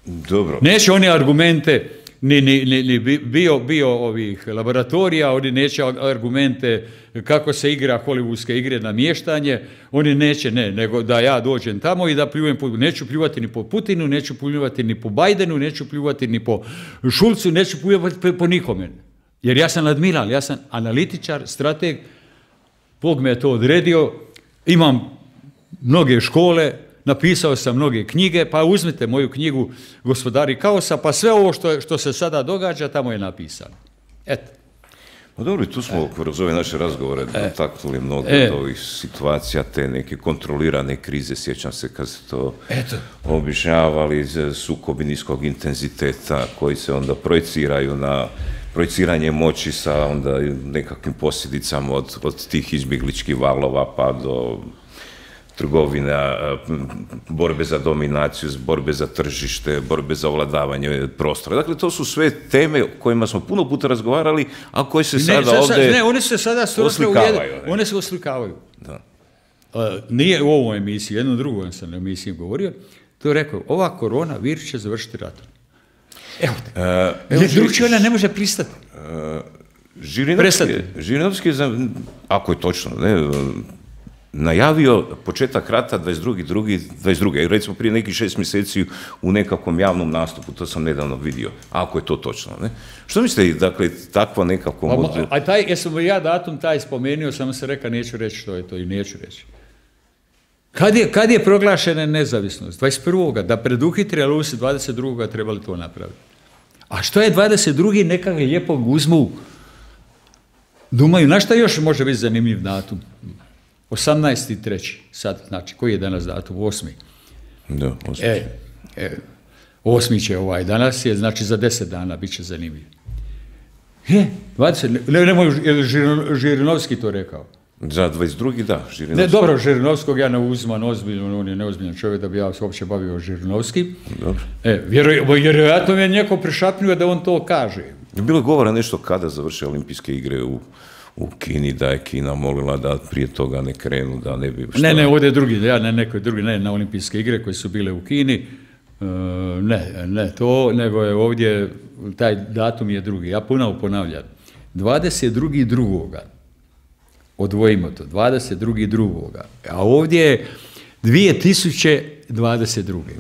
Dobro. Neće oni argumente, ni, ni, ni, ni bio, bio ovih laboratorija, oni neće argumente kako se igra hollywoodske igre na mještanje, oni neće, ne, nego da ja dođem tamo i da pljujem, po, neću pljuvati ni po Putinu, neću pljuvati ni po Bajdenu, neću pljuvati ni po Šulcu, neću pljuvati po, po nikome. Jer ja sam admiral, ja sam analitičar, strateg, Bog me je to odredio, imam mnoge škole, napisao sam mnoge knjige, pa uzmite moju knjigu Gospodari kaosa, pa sve ovo što, što se sada događa, tamo je napisano. Eto. Pa dobro, tu smo e. kroz ove naše razgovore e. dotaknuli mnogo e. od ovih situacija, te neke kontrolirane krize, sjećam se kad ste to Eto. objašnjavali, sukobi niskog intenziteta koji se onda projiciraju na projiciranje moći sa onda nekakvim posljedicama od, od tih izbjegličkih valova pa do trgovina, borbe za dominaciju, borbe za tržište, borbe za ovladavanje prostora. Dakle, to su sve teme o kojima smo puno puta razgovarali, a koje se sada ne, ovdje ne, one se sada oslikavaju. Ne. One se oslikavaju. Da. Uh, nije u ovoj emisiji, jednu drugu sam na emisiji govorio, to je rekao, ova korona virus će završiti ratom. Evo te. Uh, evo, drugčije ona ne može pristati. Uh, Žirinovski je, ako je točno, ne, najavio početak rata dvadeset druge dvadeset druge recimo prije nekih šest mjeseci u nekakvom javnom nastupu, to sam nedavno vidio, ako je to točno. Ne? Što mislite, dakle, takva nekako... Mod... A, a taj, jesam ja datum taj spomenuo, samo se reka, neću reći što je to i neću reći. Kad je, kad je proglašena nezavisnost? dvadeset prvog da preduhitri, ali se dvadeset drugog trebali to napraviti. A što je dvadeset drugi nekak lijepo uzmu, dumaju, na šta još može biti zanimljiv datum? osamnaesti treći sad, znači, koji je danas datum? osmi. Da, osmi. E, e, osmi će ovaj, danas je, znači za deset dana bit će zanimljiv. Je, dvadeset, ne, nemoj, je li Žirinovski to rekao? Za dvadeset drugi da, Žirinovski. Ne, dobro, Žirinovskog ja ne uzimam ozbiljno, on je neozbiljan čovjek da bi ja se uopće bavio Žirinovskim. Dobro. E, vjerojatno mi je neko prišapnio da on to kaže. Bilo govora nešto kada završe olimpijske igre u, u Kini, da je Kina molila da prije toga ne krenu, da ne bi... Šta... Ne, ne, ovdje je drugi, ja ne, nekoj drugi, ne, na olimpijske igre koje su bile u Kini, uh, ne, ne to, nego je ovdje, taj datum je drugi. Ja ponovo ponavljam, dvadeset drugi drugoga odvojimo to, dvadeset drugi drugoga a ovdje je dvije tisuće dvadeset druge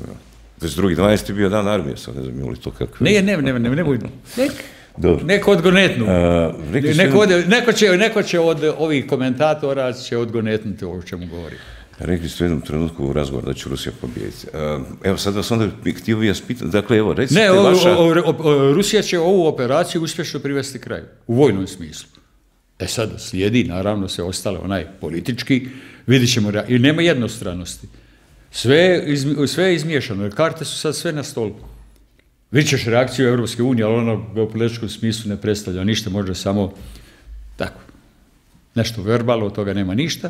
dvadeset drugi dvanaesti je bio dan armije, sad ne znam ili to kako... Ne, ne, ne, ne, ne, nek, neko odgonetnu. Neko, neko, će, neko će od ovih komentatora će odgonetnuti ovo o čemu govori. Rekli ste u jednom trenutku u razgovor da će Rusija pobijediti. Evo sad vas onda htio bi vas pitati, dakle evo recite ne, vaša... o, o, o, Rusija će ovu operaciju uspješno privesti kraju, u vojnom smislu. E sad slijedi, naravno se ostale onaj politički, vidit ćemo, i nema jednostranosti. Sve, sve je izmiješano, jer karte su sad sve na stolu. Vidit ćeš reakciju Europske unije, ali ono u političkom smislu ne predstavlja ništa, možda samo tako, nešto verbalno, od toga nema ništa.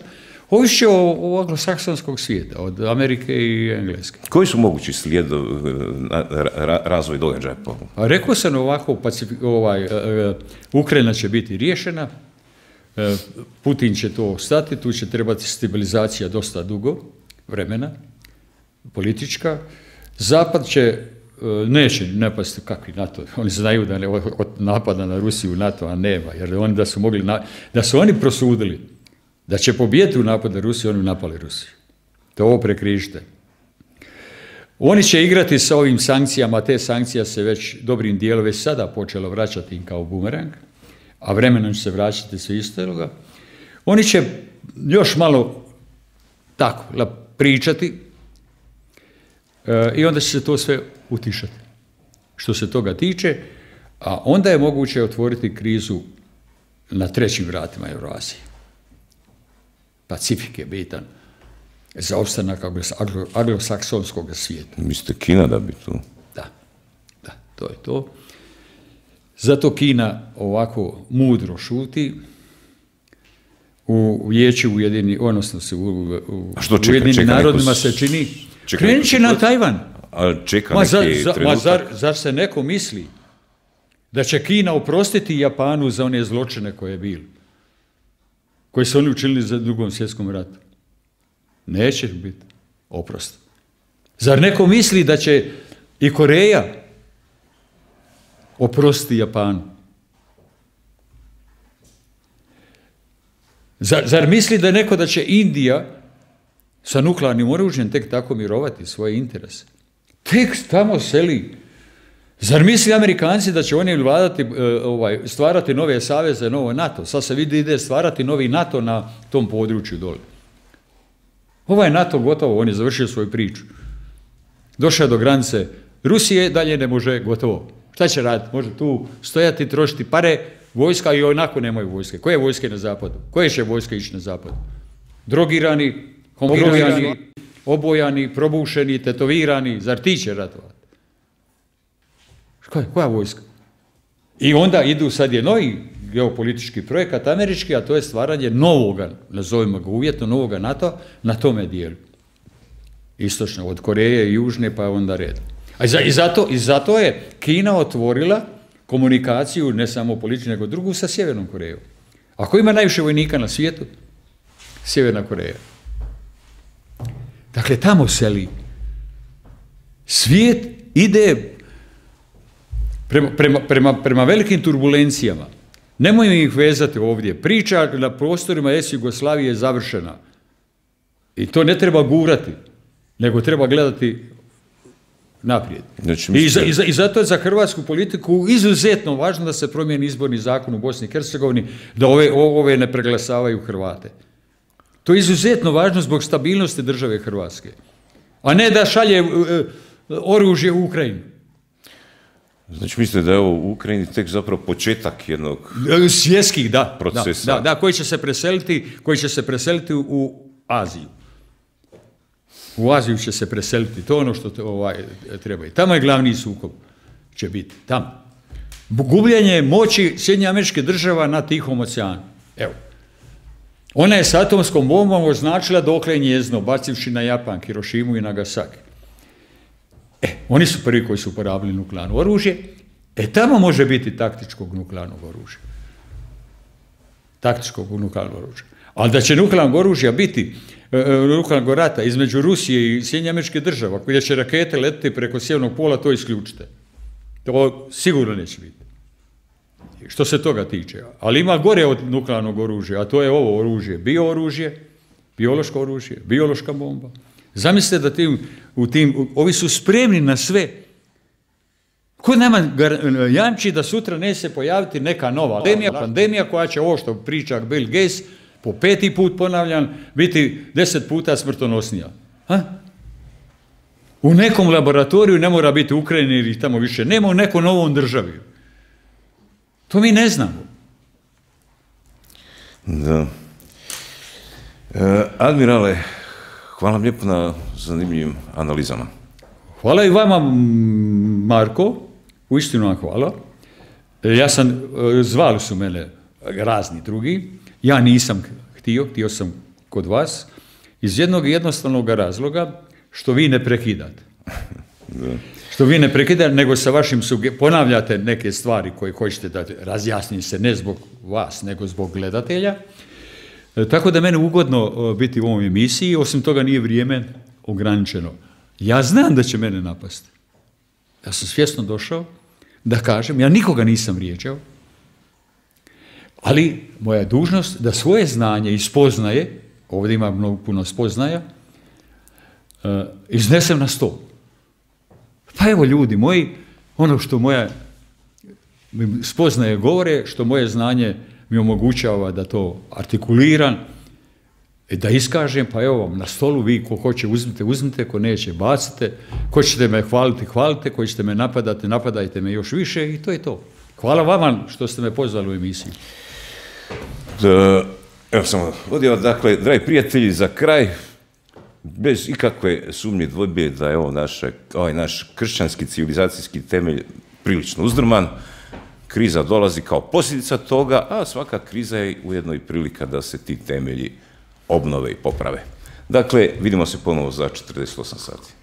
Ovišće o, o anglosaksonskog svijeta, od Amerike i Engleske. Koji su mogući slijed ra, razvoj događaja? A rekao sam ovako, Pacifik, ovaj, uh, Ukrajina će biti riješena, uh, Putin će to stati, tu će trebati stabilizacija dosta dugo vremena, politička. Zapad će, uh, neće napasti kakvi NATO, oni znaju da ne, od napada na Rusiju NATO-a nema, jer oni da su mogli, na, da su oni prosudili da će pobijeti u napad na Rusiju, oni napali Rusiju. To ovo prekrižite. Oni će igrati sa ovim sankcijama, te sankcija se već dobrim dijelom već sada počelo vraćati im kao bumerang, a vremenom će se vraćati sve istoga. Oni će još malo tako pričati e, i onda će se to sve utišati. Što se toga tiče, a onda je moguće otvoriti krizu na trećim vratima Eurazije. Pacifik je bitan za opstanak anglosaksonskog svijeta. Mislite Kina da bi tu? Da, da, to je to. Zato Kina ovako mudro šuti. U vijeću Ujedinjenih, odnosno se u, u Ujedinjenim narodima se čini. Krenut će na Tajvan. A čeka ma, zar, neki za, trenutak. ma zar, zar se neko misli da će Kina oprostiti Japanu za one zločine koje je bilo? Koji su oni učinili za drugom svjetskom ratu? Neće biti oprost. Zar neko misli da će i Koreja oprostiti Japanu? Zar, zar misli da neko da će Indija sa nuklearnim oružjem tek tako mirovati svoje interese? Tek tamo seli. Zar misli Amerikanci da će oni vladati, ovaj, stvarati nove saveze, novo NATO? Sad se vidi ide stvarati novi NATO na tom području dole. Ovaj NATO gotovo, on je završio svoju priču. Došao je do granice Rusije, dalje ne može, gotovo. Šta će raditi? Može tu stojati, trošiti pare, vojska i onako nemaju vojske. Koje vojske na zapadu? Koje će vojske ići na zapadu? Drogirani, homogirani, obojani, probušeni, tetovirani, zar ti će ratovati? Koja, koja vojska? I onda idu, sad je novi geopolitički projekat američki, a to je stvaranje novoga, nazovimo ga uvjetno, novoga NATO na tome dijelu. Istočno, od Koreje i Južne, pa onda red. A i, za, i, zato, i zato je Kina otvorila komunikaciju, ne samo političku, nego drugu, sa Sjevernom Korejom. Ako ima najviše vojnika na svijetu, Sjeverna Koreja. Dakle, tamo seli. Svijet ide prema, prema, prema, prema velikim turbulencijama. Nemojmo ih vezati ovdje. Priča na prostorima es Jugoslavije je završena. I to ne treba gurati, nego treba gledati naprijed. Znači, I, za, i, za, I zato je za hrvatsku politiku izuzetno važno da se promijeni izborni zakon u Bosni i Hercegovini, da ove, ove ne preglasavaju Hrvate. To je izuzetno važno zbog stabilnosti države Hrvatske. A ne da šalje uh, oružje u Ukrajinu. Znači mislite da je ovo u Ukrajini tek zapravo početak jednog svjetskih, da, procesa? Da, da, da, koji će se preseliti, koji će se preseliti u, u Aziju. U Aziju će se preseliti, to je ono što te, ovaj, treba. I tamo je glavni sukob, će biti, tamo. gubljenje moći Sjedinjenih Američkih Država na Tihom oceanu. Evo. Ona je s atomskom bombom označila dokle je njezino, bacivši na Japan, Hirošimu i Nagasaki. E, oni su prvi koji su uporabili nuklearno oružje. E, tamo može biti taktičkog nuklearnog oružja. Taktičkog nuklearnog oružja. Ali da će nuklearnog oružja biti, e, nuklearnog rata između Rusije i Sjedinjenih Američkih Država, koji će rakete letiti preko sjevernog pola, to isključite. To sigurno neće biti. Što se toga tiče. Ali ima gore od nuklearnog oružja, a to je ovo oružje, bio-oružje, biološko oružje, biološka bomba. Zamislite da tim, u tim, ovi su spremni na sve. Ko nama jamči da sutra neće se pojaviti neka nova pandemija, pandemija koja će ovo što priča Bill Gates, po peti put ponavljam, biti deset puta smrtonosnija. Ha? U nekom laboratoriju ne mora biti u Ukrajini ili tamo više, nema u nekom novom državi. To mi ne znamo. Da. E, admirale, hvala vam lijepo na zanimljivim analizama. Hvala i vama, Marko, uistinu vam hvala. Ja sam, zvali su mene razni drugi, ja nisam htio, htio sam kod vas, iz jednog jednostavnog razloga što vi ne prekidate. Da. Što vi ne prekidate, nego sa vašim ponavljate neke stvari koje hoćete da razjasnim se, ne zbog vas, nego zbog gledatelja. E, tako da mene ugodno biti u ovom emisiji, osim toga nije vrijeme ograničeno. Ja znam da će mene napasti. Ja sam svjesno došao da kažem, ja nikoga nisam vrijeđao, ali moja je dužnost da svoje znanje i spoznaje, ovdje ima mnogo puno spoznaja, e, iznesem na stol. Pa evo ljudi moji, ono što moja spoznaje govore, što moje znanje mi omogućava da to artikuliram, da iskažem, pa evo vam na stolu, vi ko hoće uzmite, uzmite, ko neće bacite, ko ćete me hvaliti, hvalite, ko ćete me napadati, napadajte me još više i to je to. Hvala vama što ste me pozvali u emisiju. Da, evo sam vodio, dakle, dragi prijatelji, za kraj, bez ikakve sumnje dvojbe da je ovo naše, ovaj naš kršćanski civilizacijski temelj prilično uzdrman, kriza dolazi kao posljedica toga, a svaka kriza je ujedno i prilika da se ti temelji obnove i poprave. Dakle, vidimo se ponovo za četrdeset osam sati.